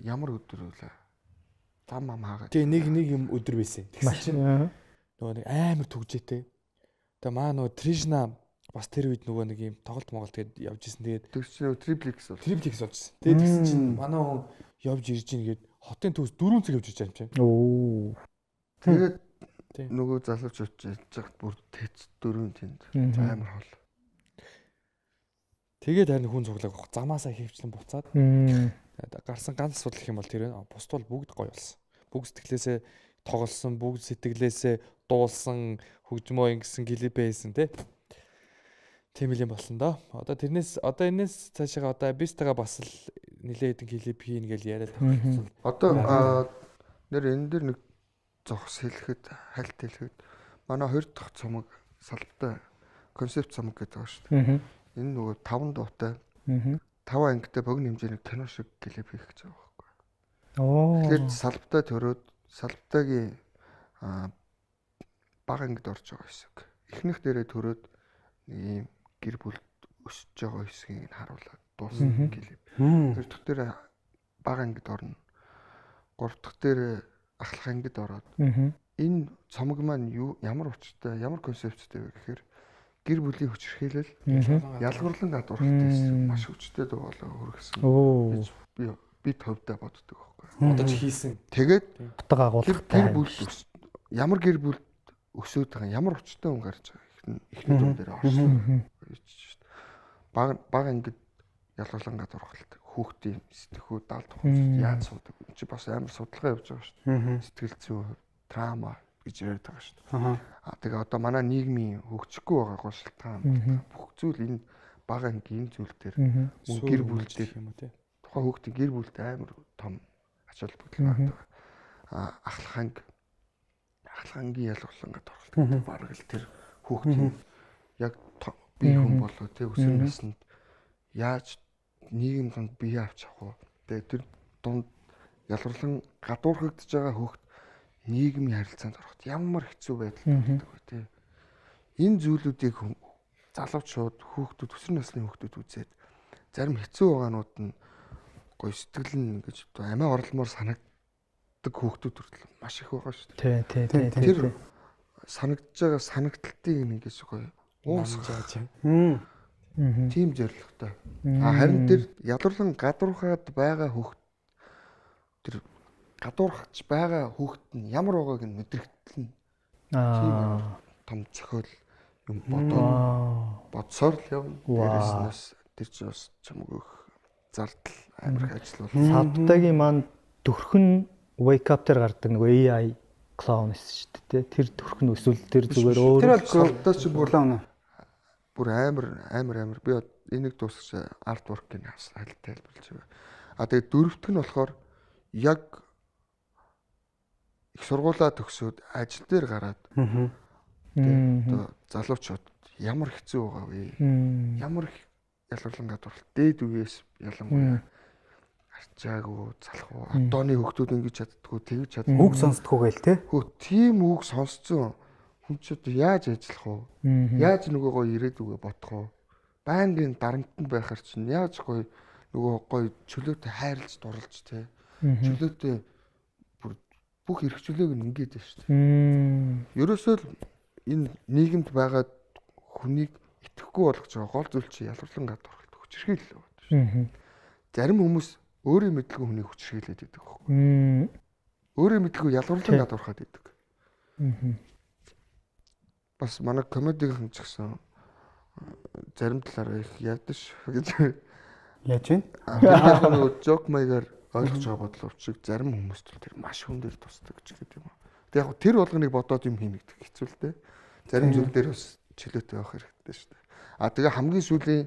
ямар өдөр вэ? Зам хаагаад. Тийм нэг юм өдөр байсан. Тэгсэн чинь нөгөө нэг амар түгжээтэй. Тэгээ маа нөгөө Тришна бас тэр үед нөгөө нэг юм тоглолт моголт гээд явж исэн. Тэгээд тэр чинь триплекс болж исэн. Тэгээд тэгсэн чинь манай хүн явж ирж ийн гээд хотын төвс 4 цаг явж иж байгаа юм чинь. Оо. Тэгээд нөгөө залууч очиж жагт бүр тэц 4 тэнд амар хол. Тэгээд харин хүн цуглааг замаасаа хийвчлэн буцаад гарсан ганц асуудал гэх юм бол тэр байна. Бусд бол бүгд гоё болсон. Бүгд сэтгэлээсээ тоглосон, бүгд сэтгэлээсээ дуулсан, хөгжмөө ингэсэн клипээ хийсэн тий. Тийм л юм болсон доо. Одоо энэс цаашаа одоо бистага бас л нилээ хэдэн клип хийн гэж яриад тавьчихсан. Одоо нэр энэ дэр нэг зогс хэлэхэд хальт хэлэхэд манай 2 дахь цомог салбтай концепт цомог гэдэг байгаа шүү дээ. Энэ нөгөө 5 дуутай 5 ангитай богино хэмжээний кино шиг клип хийх гэж байгаа байхгүй. Тэгэхээр салбтай төрөөд салбтайгийн бага ангид орж байгаа хэсэг. Эхнийх дээрээ төрөөд нэг юм гэр бүл өсөж байгаа хэсгийг харуулад дуусна клип. Тэр дахь дээр бага ангид орно. 3 дахь дээр ахлах ангид ороод энэ цомог маань ямар учиртай, ямар концепттэй вэ гэхээр гэр бүлийн хүчирхийлэл ялгуурлан гадуурхтай маш хүчтэй дуу болоо хөргсөн. Би төвдөө боддог байхгүй. Одоо ч хийсэн. Тэгээд утга агуулгатай гэр бүл ямар гэр бүл өсөөд байгаа ямар учиртай хүн гарч байгаа ихний дүн дээр орсон. Баг ангид ялгуурлан гадуурхалт хүүхдийн сэтгхүү даалт хүмүүс яаж суудаг. Энд чи бас амар судалгаа явьж байгаа шүү дээ. Сэтгэл зүйн трама гэж яриад байгаа шүү дээ. Тэгээ одоо манай нийгмийн хөгжихгүй байгаа шалтгаан бүх зүйл энэ баг ангийн зүйл дээр гэр бүлтэй юм уу тий. Тухайн хүүхдийн гэр бүлтэй амар том ач холбогдол байгаа. Ахлах ангийн ялгуурлан гадуурхалт бараг л тэр хүүхдийн яг бие хүн болоо тий өсвөр наснд яаж нийгэм донд бие авч авах вэ? Тэгээ тэр дунд ялгуурлан гадуурхагдж байгаа хүүхд нийгмийн харилцаанд ороход ямар хэцүү байдал тулдаг вэ тий. Энэ зүйлүүдийг залуучууд хүүхдүүд өсвөр насны хүүхдүүд үзээд зарим хэцүү байгаанууд нь гоё сэтгэл нь ингэж амиа орломоор санагддаг хүүхдүүд хүртэл маш их байгаа шүү дээ. Тий. Тэр санагдж байгаа санагдалтыг ингэж гоё уусгаж байгаа. Тийм зорилготой. Харин тэр ялуурлан гадуурхаад байгаа хүүхд тэр гадуурхаж байгаа хүүхд нь ямар байгааг нь мэдрэгдэл нь тийм том зохиол юм бодсоор л явна. Дээрээс тэр чинь бас чамгүй зардал амар их ажил бол. Савтагийн маань төрхөн wake up дээр гардаг нэг AI clown шүү дээ. Тэр төрхөн эсвэл тэр зүгээр өөр. Тэр бол савтаа чи бүрлээ бүр амар би энийг дуусгаж арт воркийг тайлбарлаж байгаа. Тэгээ дөрөвт нь болохоор яг их сургуулаа төгсөөд ажил дээр гараад одоо залуучууд ямар хэцүү байгаа вэ? Ямар ялгарлан гадуурхал дээд үеэс ялангуяа арчаагүй залхуу одооны хүүхдүүд ингэж чаддгүй тэгж чаддгүй үг сонсдгоо гээл те. Хөө тийм үг сонсцсон хүн ч одоо яаж ажиллах вэ? Яаж нөгөөгөө ирээдүгөө бодох вэ? Байнгын дарамтнд байхаар чинь яаж гоё нөгөө гоё чөлөөтэй хайрлаж дурлж те. Чөлөөтэй бүх эрх чөлөөг нь ингээд байна шүү дээ. Ерөөсөө л энэ нийгэмд байгаа хүнийг итгэхгүй болгож байгаа гол зүйл чи ялгарлан гадуурхалт хүчирхийлэл байна шүү дээ. Зарим хүмүүс өөрийн мэдлгүй хүнийг хүчирхийлээд идэг байхгүй. Өөрийн мэдлгүй ялгарлан гадуурхаад идэг. Бас манай комедигийн ч гэсэн зарим талаараа их ядаж гэж яаж вэ? нөгөө жок маягаар ойлгож байгаа бодлоо чиг зарим хүмүүс тэр маш хүн дээр тусдаг ч гэдэг юм. Тэг яг тэр болгоныг бодоод юм хийнэ гэдэг хэцүү л дээ. Зарим зүйл дээр бас чөлөөтэй байх хэрэгтэй шүү дээ. Тэгээ хамгийн сүүлийн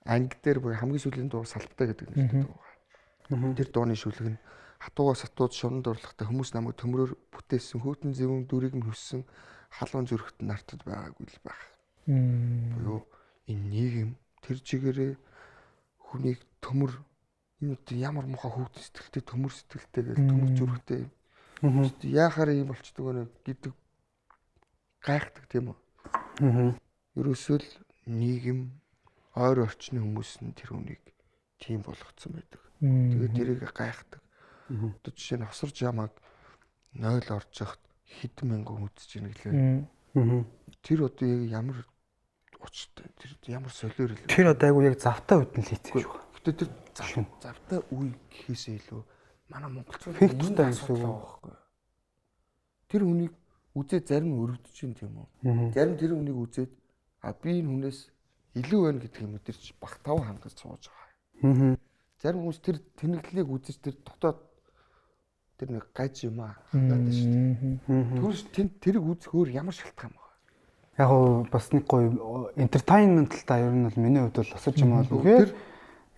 анги дээр буюу хамгийн сүүлийн дуу Салттай гэдэг нэртэй дуу байгаа. Тэр дууны шүлэг нь хатуугаас хатууд шунд урлагтай хүмүүс намайг төмрөөр бүтээсэн хөтөн зэвэн дүрийг нь хөссөн халуун зүрхт нартад байгаагүй л байх. Буюу энэ нийгэм тэр чигээрээ хүнийг төмөр энэ ямар муухай хүүхд сэтгэлтэй төмөр сэтгэлтэй гэж төмөр зүрхтэй яахаар юм болчдөг вэ гэдэг гайхдаг тийм үү. Ерөөсөө л нийгэм ойр орчны хүмүүс нь тэр хүнийг тийм болгоцсон байдаг. Тэгээд тэрийг гайхдаг. Одоо жишээ нь хосор жамаг 0 орж яхад хэдэн мянган үзэж ийн гэлээ. Тэр одоо яг ямар учиртай тэр ямар солиор л. Тэр одоо айгу яг завтай үед нь л хийсэн шүү. Гэтэ тэр завтай үе гэхээсээ илүү манай монголчууд фиктэй амьсдаг байхгүй. Тэр хүнийг үзээд зарим нь өрөвдөж чинь тийм үү. Зарим тэр хүнийг үзээд би энэ хүнээс илүү байна гэдэг юм тэр чи бах тав хангаж сууж байгаа. Зарим хүмүүс тэр тэнэглэлийг үзэж тэр дотоод тэр нэг гаж юм аа хангаад шүү дээ. Түр тэрийг үзэх өөр ямар шалтгаан байна. Яг гоо бас нэг гоё entertainment та ер нь бол миний хувьд бол осож юм бол үгээр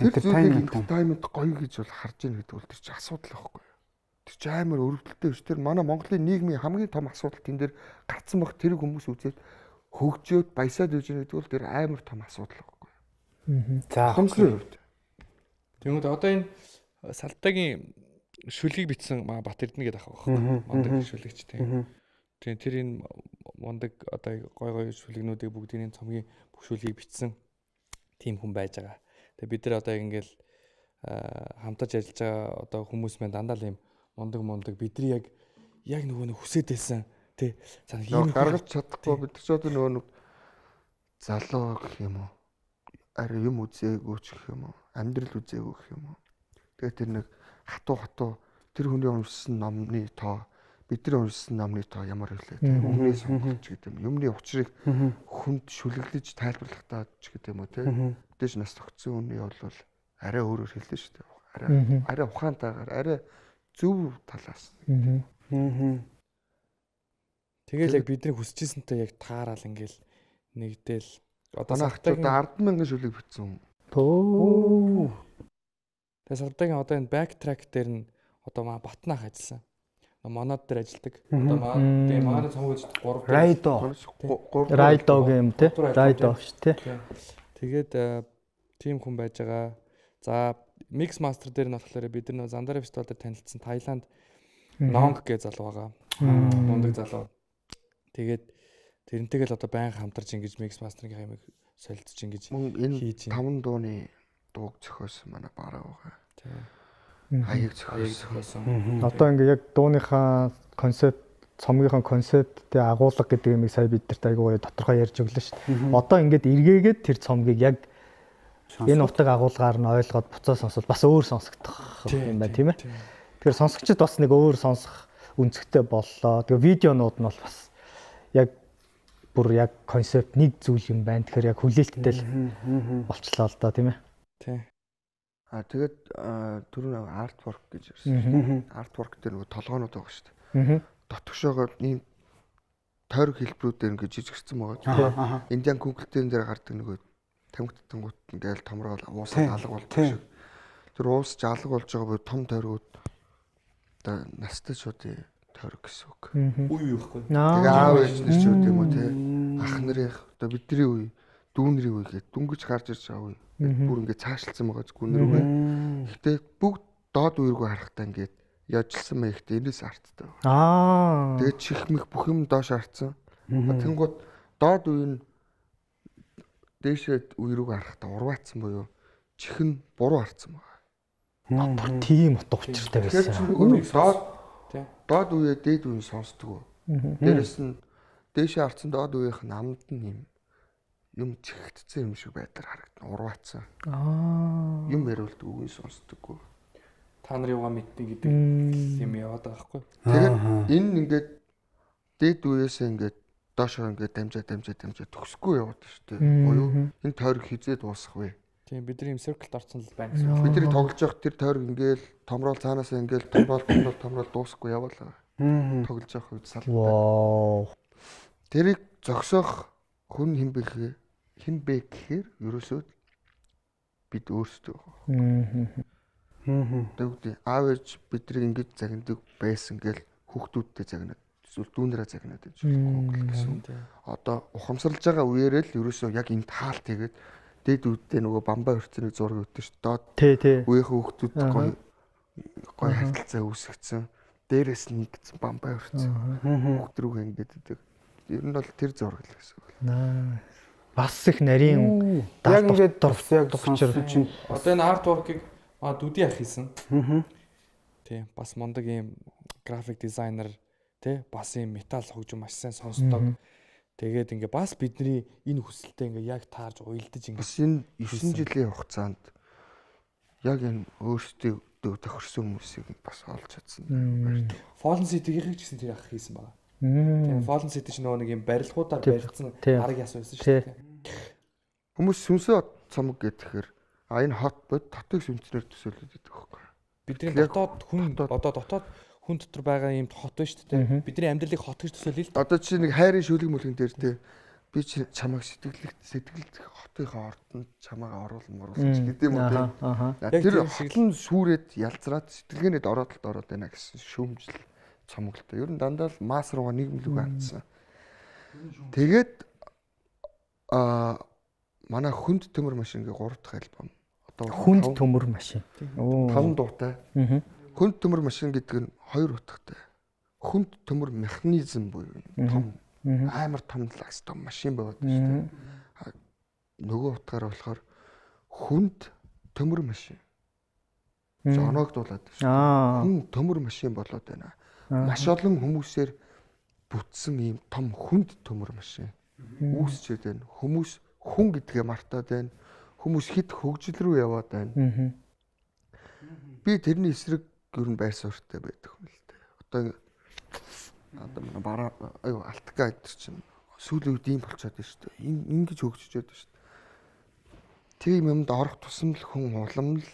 entertainment гоё гэж бол харж ийн гэдэг бол тэр чи асуудал байхгүй. Тэр чи амар өрөвдөлттэй биш. Тэр манай Монголын нийгмийн хамгийн том асуудал тэн дээр гарцсан баг тэр хүмүүс үзээд хөгжөөд баясаад үж байгаа гэдэг бол тэр амар том асуудал байхгүй. За хомслын хувьд. Тэгмээд одоо энэ Салтагийн шүлгийг бичсэн Бат Эрдэнэ гэдэг ах байхгүй. Мондөг шүлэгч тийм. Тэгээ тэр энэ мондөг одоо гой шүлэгнүүдийг бүгдийн цомгийн бүх шүлгийг бичсэн тийм хүн байж байгаа. Тэгээ бид нар одоо ингээл хамтарч ажиллаж байгаа одоо хүмүүс маань дандаа л юм мондөг бидний яг нөгөө нэг хүсэж байсан тий санаа ийм гаргаж чадахгүй бид ч одоо нөгөө залуу гэх юм уу ари юм үзээгүй ч гэх юм уу амьдрал үзээгүй гэх юм уу тэгээ тэр нэг хатуу тэр хүний уншсан номны тоо бидний уншсан номны тоо ямар хэлээ өмнө сонголт ч гэдэг юм юмны учрыг хүнд шүлэглэж тайлбарлахтаа ч гэдэг юм уу тий мэдээж нас тогтсон хүний бол арай өөрөөр хэлдэг шүү дээ арай ухаантайгаар арай зөв талаас тэгэл яг бидний хүсэжсэнтэй яг таараал ингээл нэгдэл одоо Салтагийн 10,000 шүлэг бичсэн. Тэгээ Салтагийн одоо энэ backtrack дээр нь одоо маа Батнаах ажилласан. Манад дээр ажилладаг. Одоо манай цомгож 3 Райдо гэм те. Райдо ш те. Тэгээд тим хүн байж байгаа. За Mix Master дээр нь болохоор бид нар Зандараа фестивал дээр танилцсан Таиланд Нонг гэж залуу байгаа. Мундаг залуу. Тэгээд тэрнтэйгээ л одоо байнга хамтарч ингэж Mix Master-ийн ямиг солилцож ингэж хийж байна. 5 дууны дууг зохиосон манай бараа байгаа. Тийм. Хаяг зохиосон. Одоо ингээ яг дууныхаа концепт, цомгийнхаа концепттэй агуулга гэдэг юмыг сая бид нарт айгуу гоё тодорхой ярьж өглөө шүү дээ. Одоо ингээд эргээгээд тэр цомгийг яг энэ утга агуулгаар нь ойлгоод буцаа сонсвол бас өөр сонсогдох юм байна тийм ээ. Тэгэхээр сонсогчд бас нэг өөр сонсох үнцгтэй боллоо. Тэгээ видеонууд нь бол бас яг бүр яг концепт нэг зүйл юм байна. Тэгэхээр яг хүлээлттэй л болчлоо л доо тийм ээ. Тий. Тэгээд түрүүн artwork гэж ярьсан. Artwork дээр нөгөө толгоонууд байгаа шүү дээ. Дотгошоогоо ийм тойрог хэлбэрүүдээр ингээд жижигэрсэн байгаа. Индиан Google-ийн дээр гардаг нөгөө тамхитангууд ингээл томрол уусаад алга болдог шиг. Тэр уусч алга болж байгаа буюу том тойргууд одоо настай шууд тойрог гэсэн үг. Үе юу ихгүй. Тэгээ аав ээж нар ч үгүй юм уу те. Ах нарын одоо бидний үе, дүүнэрийн үе гэдэг дүнгиж гарч ирж байгаа үе. Бүр ингээд цаашлсан байгаа зүг үнэр үе. Гэхдээ бүгд доод үе рүү харахтаа ингээд яжсан мэй ихтэй энэс арттай байна. Тэгээд чихмэх бүх юм доош харцсан. Тэнгууд доод үе нь дээшээ үе рүү харахтаа урваацсан буюу чихэн буруу харцсан байна. Бүр тийм утга учиртай байсан. Доод үе дээд үе сонсдог. Дээрэс нь дээшээ харцсан доод үеийнх нь амд нь юм чихэгдсэн юм шиг байдлаар харагдана. Урваацсан. Юм яриулдаг үгүй сонсдоггүй. Та нар юугаа мэднэ гэдэг юм яваад байгаа байхгүй. Тэгэхээр энэ ингээд дээд үеэс ингээд доошоо ингээд дамжаа төгсөхгүй яваад шүү дээ. Буюу энэ тойрог хизээ дуусах вэ? Тийм бидний юм circle-д орсон л байна гэсэн. Бидний тоглож явах тэр тойрог ингээд томрол цаанаас ингээд томрол дуусахгүй яваалаа. Тоглож явах үед салбартай. Тэрийг зогсоох хүн хин бэ гэхээр ерөөсөө бид өөрсдөө. Тэгвэл аав ээж бидний ингэж загнадаг байсан гэл хүүхдүүдтэй загнаад эсвэл дүүнэрээ загнаад гэж гэсэн. Одоо ухамсарлаж байгаа үеэрээ л ерөөсөө яг энэ таалт тэгээд дээд үүдтэй нөгөө бамбай хөрцөний зураг өгдөө ш. Доод үеийн хүүхдүүд гоё харилцаа үүсгэсэн. Дээрээс нь нэгдсэн бамбай хөрцөн. Хүүхд рүү ингээд идэг. Ер нь бол тэр зураг л гэсэн үг. Бас их нарийн яг ингээд яг чинь одоо энэ артворкийг дүди ах хийсэн. Тийм бас мундаг ийм график дизайнер тий бас ийм металл хөгжим маш сайн сонсдог. Тэгээд ингээ бас бидний энэ хүсэлтэд ингээ яг таарж уйлдаж ингээ бас энэ 9 жилийн хугацаанд яг энэ өөрсдөө тохирсон хүмүүсийг бас олж чадсан. Fallen City-ийн ч гэсэн тэр ах хийсэн байна. Тийм Fallen City ч нөгөө нэг юм барилгуудаар барилдсан арга яс байсан шүү дээ. Хүмүүс сүнсээ цамаг гэхээр энэ хот бод татыг сүнснээр төсөөлөд байдаг байхгүй. Бидний дотоод хүн одоо дотоод хүн дотор байгаа юм хот байна шүү дээ. Бидний амьдралыг хот гэж төсөөлөе л дээ. Одоо чи нэг хайрын шүлэг мүлгэн дээр те би чамайг сэтгэлд хотынхоо ордонд чамайг оруулах гэдэг юм уу те. Тэр хотлон сүрээд ялзраад сэтгэлгээнд ороод байна гэсэн шүүмжил цомголтой. Ер нь дандаа л масс руугаа нийгэмлэг хандсан. Тэгээд манай хүнд төмөр машин гээ 3 дахь альбом. Одоо хүнд төмөр машин. 5 дуутай. Хүнд төмөр машин гэдэг нь 2 утгатай. Хүнд төмөр механизм буюу том амар том том машин байгаад байна шүү дээ. Нөгөө утгаараа болохоор хүнд төмөр машин. Жоногдуулаад шүү дээ. Хүн төмөр машин болоод байна. Маш олон хүмүүсээр бүтсэн ийм том хүнд төмөр машин үүсчээд байна. Хүмүүс хүн гэдгээ мартаад байна. Хүмүүс хит хөгжил рүү яваад байна. Би тэрний эсрэг ер нь байр суурьтай байдаг юм л дээ. Одоо манай бараа алтга гэдэг чинь сүүлийн үед ийм болчиход байна шүү дээ. Ингэж хөгжиж байна шүү дээ. Тийм юмд орох тусам л хүн уламл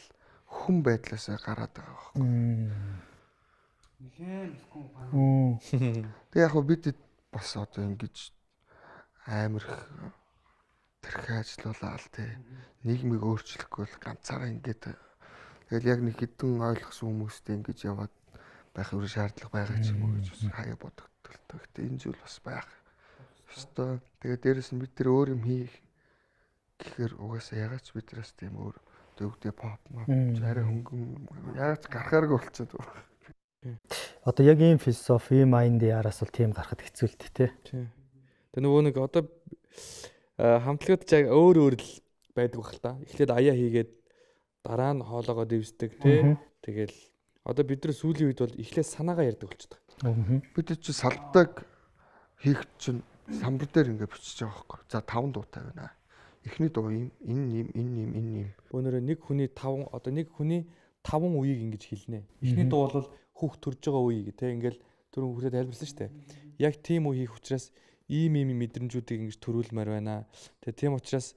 хүн байдлаасаа гараад байгаа байхгүй. Тэг яг бид бас одоо ингэж амар тэрхээ ажиллаулаа л тий. Нийгмийг өөрчлөхгүй л ганцаараа ингэж тэгэл яг нэг хідэн ойлгосон хүмүүстэй ингэж яваад байх өөр шаардлага байгаа ч юм уу гэж хаяа бодогдтол. Гэхдээ энэ зүйл бас байх. Өстой. Тэгээд дээрэс нь бид тэр өөр юм хийх гэхээр угаасаа ягаад ч бидраас тийм өөр төгдөө pop арай хөнгөн ягаад гарахааргүй болчиход байна. Одоо яг ийм философи, ийм майнд яараас бол тийм гарахад хэцүү л дээ тий. Тэгээ нөгөө нэг одоо хамтлагууд ч яг өөр л байдаг бах л та. Эхлээд аяа хийгээд дараа нь хоолоогоо дэвсдэг тий. Тэгэл одоо бид нар сүүлийн үед бол эхлээд санаагаа ярьдаг болчихдог. Бид чи салдаг хийх чинь самбар дээр ингээ бичиж байгаа байхгүй. За 5 дуутай байна. Эхний дуу юм, энэ юм. Өнөөдөр нэг хүний 5 одоо нэг хүний 5 үеийг ингэж хэлнэ. Эхний дуу бол хүүхд төрж байгаа үе гэх те ингээл түрүүн хүүхдэд тайлбарласан шүү дээ. Яг тийм үе хийх учраас ийм мэдрэмжүүдийг ингэж төрүүлмээр байна. Тэгээ тийм учраас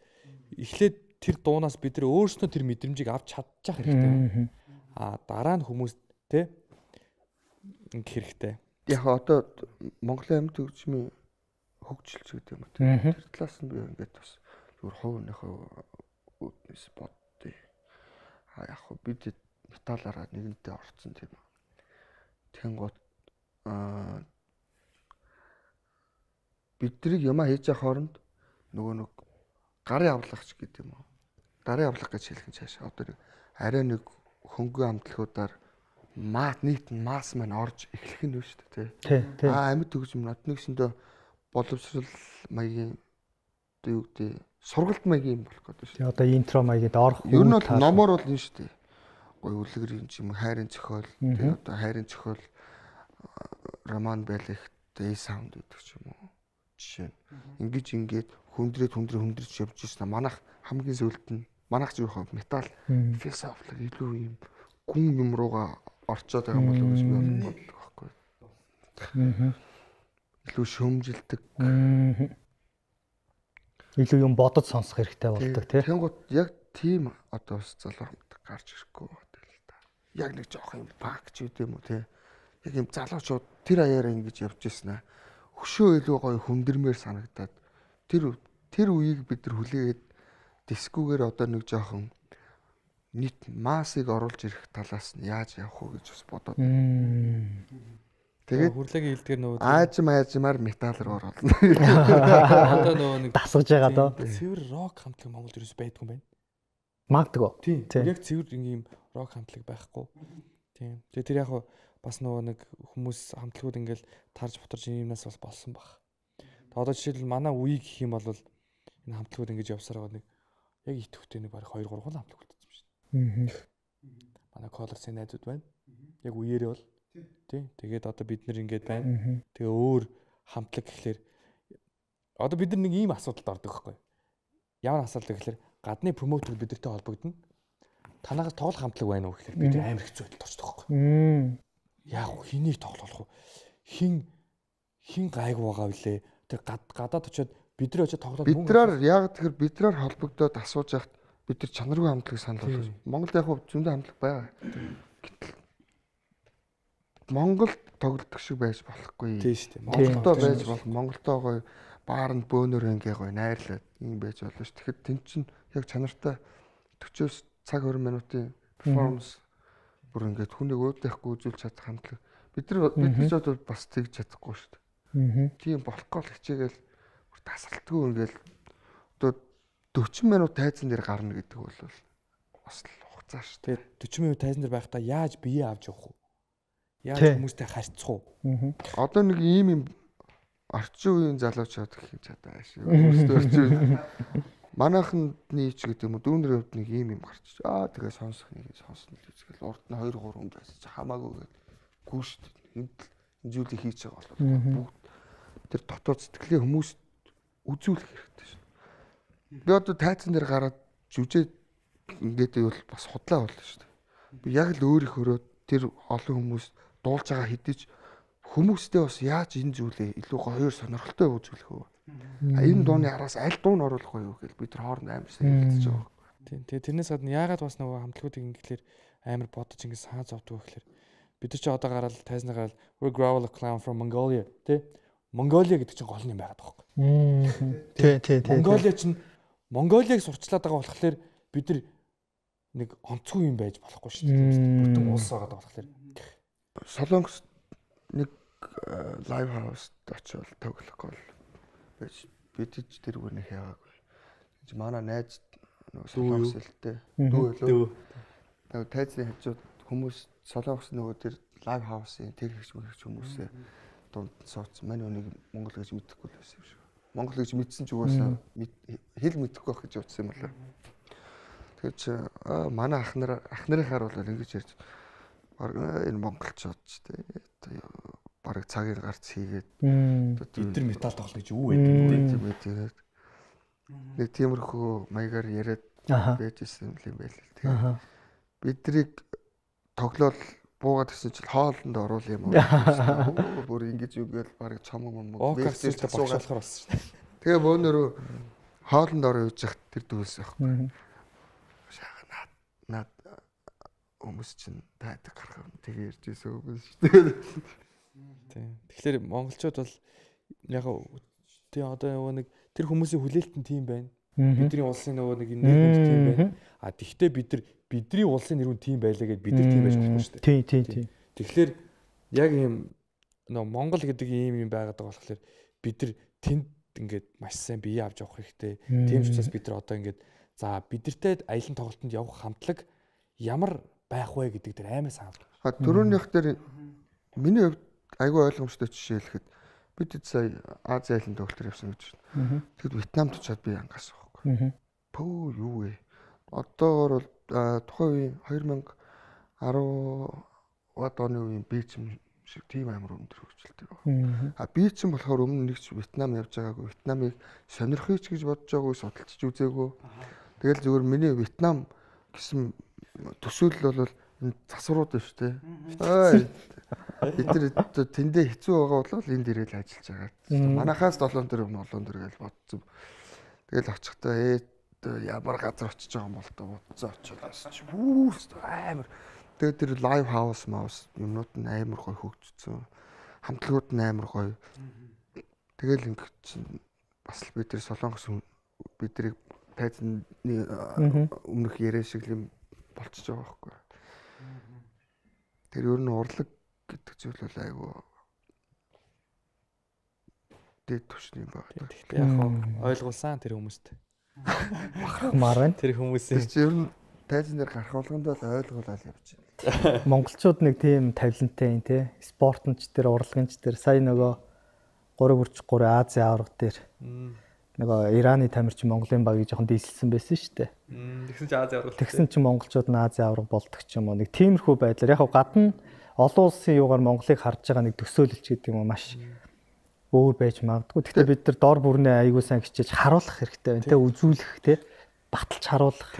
эхлээд тэр дуунаас бид нар өөрсдөө тэр мэдрэмжийг авч чадчих хэрэгтэй. Дараа нь хүмүүс те ингэ хэрэгтэй. Яг одоо Монголын амьд хөгжмийн хөгжилч гэдэг юм уу. Тэр талаас нь би ингээд бас зүгээр хувийнхаа үднэс боддё. Яг бид металлаараа нэгэнтээ орцсон тийм. Тэнгууд Биднийг юмаа хийж явах хооронд нөгөө нэг гарын авлагч гэдэг юм уу? Гарын авлага гэж хэлэх нь цаашаа одоо нэг арай нэг хөнгөн амтлагуудаар нийт масс маань орж эхлэх нь шүү дээ тий. Амьд төгсөм нотнэгсэндээ боловсрал маягийн одоо юу гэдэг сургалт маягийн болох гэдэг шүү. Тэгээ одоо интро маягийн орох. Ер нь бол номоор бол энэ шүү дээ. Гой үлгэрийн юм хайрын зохиол тэгээ одоо хайрын зохиол роман байлих дэй саунд гэдэг ч юм уу. Жишээ нь ингээд хүндрэж явж ирсэн. Манайх хамгийн зөвлөлт нь манайх ч юу хав метал философик илүү юм гүн юм руугаа орцоод байгаа юм болов уу гэж би бодлоо байхгүй. Илүү шөмжилдэг. Илүү юм бодож сонсох хэрэгтэй болдог тий. Тэнгууд яг тийм одоо бас залуучууд гарч ирэхгүй байна л да. Яг нэг жоох юм пак ч үт юм уу тий. Яг юм залуучууд тэр аяараа ингэж явж ирсэн аа. Хөшөө илүү гоё хүндэрмээр санагдаад тэр үеийг бид нар хүлээгээд дискүүгээр одоо нэг жоохон нийт массыг оруулж ирэх талаас нь яаж явах уу гэж бас бодоод. Тэгээд хүрлэгийн хэлдгэр нөгөө аажмаар метал руу оруулна. Одоо нөгөө нэг дасгаж байгаа доо. Цэвэр рок хамтлаг Монголд ерөөс байдгүй юм байна. Магадгүй. Тийм. Яг цэвэр ингээм рок хамтлаг байхгүй. Тийм. Тэгээ тэр яг бас нөгөө нэг хүмүүс хамтлагууд ингээл тарж бутарж юмнаас бас болсон баг. Тэгээ одоо жишээлбэл манай үе гэх юм бол энэ хамтлагууд ингэж явсараа нэг яг итгэвтэй нэг бараг 2 3 хамтлаг үлдсэн юм шин. Манай Colors-ийн найзууд байна. Яг үеэрээ бол тий. Тэгээд одоо бид нар ингэж байна. Тэгээ өөр хамтлаг гэхлээр одоо бид нар нэг ийм асуудалд ордог байхгүй. Ямар асуудал гэхлээр гадны промотер бидэртэй холбогдно. Танаас тоглох хамтлаг байна уу гэхлээр бид амар хэцүү байдалд ордог байхгүй. Яг хэнийг тоглох вэ? Хин гайгүй байгаа үлээ. Тэр гадаад очиод бид нар очиод тоглоод бидраар яг тэгэхээр бидраар холбогдоод асууж яхад бид нар чанаргүй хамтлаг санал болгож. Монголд яг зөндөө хамтлаг байгаа. Гэтэл Монголд тоглодог шиг байж болохгүй. Тийм шүү дээ. Монголдоо байж болох. Монголдоо гоё баарнд бөөнөр ингээ гоё найрлаад юм байж болно ш. Тэгэхээр тэн чин яг чанартай 40-оос цаг 20 минутын перформанс бүр ингээд хүнийг өөдөөхгүй үзүүлж чадах хамтлаг. Бид нар ч бол бас тэгж чадахгүй шүү дээ. Тийм болохгүй л хичээгээл бүр тасалтгүй ингээл одоо 40 минут тайзан дээр гарна гэдэг бол бас л хугацаа шүү. Тэгээд 40 минут тайзан дээр байхдаа яаж бие авч явах вэ? Яаж хүмүүстэй харьцах уу? Одоо нэг ийм орчин үеийн залуучууд гэх юм чадаа шүү. Өөрсдөө манайхны ч гэдэг юм уу дүүнэр хувьд нэг ийм гарч тэгээ сонсох нэг сонсно л үзгээл урд нь 2 3 хүн байсан чи хамаагүй гүү шүү дээ. Энд зүйлийг хийж байгаа бол бүгд тэр дотоод сэтгэлийн хүмүүс үзүүлэх хэрэгтэй шүү. Би одоо тайцсан дээр гараад жүжээ ингээд бол бас худлаа болно шүү дээ. Би яг л өөрийнхөө тэр олон хүмүүс дуулж байгаа хэдиж хүмүүстэй бас яаж энэ зүйлээ илүү гоё сонирхолтой үзүүлэх вэ? Энэ дууны араас аль дуу нь оруулах вэ гэж бид нар хооронд амар сайн хэлж байгаа. Тийм. Тэгээ тэрнээс гадна яагаад бас нөгөө хамтлагуудыг ингэхлээр амар бодож ингэ саа зовдөг гэхэлэр бид нар ч одоо гараад тайзнаа гараад we growl a clown from Mongolia тий Монголиа гэдэг чинь гол юм байгаад байгаа байхгүй. Тий. Монголиа чинь Монголиаг сурчлаад байгаа болохоор бид нар нэг онцгүй юм байж болохгүй шүү дээ. Бүтэн улс байгаа болохоор. Солонгос нэг лайв хаус очивол тоглохгүй байж бид ч тэр үгнээ хийгээгүй. Манай найз нөгөө солонгос хэлтэй дүү. Тэгээд тайзны хажууд хүмүүс солонгос нөгөө тэр лайв хаусын тэр хэрэгч хүмүүсээ дунд сууцсан. Манай үнийг Монгол гэж мэдэхгүй л байсан юм шиг. Монгол гэж мэдсэн ч угаасаа хэл мэдэхгүй байх гэж утсан юм байна. Тэгэхээр чи манай ахнарынхаар бол ингэж ярьж энэ монголчууд ч тий бараг цагийн гарц хийгээд бид нар метал тоглох гэж юу байдаг юм бэ? Нэг тиймэрхүү маягаар яриад байжсэн юм байл. Тэгээ бидрийг тоглол буугаад гэсэн чинь хоолнд оруул юм уу? Бүр ингэж үгээл бараг цомог юм уу? Вэкстэй багш болохоор болсон шүү дээ. Тэгээ бөөнөрөө хоолнд ороо юуж захт тэр дүүлсэн байхгүй. Наад хүмүүс чинь тайдаг гарах юм тэгээ ярьж байсан үгүй шүү дээ. Тийм. Тэгэхээр монголчууд бол яг тий одоо нэг тэр хүмүүсийн хүлээлт нь тийм байна. Бидний улсын нөгөө нэг нэр хүнд тийм байна. А тэгвэл бидний улсын нэр хүнд тийм байлаа гэдээ бид нар тийм байж болохгүй шүү дээ. Тий. Тэгэхээр яг ийм нөө Монгол гэдэг ийм юм байгаад байгаа болохоор бид нар тэнд ингээд маш сайн бие авч явах хэрэгтэй. Тийм ч учраас бид нар одоо ингээд за бидэртэй аялын тоглолтод явах хамтлаг ямар байх вэ гэдэг дээр амар санал. Төрөөнийх дээр миний хувьд айгүй ойлгомжтой жишээ хэлэхэд бид сая Ази аялын тоглолтоор явсан гэж байна. Тэгэхэд Вьетнамд очиад би ангаас байхгүй. Пөө юу вэ? Одоогоор бол тухайн үеийн 2010 оны үеийн бийцэм шиг тийм амар өндөр хөгжилтэй байна. Бийцэм болохоор өмнө нэг ч Вьетнам явж байгаагүй. Вьетнамыг сонирхъя ч гэж бодож байгаагүй, судалж үзээгүй. Тэгэл зөвхөн миний Вьетнам гэсэн төсөөлөл бол энэ засварууд байна шүү дээ. Бид нар тэндээ хэцүү байгаа бол энд ирэл ажиллаж байгаа. Манайхаас 7 төр гэж бодсон. Тэгэл очихдаа ямар газар очиж байгаа юм бол тоо бодсон очиулаас чи амар. Тэгээд тэр лайв хаус маус юмнууд нь амар гоё хөгжсөн. Хамтлагууд нь амар гоё. Тэгэл ингээд бас л бид тэр Солонгос биднийг тайзны өмнөх яриа шиг юм болчихж байгаа байхгүй. Тэр ер нь урлаг гэдэг зүйл бол айгүй дэд түвшний юм байна. Гэхдээ яг ойлгуулсан тэр хүмүүст. Бахархмаар байна. Тэр хүмүүсийн ер нь тайзан дээр гарах болгонд бол ойлгуулаад явж байна. Монголчууд нэг тийм тавилантай юм те. Спортонч дээр, урлагийнч дээр сая нөгөө 3-3 Ази аварга дээр нөгөө Ираны тамирчин Монголын багийг жоохон дийлсэн байсан шүү дээ. Тэгсэн чи Ази аварга. Тэгсэн чи монголчууд нь Ази аварга болдог ч юм уу. Нэг тиймэрхүү байдлаар яг гадна олон улсын юугаар Монголыг харж байгаа нэг төсөөлөлч гэдэг юм уу маш өөр байж магадгүй. Гэхдээ бид нар дор бүрнээ аягүй сайн хичээж харуулах хэрэгтэй байна те. Үзүүлэх те. Баталж харуулах.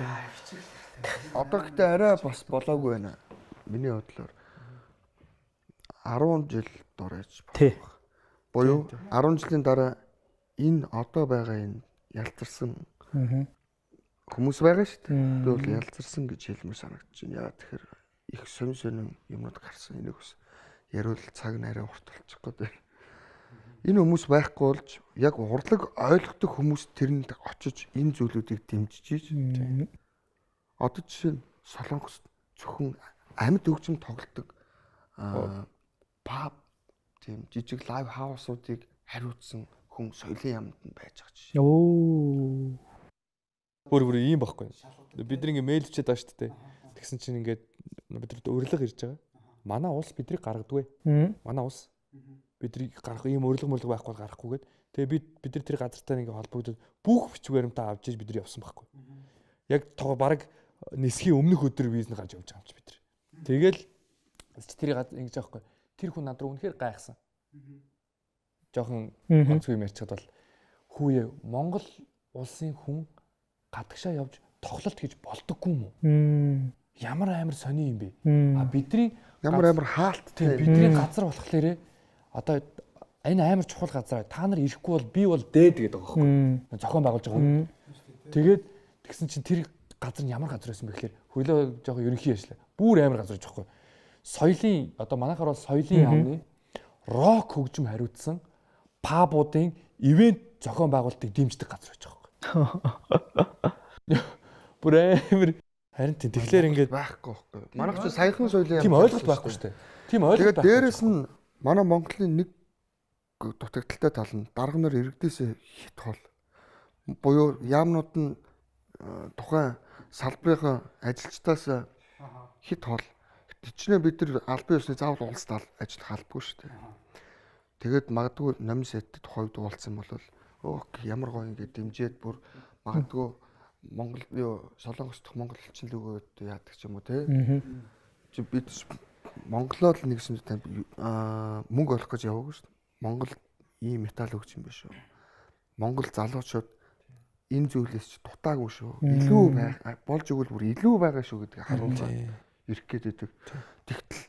Одоо гэхдээ арай бас болоогүй байна. Миний бодлоор 10 жил дурайж байна. Буюу 10 жилийн дараа энэ одоо байгаа энэ ялцарсан хүмүүс байгаа шүү дээ. Би бол ялцарсан гэж хэлмээр санагдаж байна. Яа тэгэхээр их сонин юмнууд гарсан энийг бас яриул цаг нь арай урт болчих гээд байна. Энэ хүмүүс байхгүй болж яг урлаг ойлгодог хүмүүс тэрэнд очиж энэ зүйлүүдийг дэмжиж одоо жишээ нь Солонгос зөвхөн амьд хөгжим тоглодог паб тийм жижиг лайв хаусуудыг хариуцсан хүн соёлын яамд нь байж байгаа жишээ. Бүр ийм байхгүй. Бид нэг мэйл өчээд байгаа шүү дээ. Тэгсэн чинь ингээд бид нар урилга ирж байгаа. Манай улс бидрийг гаргадаг. Манай улс бидрийг гаргах ийм урилга байхгүй гарахгүйгээд тэгээ бид нар тэр газартай нэг холбогдоод бүх бичиг баримтаа авч иж бид нар явсан байхгүй. Яг баг нисхийн өмнөх өдөр визний гарч явж байгаа юм чи бид нар. Тэгэл тэр ингэж аахгүй. Тэр хүн над руу үнэхээр гайхсан. Жохон онцгой юм ярьчихад бол хүүе Монгол улсын хүн гадагшаа явж тоглолт хийж болдоггүй юм уу? Ямар амар сони юм бэ? Бидний ямар хаалттай бидний газар болохоор одоо энэ амар чухал газар та нар ирэхгүй бол би бол дээд гэдэг байгаа байхгүй. Зохион байгуулж байгаа юм. Тэгээд тэгсэн чинь тэр газар нь ямар газар байсан бэ гэхээр хөлөө жоохон ерөнхий яшлаа. Бүр амар газар гэж байхгүй. Соёлын одоо манайхаар бол соёлын яамны рок хөгжим хариуцсан пабуудын ивент зохион байгуулалтыг дэмждэг газар байж байгаа байхгүй. Бүр амар харин тэгэхээр ингээд байхгүй байхгүй. Манайх ч саяхан соёлын тийм ойлголт байхгүй шүү дээ. Тийм ойлголт байхгүй. Дээрээс нь манай Монголын нэг дутагдaltaй тал нь дарга нар иргэдээсээ хит хол. Буюу яамнууд нь тухайн салбарын ажилчдаас хит хол. Тэчнээ бид нар албан ёсны заавал улсад ажиллах албагүй шүү дээ. Тэгээд магадгүй номын сэтэд хойд уулцсан бол ямар гоё ингэ дэмжиэд бүр магадгүй Монгол Солонгос дахь монголчин л өгөөд яадаг ч юм уу те. Чи бид Монголоо л нэгсэн мөнгө олох гэж яваагүй шүү дээ. Монгол ийм металл өгч юм биш үү? Монгол залуучууд энэ зүйлээс ч дутаагүй шүү. Илүү болж өгвөл бүр илүү байгаа шүү гэдгийг харуулж ирэх гээд байдаг. Тэгтэл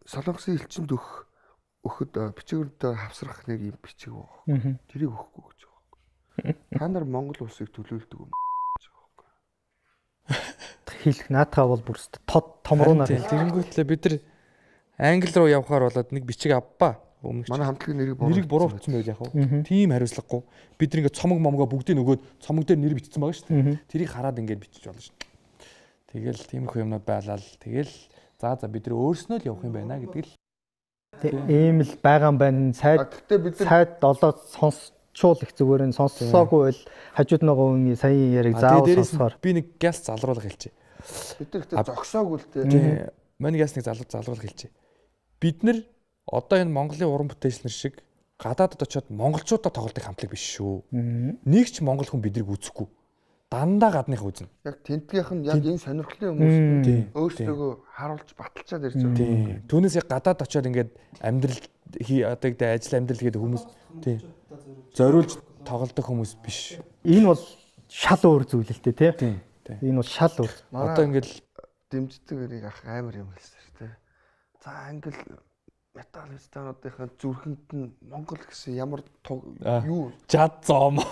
Солонгосын элчинд өгөхөд бичгүүрдээ хавсрах нэг юм бичиг байгаа. Тэрийг өгөхгүй гэж байгаа. Та нар Монгол улсыг төлөөлдөг юм гэж байгаа. Хэлэх наатаа бол бүр томруунаар тэгэнгүүтлээ бид нар англи руу явхаар болоод нэг бичиг авбаа. Манай хамтлагийн нэрийг буруу бичсэн байл яг хөө. Тийм хариуцлагагүй. Бид нэг цомог момгоо бүгдийг нөгөөд цомог дээр нэр бичсэн байгаа шүү дээ. Тэрийг хараад ингэж бичиж болно шүү. Тэгэл тиймэрхүү юмнууд байлаа л. Тэгэл за бид нар өөрснөө л явах юм байна гэдгийг Ийм л байгаа юм байна. Сайд олоод сонсчул их зүгээр нь сонссоогүй бол хажууд нөгөө үний саяын яриг заавал сонсохоор би нэг гяс залруулах хэлчихье. Бид нар ихтэй зогсоогүй л дээ. Манай гяс нэг залруулах хэлчихье. Бид нар одоо энэ Монголын уран бүтээлчнэр шиг гадаадд очиод монголчуудаа тоглодог хамтлаг биш шүү. Нэг ч монгол хүн биднийг үзэхгүй. Дандаа гадных үзнэ. Яг тентгийнх нь яг энэ сонирхлын хүмүүс өөрсдөө харуулж баталчаад ирж байгаа. Түүнээс яг гадаад очиод ингээд амьдрал одоо гэдэг ажил амьдрал гэдэг хүмүүс зориулж тоглодог хүмүүс биш. Энэ бол шал өөр зүйл л дээ тий. Энэ бол шал өөр. Одоо ингээд дэмждэг өрийг ах амар юм хэлсэн шүү дээ. За англ метал стануудынхаа зүрхэнд нь Монгол гэсэн ямар юу жад зом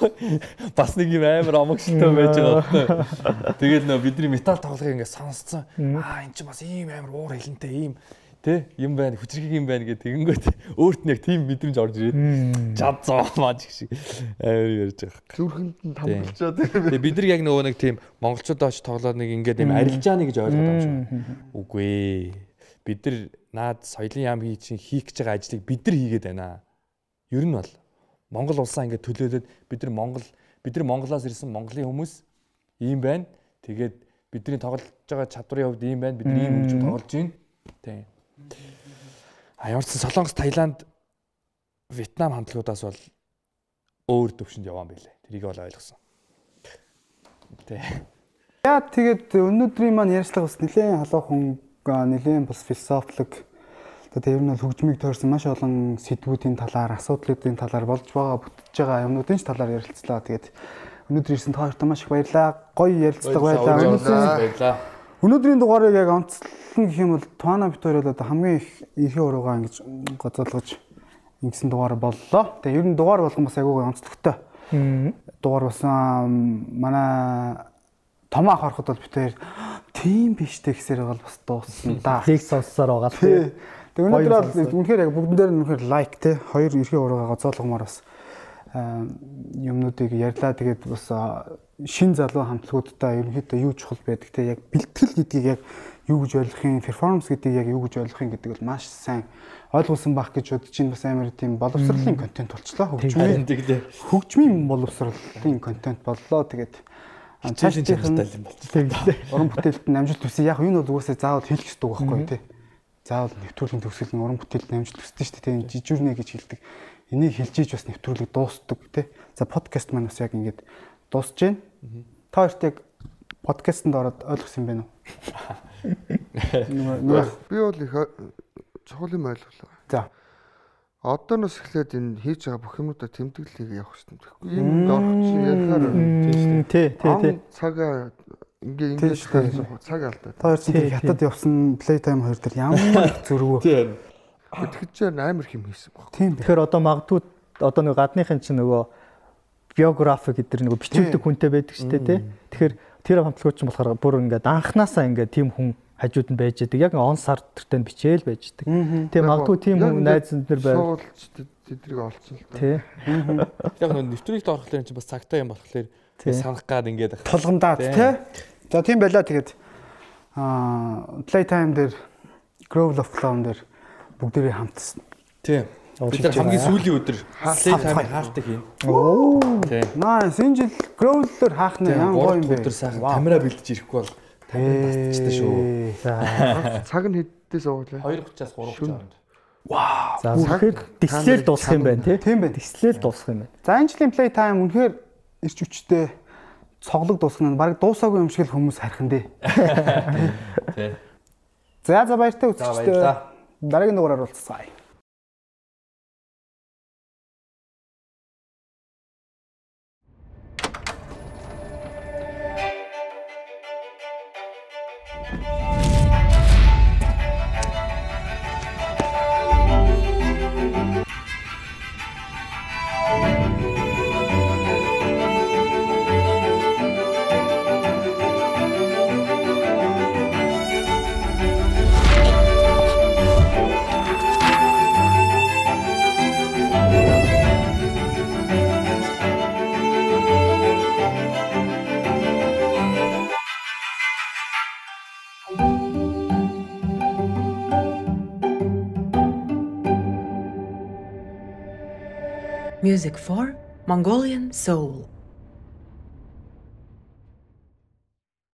бас нэг юм амар омогшилтэй байж байгаа. Тэгээд нөө бидний метал тоглохыг ингээд сонсцсон. Эн чинь бас ийм амар уур хэлэнтэй ийм тэ юм байна, хүчрхэг юм байна гэдэг тэгэнгүүт өөрт нь яг тийм мэдрэмж орж ирээд жад зом маж шиг амар ярьж байгаа. Зүрхэнд нь тамгалчаад. Тэгээд бид нар яг нөгөө нэг тийм монголчуудаа очиж тоглоод нэг ингээд юм арилжааны гэж ойлгоод байгаа юм шиг. Үгүй ээ. Бид нар наад соёлын яам хийх гэж байгаа ажлыг бид нар хийгээд байна. Ер нь бол Монгол улсаа ингээд төлөөлөд бид нар Монголоос ирсэн Монголын хүмүүс ийм байна. Тэгээд бидний тоглож байгаа чадварын хувьд ийм байна. Бид нар ийм хөгжим тоглож байна. Тийм. Ямарчсан Солонгос, Таиланд, Вьетнам хамтлагуудаас бол өөр төвшөнд яваан байлээ. Тэрийг бол ойлгосон. Тийм. Яа тэгээд өнөөдрийн маань ярьцлага бас нэлээд халуухан нэлээд бас философик тэр нь бол хөгжмийг тойрсон маш олон сэдвүүдийн талаар, асуудлуудын талаар болж байгаа бүтэж байгаа юмнуудын талаар ярилцлаа. Тэгээд өнөөдөр ирсэн та хоёртаа маш их баярлалаа. Гоё ярилцлага байлаа. Өнөөдрийн дугаарыг яг онцлон гэх юм бол Туана бит хоёр бол одоо хамгийн их эрхээ уруугаа ингэж гоцоолгож ингэсэн дугаар боллоо. Тэгээд ер нь дугаар болгон бас айгүй онцлогтой. Дугаар болсон манай том ах ороход бол бит хоёр тийм биш дээ гэсээр бол бас дууссан да. Лиг сонссоор байгаа л тий. Тэгээ өнөөдөр бол үнэхээр яг бүгдэн дээр нь үнэхээр лайк тий. Хоёр эрхээ уруугаа гоцоолгомоор бас юмнуудыг ярьлаа. Тэгээд бас шин залуу хамтлагуудтай ерөнхийдөө юу чухал байдаг тий. Яг бэлтгэл гэдгийг яг юу гэж ойлгохын, перформанс гэдгийг яг юу гэж ойлгохын гэдэг бол маш сайн ойлгуулсан байх гэж бодож чинь бас амар тийм боловсролын контент болчлоо. Хөгжмийн боловсролын контент боллоо. Тэгээд цааш чанартай юм болчихлоо. Уран бүтээлд намжилт төсөө яг энэ бол угаасаа заавал хэлэх ёстой байхгүй тий. Заавал нэвтрүүлгийн төгсгөл нь уран бүтээлд намжилт төсдөө шүү дээ. Жижүүрнэ гэж хэлдэг. Энийг хэлж ийж бас нэвтрүүлэг дуустдаг тий. За подкаст маань бас яг ингэж дуусж байна. Та хоёрт яг подкастэнд ороод ойлгосон юм байна уу? Би бол их чухал юм ойлголоо. За. Одооноос эхлээд энэ хийж байгаа бүх юмудаа тэмдэглэлийг явах хэрэгтэй. Тэгэхгүй юм орох чинь ярихаар тий. Цагаа ингээ цаг алдаа. Та хоёр чинь хятад явсан Playtime 2 дээр ямар их зөрвөө. Тийм. Тэгэхчээр амар хэм хийсэн баг. Тийм. Тэгэхээр одоо магадгүй одоо нэг гадныхын чинь нөгөө биографи гэдэг нөгөө бичүүлдэг хүнтэй байдаг шүү дээ тий. Тэгэхээр тэр хамтлагууд чинь болохоор бүр ингээд анханасаа ингээд тийм хүн хажууд нь байж байгаа. Яг он сар төртөнд бичээл байж байгаа. Тийм магадгүй тийм хүн найз нар байв. Тэдрийг олцсон л та. Тий. Яг нэг нэвтрүүлэгт орохдоо энэ чинь бас цагтаа юм болохоор санах гад ингээд тулгамдаад тий. За тийм байлаа. Тэгээд Playtime дээр Grove of Clown дээр бүгдээрээ хамтсан. Тийм. Бид нар хамгийн сүүлийн өдөр Playtime хаалтыг хийн. Оо. Nice. Энэ жил Grove дээр хаах нь ямар гоё юм бэ? Өдөр сайхан камера бэлдэж ирэхгүй бол тамирын батчтай шүү. За. Цаг нь хэддээс ууглаа? 2:30-аас 3:30. Вау. За үнэхээр дислэл дуусах юм байна тий. Тийм байна. Дислэл дуусах юм байна. За энэ жилийн Playtime үнэхээр ирч хүчтэй цоглог дуусгах нь баг дуусаагүй юм шиг л хүмүүс хархан дээ. Тий. За баяртай үзэгчдээ. Дараагийн дугаараар уулзцгаая. Music for Mongolian Soul.